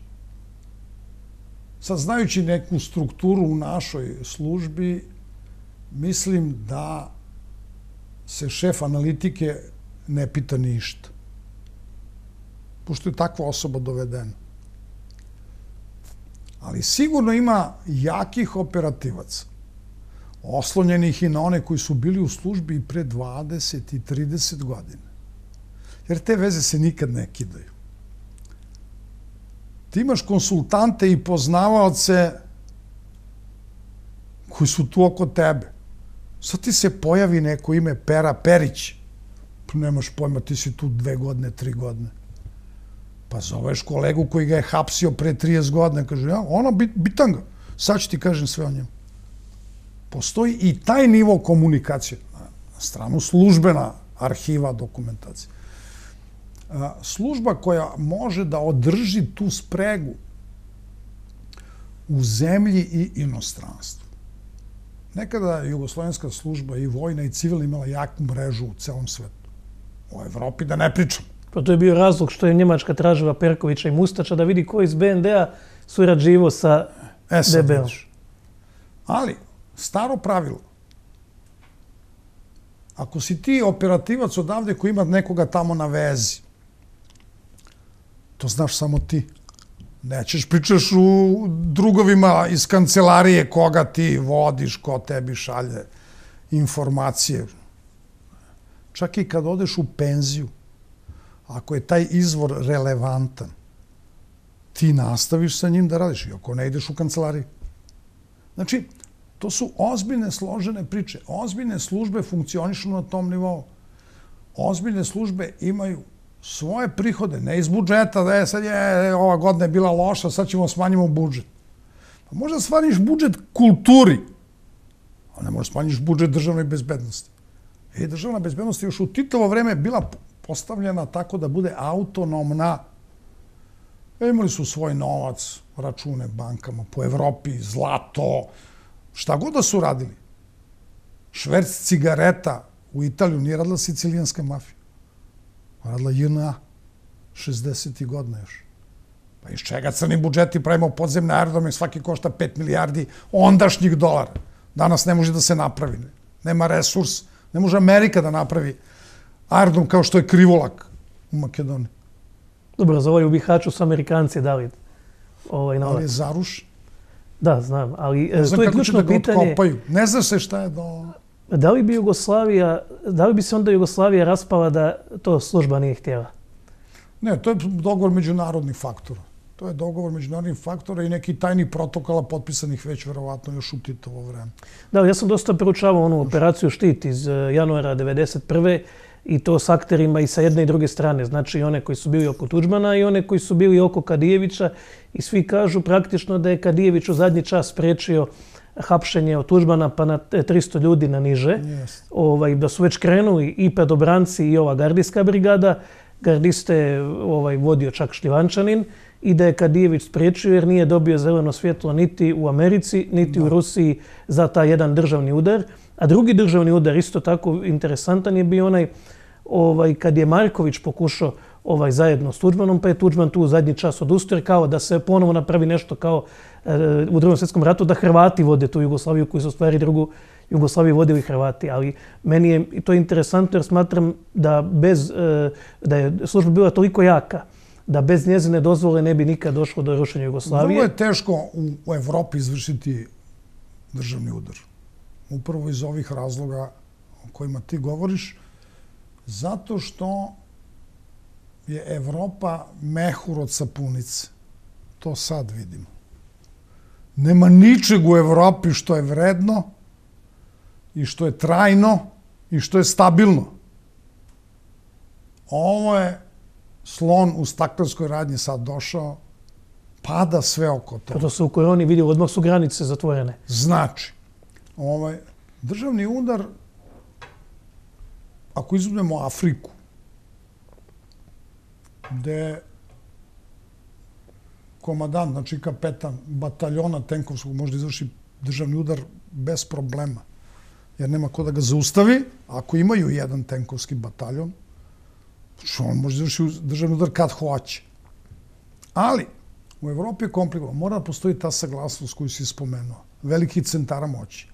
Sad, znajući neku strukturu u našoj službi, mislim da se šef analitike ne pita ništa, pošto je takva osoba dovedena. Ali sigurno ima jakih operativaca, oslonjenih i na one koji su bili u službi i pre 20 i 30 godina. Jer te veze se nikad ne kidaju. Ti imaš konsultante i poznavaoce koji su tu oko tebe. Sad ti se pojavi neko ime Pera Perić. Nemaš pojma, ti si tu 2 godine, 3 godine. Pa zoveš kolegu koji ga je hapsio pre 30 godina. Kaže, ja, ono, bitanga. Sad ću ti kažem sve o njemu. Postoji i taj nivo komunikacije. Na stranu službena arhiva dokumentacije. Služba koja može da održi tu spregu u zemlji i inostranstvu. Nekada je jugoslovenska služba i vojna i civilna imala jaku mrežu u celom svetu. U Evropi da ne pričam. Pa to je bio razlog što je Njemačka tražila Perkovića i Mustača da vidi ko iz BND-a surađivo sa DB-om. Ali, staro pravilo. Ako si ti operativac odavde koji ima nekoga tamo na vezi, to znaš samo ti. Nećeš pričaš u drugovima iz kancelarije koga ti vodiš, ko tebi šalje informacije. Čak i kad odeš u penziju, ako je taj izvor relevantan, ti nastaviš sa njim da radiš, i ako ne ideš u kancelariju. Znači, to su ozbiljne, složene priče. Ozbiljne službe funkcionišu na tom nivou. Ozbiljne službe imaju svoje prihode, ne iz budžeta, da je sad je ova godina je bila loša, sad ćemo smanjimo budžet. Pa možda smanjiš budžet kulturi, Ne možeš smanjiš budžet državne bezbednosti. Državna bezbednost je još u Titovo vreme bila postavljena tako da bude autonomna. Imali su svoj novac, račune bankama po Evropi, zlato, šta god da su radili. Šverc cigareta u Italiju nije radila sicilijanska mafija. Radila JNA, 60. godina još. Pa iz čega crni budžeti pravimo podzemne aerodrome, svaki košta 5 milijardi ondašnjih dolara. Danas ne može da se napravi. Nema resurs. Ne može Amerika da napravi aerodrom kao što je Krivolak u Makedoniji. Dobro, za ovaj u Bihaću su Amerikanci dali novac. Ali je zaruš. Da, znam, ali ne znam to je kako će ključno da ga pitanje. otkopaju. Ne zna se šta je do... Da li bi se onda Jugoslavija raspala da to služba nije htjela? Ne, to je dogovor međunarodnih faktora. To je dogovor međunarodnih faktora i neki tajni protokola potpisanih već verovatno još u Titovo vreme. Da, ja sam dosta proučavao onu operaciju Štit iz januara 1991. i to s akterima i sa jedne i druge strane. Znači i one koji su bili oko Tudžmana i one koji su bili oko Kadijevića. I svi kažu praktično da je Kadijević u zadnji čas spriječio hapšenje od Tudžmana pa na 300 ljudi na niže. Da su već krenuli i pedobranci i ova gardijska brigada. Gardiste vodio čak Šljivančanin i da je Kadijević spriječio jer nije dobio zeleno svjetlo niti u Americi, niti u Rusiji za taj jedan državni udar. A drugi državni udar, isto tako interesantan, je bio onaj kad je Marković pokušao zajedno s Tudžmanom, pa je Tudžman tu u zadnji čas odustao kao da se ponovo napravi nešto kao u Drugom svjetskom ratu, da Hrvati vode tu Jugoslaviju, koji su u stvari drugu Jugoslaviju vodili Hrvati. Ali meni je to interesantno jer smatram da je služba bila toliko jaka da bez njezine dozvole ne bi nikad došlo do rušenja Jugoslavije. Vrlo je teško u Evropi izvršiti državni udar. Upravo iz ovih razloga o kojima ti govoriš, zato što je Evropa mehur od sapunice. To sad vidimo. Nema ničeg u Evropi što je vredno i što je trajno i što je stabilno. Ovo je slon u staklenskoj radnji sad došao, pada sve oko toga. To se u koroni vidio, odmah su granice zatvorene. Znači, državni udar, ako izuzmemo Afriku, gde komadant, znači kapetan bataljona tenkovskog može da izvrši državni udar bez problema, jer nema ko da ga zaustavi. Ako imaju jedan tenkovski bataljon, on može da izvrši državni udar kad hoće. Ali, u Evropi je komplikovano. Mora da postoji ta saglasnost koju si spomenuo. Velikih centara moći.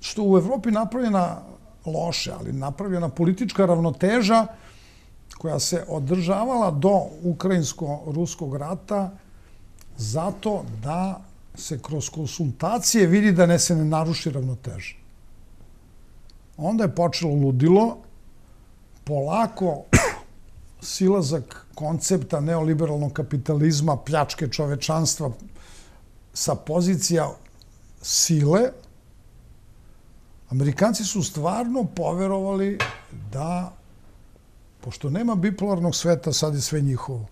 Što u Evropi napravljena loše, ali napravljena politička ravnoteža koja se održavala do Ukrajinsko-Ruskog rata zato da se kroz konsultacije vidi da se ne naruši ravnoteža. Onda je počelo ludilo, polako silazak koncepta neoliberalnog kapitalizma, pljačke čovečanstva sa pozicija sile. Amerikanci su stvarno poverovali da, pošto nema bipolarnog sveta, sad je sve njihovo.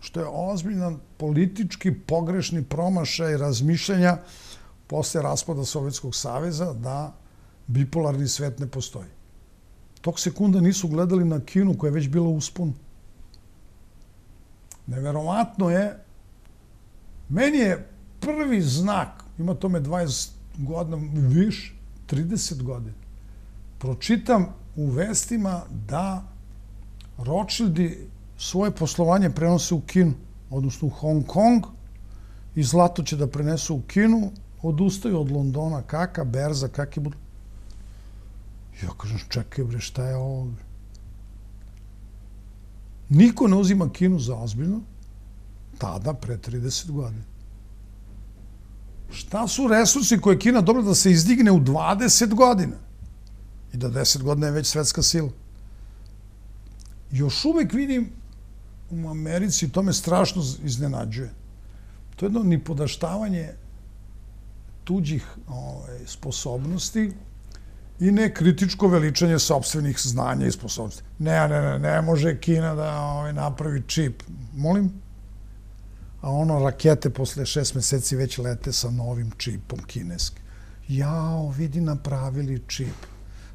Što je ozbiljan politički pogrešni promašaj razmišljanja posle raspada Sovjetskog saveza da bipolarni svet ne postoji. Tog sekunda nisu gledali na Kinu koja je već bila uspon. Neverovatno je. Meni je prvi znak, ima tome 20 godina, više, 30 godina, pročitam u vestima da Rothschildi svoje poslovanje prenose u Kinu, odnosno u Hong Kong, i zlato će da prenesu u Kinu, odustaju od Londona, kaka berza, kak je budu. Ja kažem, čekaj bre, šta je ovo? Niko ne uzima Kinu za ozbiljno, tada, pre 30 godina. Šta su resursi koje je Kina dobila da se izdigne u 20 godina? I da 10 godina je već svetska sila. Još uvek vidim u Americi, to me strašno iznenađuje. To je jedno nipodaštavanje tuđih sposobnosti i nekritičko veličanje sopstvenih znanja i sposobnosti. Ne može Kina da napravi čip. Molim? A rakete posle 6 meseci već lete sa novim čipom kineskim. Jao, vidi, napravili čip.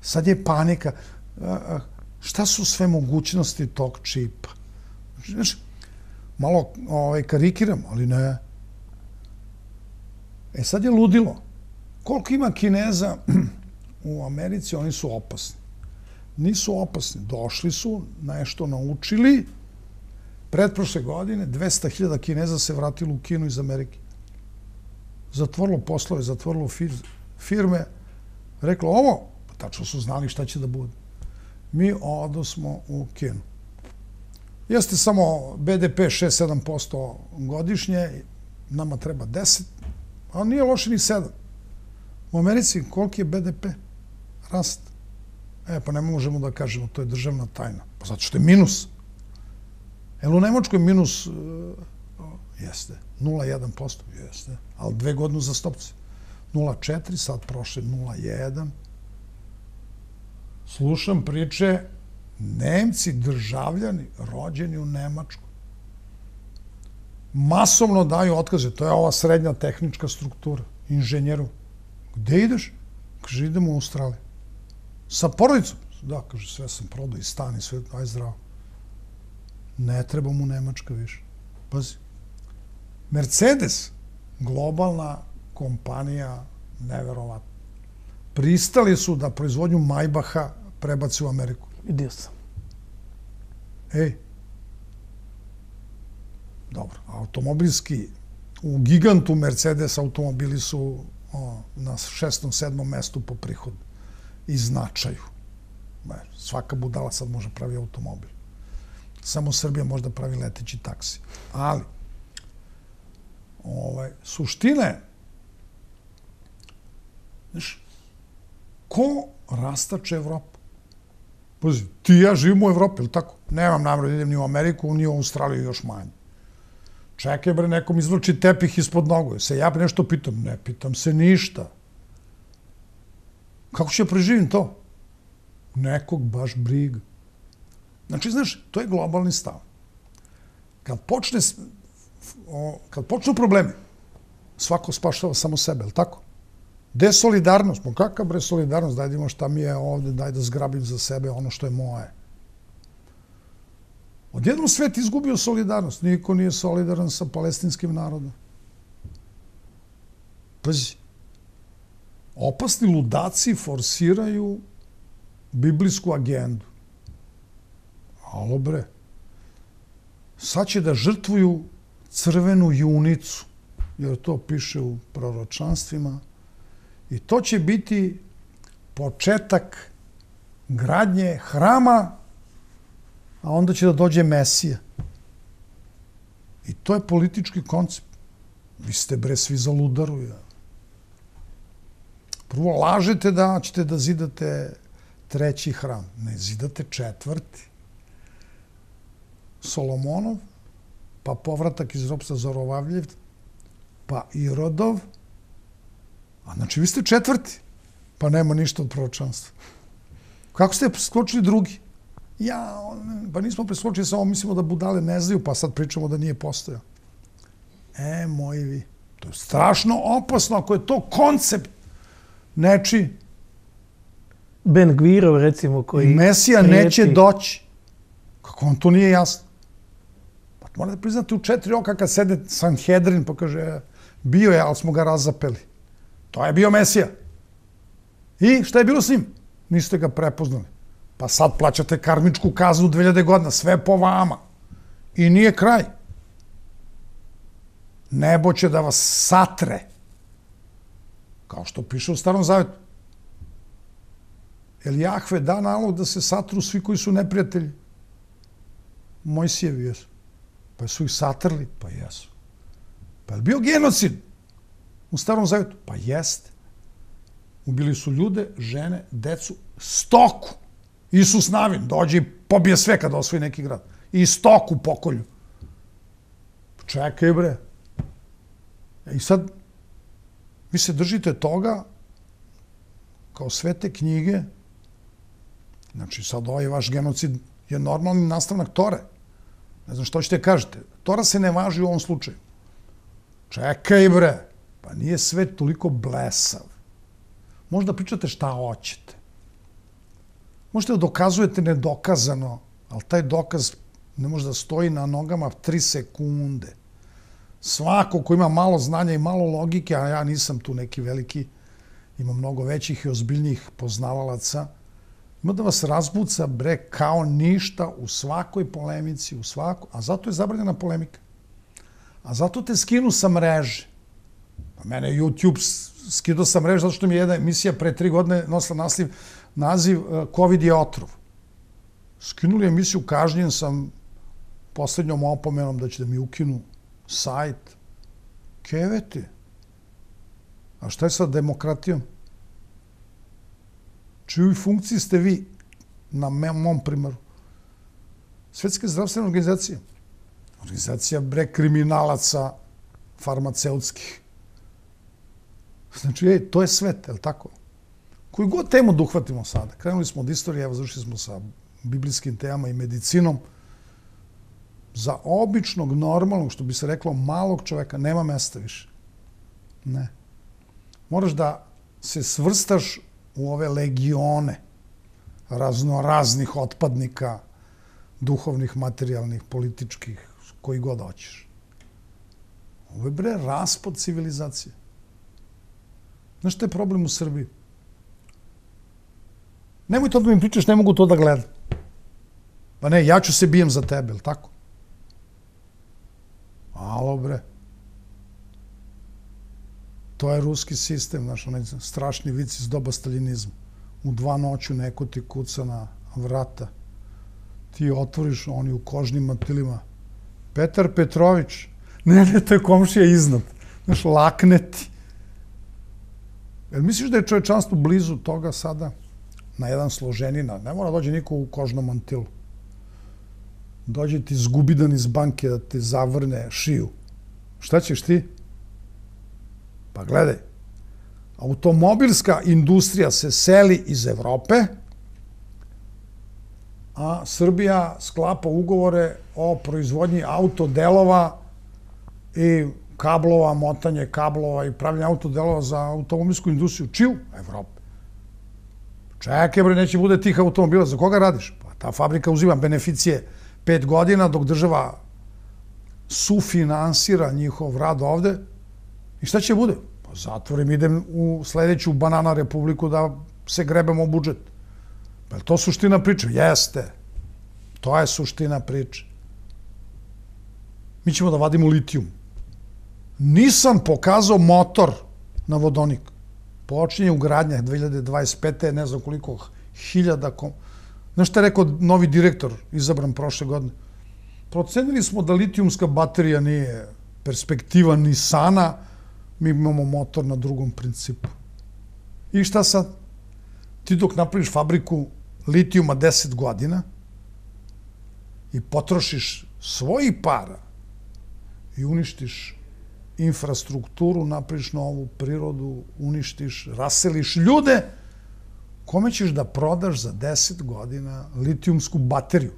Sad je panika. Šta su sve mogućnosti tog čipa? Znaš, malo karikiram, ali ne. Sad je ludilo. Koliko ima Kineza u Americi, oni su opasni. Nisu opasni. Došli su, nešto naučili. Pretprošle godine 200.000 Kineza se vratilo u Kinu iz Amerike. Zatvorilo poslove, zatvorilo firme. Reklo ovo, tačno su znali šta će da bude. Mi odosmo u Kinu. Jeste samo BDP 6-7% godišnje, nama treba 10, a nije loše ni 7. U Americi koliki je BDP? Rast. Pa ne možemo da kažemo, to je državna tajna. Pa zato što je minus. U Nemačkoj minus jeste 0,1%, jeste, ali 2 godine za stopce. 0,4, sad prošle 0,1. Slušam priče, Nemci, državljani, rođeni u Nemačkoj, masovno daju otkaze. To je ova srednja tehnička struktura, inženjeru. Gde ideš? Kaže, idemo u Australiju. Sa porodicom? Da, kaže, sve sam prodao i stan i sve, aj zdravo. Ne treba mu Nemačka više. Pazi. Mercedes, globalna kompanija, neverovatno. Pristali su da proizvodnju Maybacha prebaci u Ameriku. Vidio sam. Dobro, automobilski, u gigantu Mercedes automobili su na 6. 7. mestu po prihodu i značaju. Svaka budala sad može pravi automobil. Samo Srbija možda pravi leteći taksi. Ali, suština je, znaš, ko rastače Evropu? Pazi, ti i ja živimo u Evropi, ili tako? Nemam namjeru da idem ni u Ameriku, ni u Australiju, još manje. Čekaj, bre, nekom izvlači tepih ispod nogu. Se ja nešto pitam? Ne pitam se ništa. Kako ću ja preživim to? Nekog baš briga. Znači, znaš, to je globalni stav. Kad počnu problemi, svako spašava samo sebe, ili tako? Gde je solidarnost? Kakav bre solidarnost? Daj da imam šta mi je ovde, daj da zgrabim za sebe ono što je moje. Odjednom svet izgubio solidarnost. Niko nije solidaran sa palestinskim narodom. Pazi, opasni ludaci forsiraju biblijsku agendu. Alo bre, sad će da žrtvuju crvenu junicu, jer to piše u proročanstvima, i to će biti početak gradnje hrama, a onda će da dođe Mesija. I to je politički koncept. Vi ste bre svi za ludaru. Prvo lažete da ćete da zidate 3. hram. Ne, zidate 4. Solomonov, pa povratak iz ropstva Zorovavljev, pa Irodov, a znači vi ste 4. Pa nema ništa od proročanstva. Kako ste preskočili drugi? Pa nismo preskočili, samo mislimo da budale ne znaju, pa sad pričamo da nije postojao. Moji vi. To je strašno opasno ako je to koncept nečiji. Ben Gvirov, recimo, koji... Mesija neće doći. Kako vam to nije jasno? Pa morate priznati u 4 oka kad sede Sanhedrin pa kaže bio je, ali smo ga razapeli. To je bio Mesija. I šta je bilo s njim? Niste ga prepoznali. Pa sad plaćate karmičku kaznu 2000 godina. Sve po vama. I nije kraj. Nebo će da vas satre. Kao što piše u Starom Zavetu. Jel Jahve da nalog da se satru svi koji su neprijatelji? Mojsijevi jesu. Pa su ih satrli? Pa jesu. Pa je bio genocid u Starom Zavetu? Pa jeste. Ubili su ljude, žene, decu, stoku. Isus Navin dođe i pobije sve kada osvoji neki grad. I stoku pokolju. Čekaj bre. I sad, vi se držite toga kao svete knjige. Znači, sad ovaj vaš genocid je normalni nastavnak Tore. Ne znam što ćete kažete. Tora se ne važi u ovom slučaju. Čekaj bre. Pa nije svet toliko blesav. Možda pričate šta hoćete. Možete da dokazujete nedokazano, ali taj dokaz ne može da stoji na nogama 3 sekunde. Svako ko ima malo znanja i malo logike, a ja nisam tu neki veliki, ima mnogo većih i ozbiljnijih poznavalaca, ima da vas razbuca, bre, kao ništa u svakoj polemici, a zato je zabranjena polemika. A zato te skinu sa mreže. Pa mene YouTube skinuo sa mreže zato što mi je jedna emisija pre 3 godine nosila naziv COVID je otrov. Skinuli emisiju, kažnjen sam poslednjom opomenom da će da mi ukinu sajt. Kevete. A šta je sa demokratijom? Čijoj funkciji ste vi na mom primaru? Svetska zdravstvena organizacija. Organizacija, bre, kriminalaca farmaceutskih. Znači, to je svet, je li tako? Koju god temu da uhvatimo sada. Krenuli smo od istorije, evo završili smo sa biblijskim temama i medicinom. Za običnog, normalnog, što bi se reklo, malog čoveka, nema mesta više. Ne. Moraš da se svrstaš u ove legione raznoraznih otpadnika, duhovnih, materijalnih, političkih, koji god hoćeš. Ovo je, bre, raspad civilizacije. Znaš šta je problem u Srbiji? Nemoj to da mi pričaš, ne mogu to da gledam. Pa ne, ja ću se bijem za tebe, ili tako? Alo, bre. To je ruski sistem, znaš, onaj strašni vic iz doba staljinizma. U 2 noću neko ti kuca na vrata. Ti otvoriš, oni u kožnim mantilima. Petar Petrović. Ne, to je komšija iznad. Znaš, lakne ti. Jel misliš da je čovečanstvo blizu toga sada? Na jedan složenina. Ne mora dođe niko u kožnom mantilu. Dođe ti zgubidan iz banke da ti zavrne šiju. Šta ćeš ti? Pa gledaj. Automobilska industrija se seli iz Evrope, a Srbija sklapa ugovore o proizvodnji autodelova i kablova, motanje kablova i pravljanje autodelova za automobilsku industriju. Čiju? Evrope. Čekaj, bre, neće bude tih automobila. Za koga radiš? Pa ta fabrika uzima beneficije 5 godina dok država sufinansira njihov rad ovde. I šta će bude? Pa zatvorim, idem u sledeću Banana Republiku da se grebemo u budžet. Pa je to suština priče? Jeste. To je suština priče. Mi ćemo da vadimo litijum. Nisam pokazao motor na vodonik. Počinje ugradnja 2025. Ne znam koliko hiljada... Znaš šta je rekao novi direktor izabran prošle godine? Procenili smo da litijumska baterija nije perspektiva ni sana, mi imamo motor na drugom principu. I šta sad? Ti dok napraviš fabriku litijuma 10 godina i potrošiš svojih para i uništiš infrastrukturu, napraviš novu prirodu, uništiš, raseliš ljude, kome ćeš da prodaš za 10 godina litijumsku bateriju?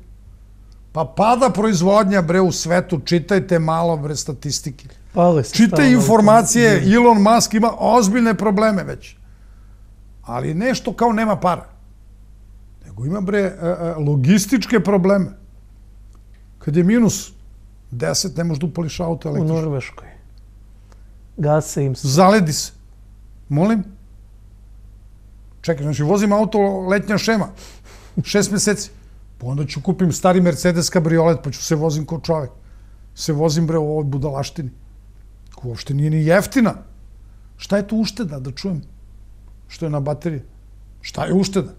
Pa pada proizvodnja, bre, u svetu, čitajte malo, bre, statistike. Čitaj informacije, Elon Musk ima ozbiljne probleme već. Ali nešto kao nema para. Nego ima, bre, logističke probleme. Kad je minus 10, ne možeš da upališ auto električno. U Norveškoj. Gase im se. Zaledi se. Molim? Čekaj, znači vozim auto letnja šema. 6 meseci. Pa onda ću kupim stari Mercedes kabriolet, pa ću se vozim kao čovek. Se vozim, bre, u ovoj budalaštini. Ko uopšte nije ni jeftina. Šta je tu ušteda, da čujem? Što je na bateriji? Šta je ušteda?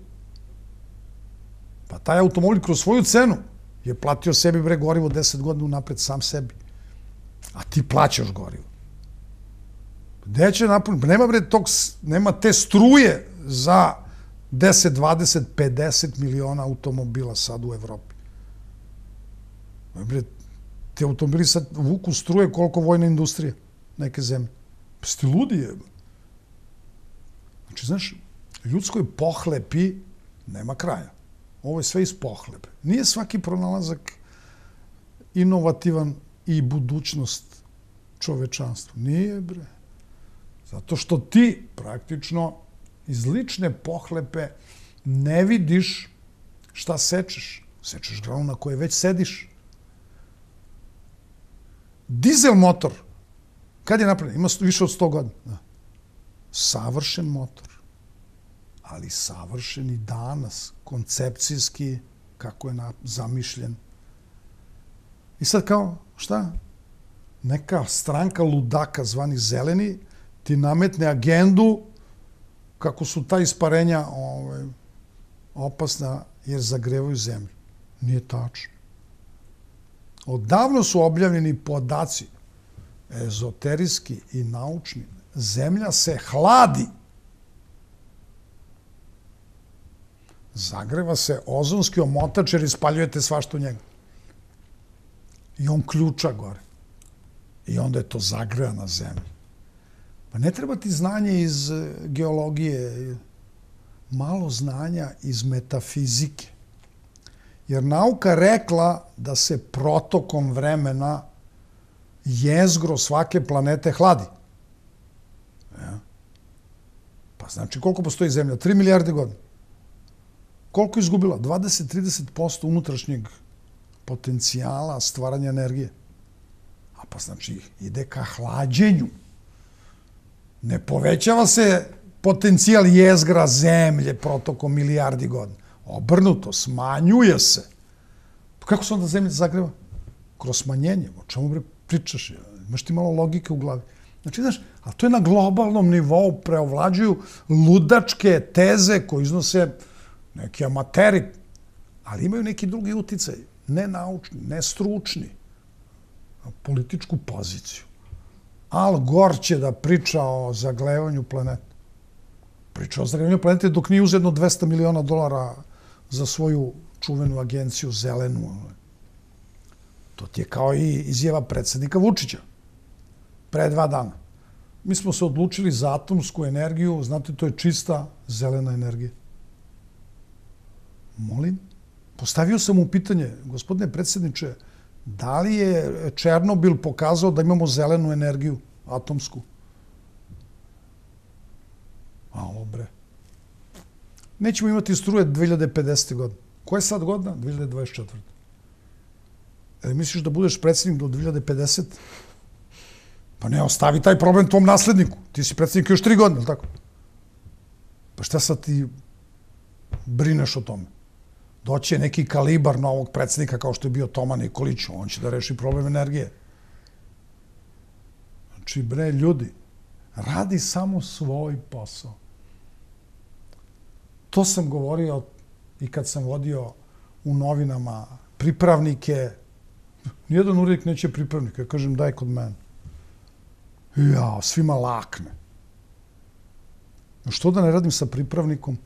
Pa taj automobil kroz svoju cenu je platio sebi, bre, gorivo 10 godina unapred sam sebi. A ti plaćaš gorivo. Gde će napuniti? Nema, bre, nema te struje za 10, 20, 50 miliona automobila sad u Evropi. Bre, ti automobili sad vuku struje koliko vojna industrija neke zemlje. Pa ste ludi je. Znači, znaš, ljudskoj pohlepi nema kraja. Ovo je sve iz pohlepe. Nije svaki pronalazak inovativan i budućnost čovečanstva. Nije, bre. Zato što ti praktično iz lične pohlepe ne vidiš šta sečeš. Sečeš granu na kojoj već sediš. Dizel motor, kad je napravljen? Ima više od 100 godina. Savršen motor, ali savršen i danas, koncepcijski, kako je zamišljen. I sad kao, šta? Neka stranka ludaka zvani zeleni ti nametne agendu kako su ta isparenja opasna jer zagrevaju zemlju. Nije tačno. Odavno su objavljeni podaci, ezoterijski i naučni. Zemlja se hladi. Zagreva se ozonski omotač jer ispaljujete svašta u njega. I on ključa gore. I onda je to zagrejana zemlja. Pa ne treba ti znanje iz geologije, malo znanja iz metafizike. Jer nauka rekla da se protokom vremena jezgro svake planete hladi. Pa znači koliko postoji zemlja? 3 milijarde godina. Koliko je izgubila? 20-30% unutrašnjeg potencijala stvaranja energije. A pa znači ide ka hlađenju. Ne povećava se potencijal jezgra zemlje protokom milijardi godina. Obrnuto, smanjuje se. Kako se onda zemlja zagreva? Kroz smanjenje. O čemu pričaš? Imaš ti malo logike u glavi. Znači, znaš, ali to je na globalnom nivou, preovlađuju ludačke teze koje iznose neki amateri, ali imaju neki drugi uticaj, ne naučni, ne stručni, političku poziciju. Al Gore će da priča o zagrevanju planete. Priča o zagrevanju planete dok nije uzedno $200 miliona za svoju čuvenu agenciju zelenu. To ti je kao i izjava predsjednika Vučića pre 2 dana. Mi smo se odlučili za atomsku energiju, znate, to je čista zelena energija. Molim? Postavio sam mu pitanje, gospodine predsjedniče, da li je Černobil pokazao da imamo zelenu energiju, atomsku? Alo, bre. Nećemo imati struje 2050. godine. Koja je sad godina? 2024. Misliš da budeš predsjednik do 2050? Pa ne, ostavi taj problem tvom nasledniku. Ti si predsjednik još 3 godine, ili tako? Pa šta sad ti brineš o tome? Doće neki kalibar novog predsjednika kao što je bio Toma Nikolić, on će da reši problem energije. Znači, bre, ljudi, radi samo svoj posao. To sam govorio i kad sam vodio u novinama pripravnike. Nijedan urednik neće pripravnika. Ja kažem, daj kod mene. Ja, svima lakne. Što da ne radim sa pripravnikom?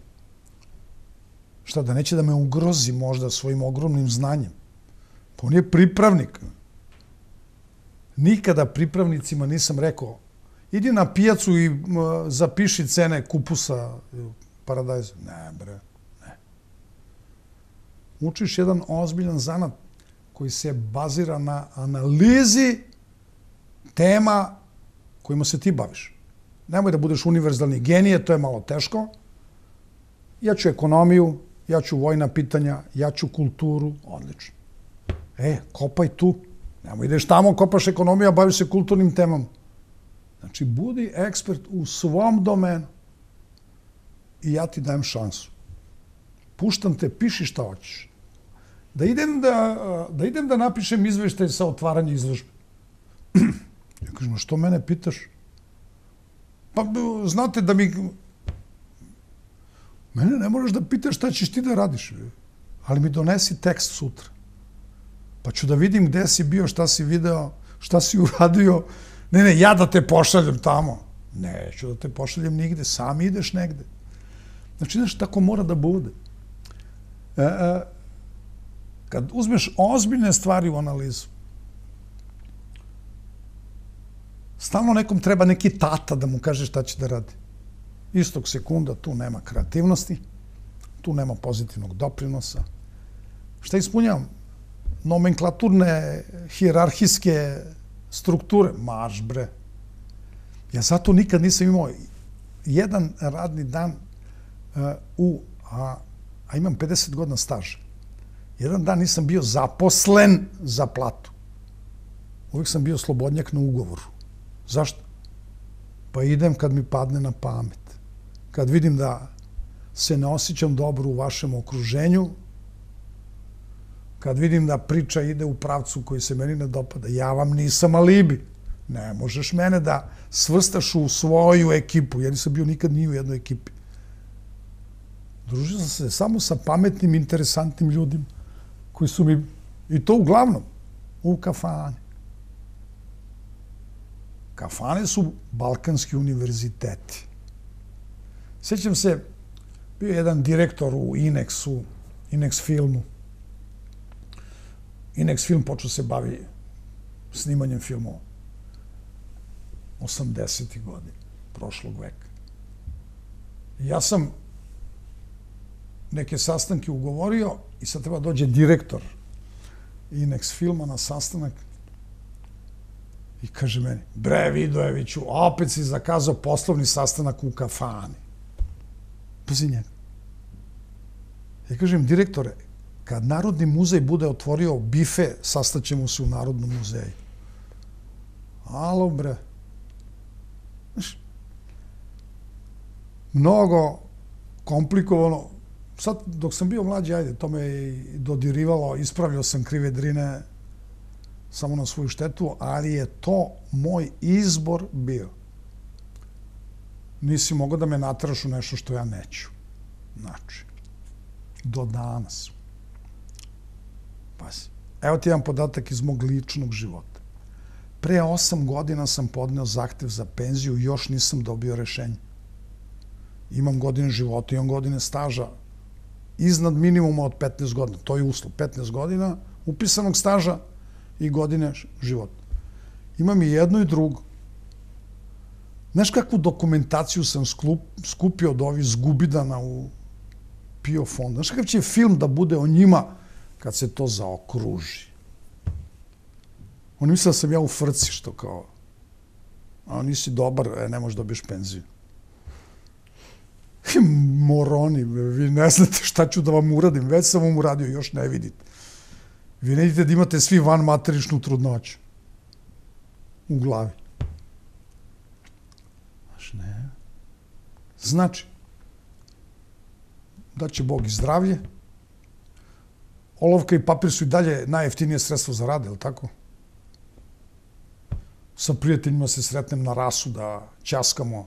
Šta, da neće da me ugrozi možda svojim ogromnim znanjem? Pa on je pripravnik. Nikada pripravnicima nisam rekao, idi na pijacu i zapiši cene kupusa paradajza. Ne, bre, ne. Učiš jedan ozbiljan zanat koji se bazira na analizi tema kojima se ti baviš. Nemoj da budeš univerzalni genije, to je malo teško. Ja ću ekonomiju, ja ću vojna pitanja, ja ću kulturu, odlično. Kopaj tu. Nemoj ideš tamo, kopaš ekonomiju, a baviš se kulturnim temama. Znači, budi ekspert u svom domenu i ja ti dajem šansu. Puštam te, piši šta hoćeš. Da idem da napišem izveštaj sa otvaranja izložbe. Ja kažem, što mene pitaš? Pa, znate da mi... Mene ne moraš da pitaš šta ćeš ti da radiš, ali mi donesi tekst sutra. Pa ću da vidim gde si bio, šta si video, šta si uradio. Ne, ja da te pošaljem tamo. Neću da te pošaljem nigde, sam ideš negde. Znači, znaš, tako mora da bude. Kad uzmeš ozbiljne stvari u analizu, stalno nekom treba neki tata da mu kaže šta će da radi. Istog sekunda tu nema kreativnosti, tu nema pozitivnog doprinosa. Šta ispunjavam? Nomenklaturne, hijerarhijske strukture. Marš, bre. Ja zato nikad nisam imao jedan radni dan a imam 50 godina staža. Jedan dan nisam bio zaposlen za platu. Uvijek sam bio slobodnjak na ugovoru. Zašto? Pa idem kad mi padne na pamet. Kad vidim da se ne osjećam dobro u vašem okruženju, kad vidim da priča ide u pravcu koji se meni ne dopada, ja vam nisam alibi. Ne možeš mene da svrstaš u svoju ekipu. Ja nisam bio nikad ni u jednoj ekipi. Družio sam se samo sa pametnim, interesantnim ljudima koji su mi, i to uglavnom, u kafane. Kafane su balkanski univerziteti. Sjećam se, bio je jedan direktor u Inexu, Inex filmu. Inex film počeo se bavi snimanjem filmova. 80. godina prošlog veka. Ja sam neke sastanke ugovorio i sad treba dođe direktor Inex filma na sastanak i kaže meni, bre Vidojeviću, opet si zakazao poslovni sastanak u kafani. Pazi njega. Ja kažem, direktore, kad Narodni muzej bude otvorio bife, sastaćemo se u Narodnom muzeju. Alo, bre. Znaš, mnogo komplikovano. Sad, dok sam bio mlađi, ajde, to me je dodirivalo, ispravljao sam krive drine samo na svoju štetu, ali je to moj izbor bio. Nisi mogao da me nateraš u nešto što ja neću. Znači, do danas. Pazi. Evo ti jedan podatak iz mog ličnog života. Pre 8 godina sam podneo zahtev za penziju i još nisam dobio rešenje. Imam godine života, imam godine staža iznad minimuma od 15 godina. To je uslov. 15 godina upisanog staža i godine života. Imam i jedno i drugo. Znaš kakvu dokumentaciju sam skupio od ovih zgubidana u PIO fondu? Znaš kakav će film da bude o njima kad se to zaokruži? Oni misle da sam ja u frci, što kao, a nisi dobar, ne možeš dobiješ penziju. Moroni, vi ne znate šta ću da vam uradim, već sam vam uradio, još ne vidite. Vi ne vidite da imate svi vanmateričnu trudnoću u glavi. Znaš, ne. Znači, da će Bog i zdravlje, olovka i papir su i dalje najjeftinije sredstvo za rad, je li tako? Sa prijateljima se sretnem na rasu da ćaskamo.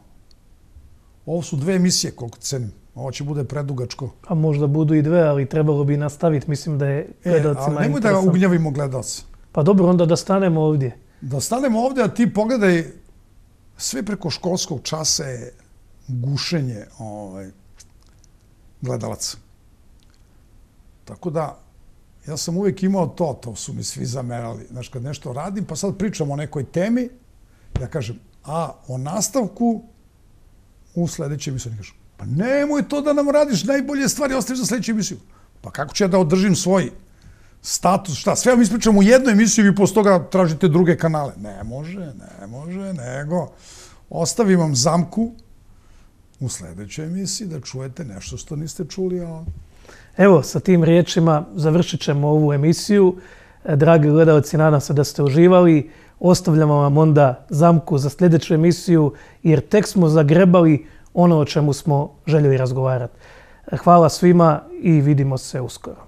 Ovo su 2 emisije, koliko cenim. Ovo će bude predugačko. A možda budu i 2, ali trebalo bi nastaviti. Mislim da je gledalcima interesantno. Nemoj da ugnjavimo gledalce. Pa dobro, onda da stanemo ovdje. Da stanemo ovdje, a ti pogledaj, sve preko školskog časa je gušenje gledalaca. Tako da, ja sam uvijek imao to su mi svi zamerali. Znaš, kad nešto radim, pa sad pričam o nekoj temi, ja kažem, o nastavku u sljedećoj emisiji. Oni kažu, pa nemoj to da nam radiš, najbolje stvari ostaviš za sljedeću emisiju. Pa kako ću ja da održim svoj status, šta, sve vam ispričam u jednu emisiju i posle toga tražite druge kanale. Ne može, nego ostavim vam zamku u sljedećoj emisiji da čujete nešto što niste čuli. Evo, sa tim riječima završit ćemo ovu emisiju. Dragi gledalci, nadam se da ste uživali. Ostavljamo vam onda zamku za sljedeću emisiju, jer tek smo zagrebali ono o čemu smo željeli razgovarati. Hvala svima i vidimo se uskoro.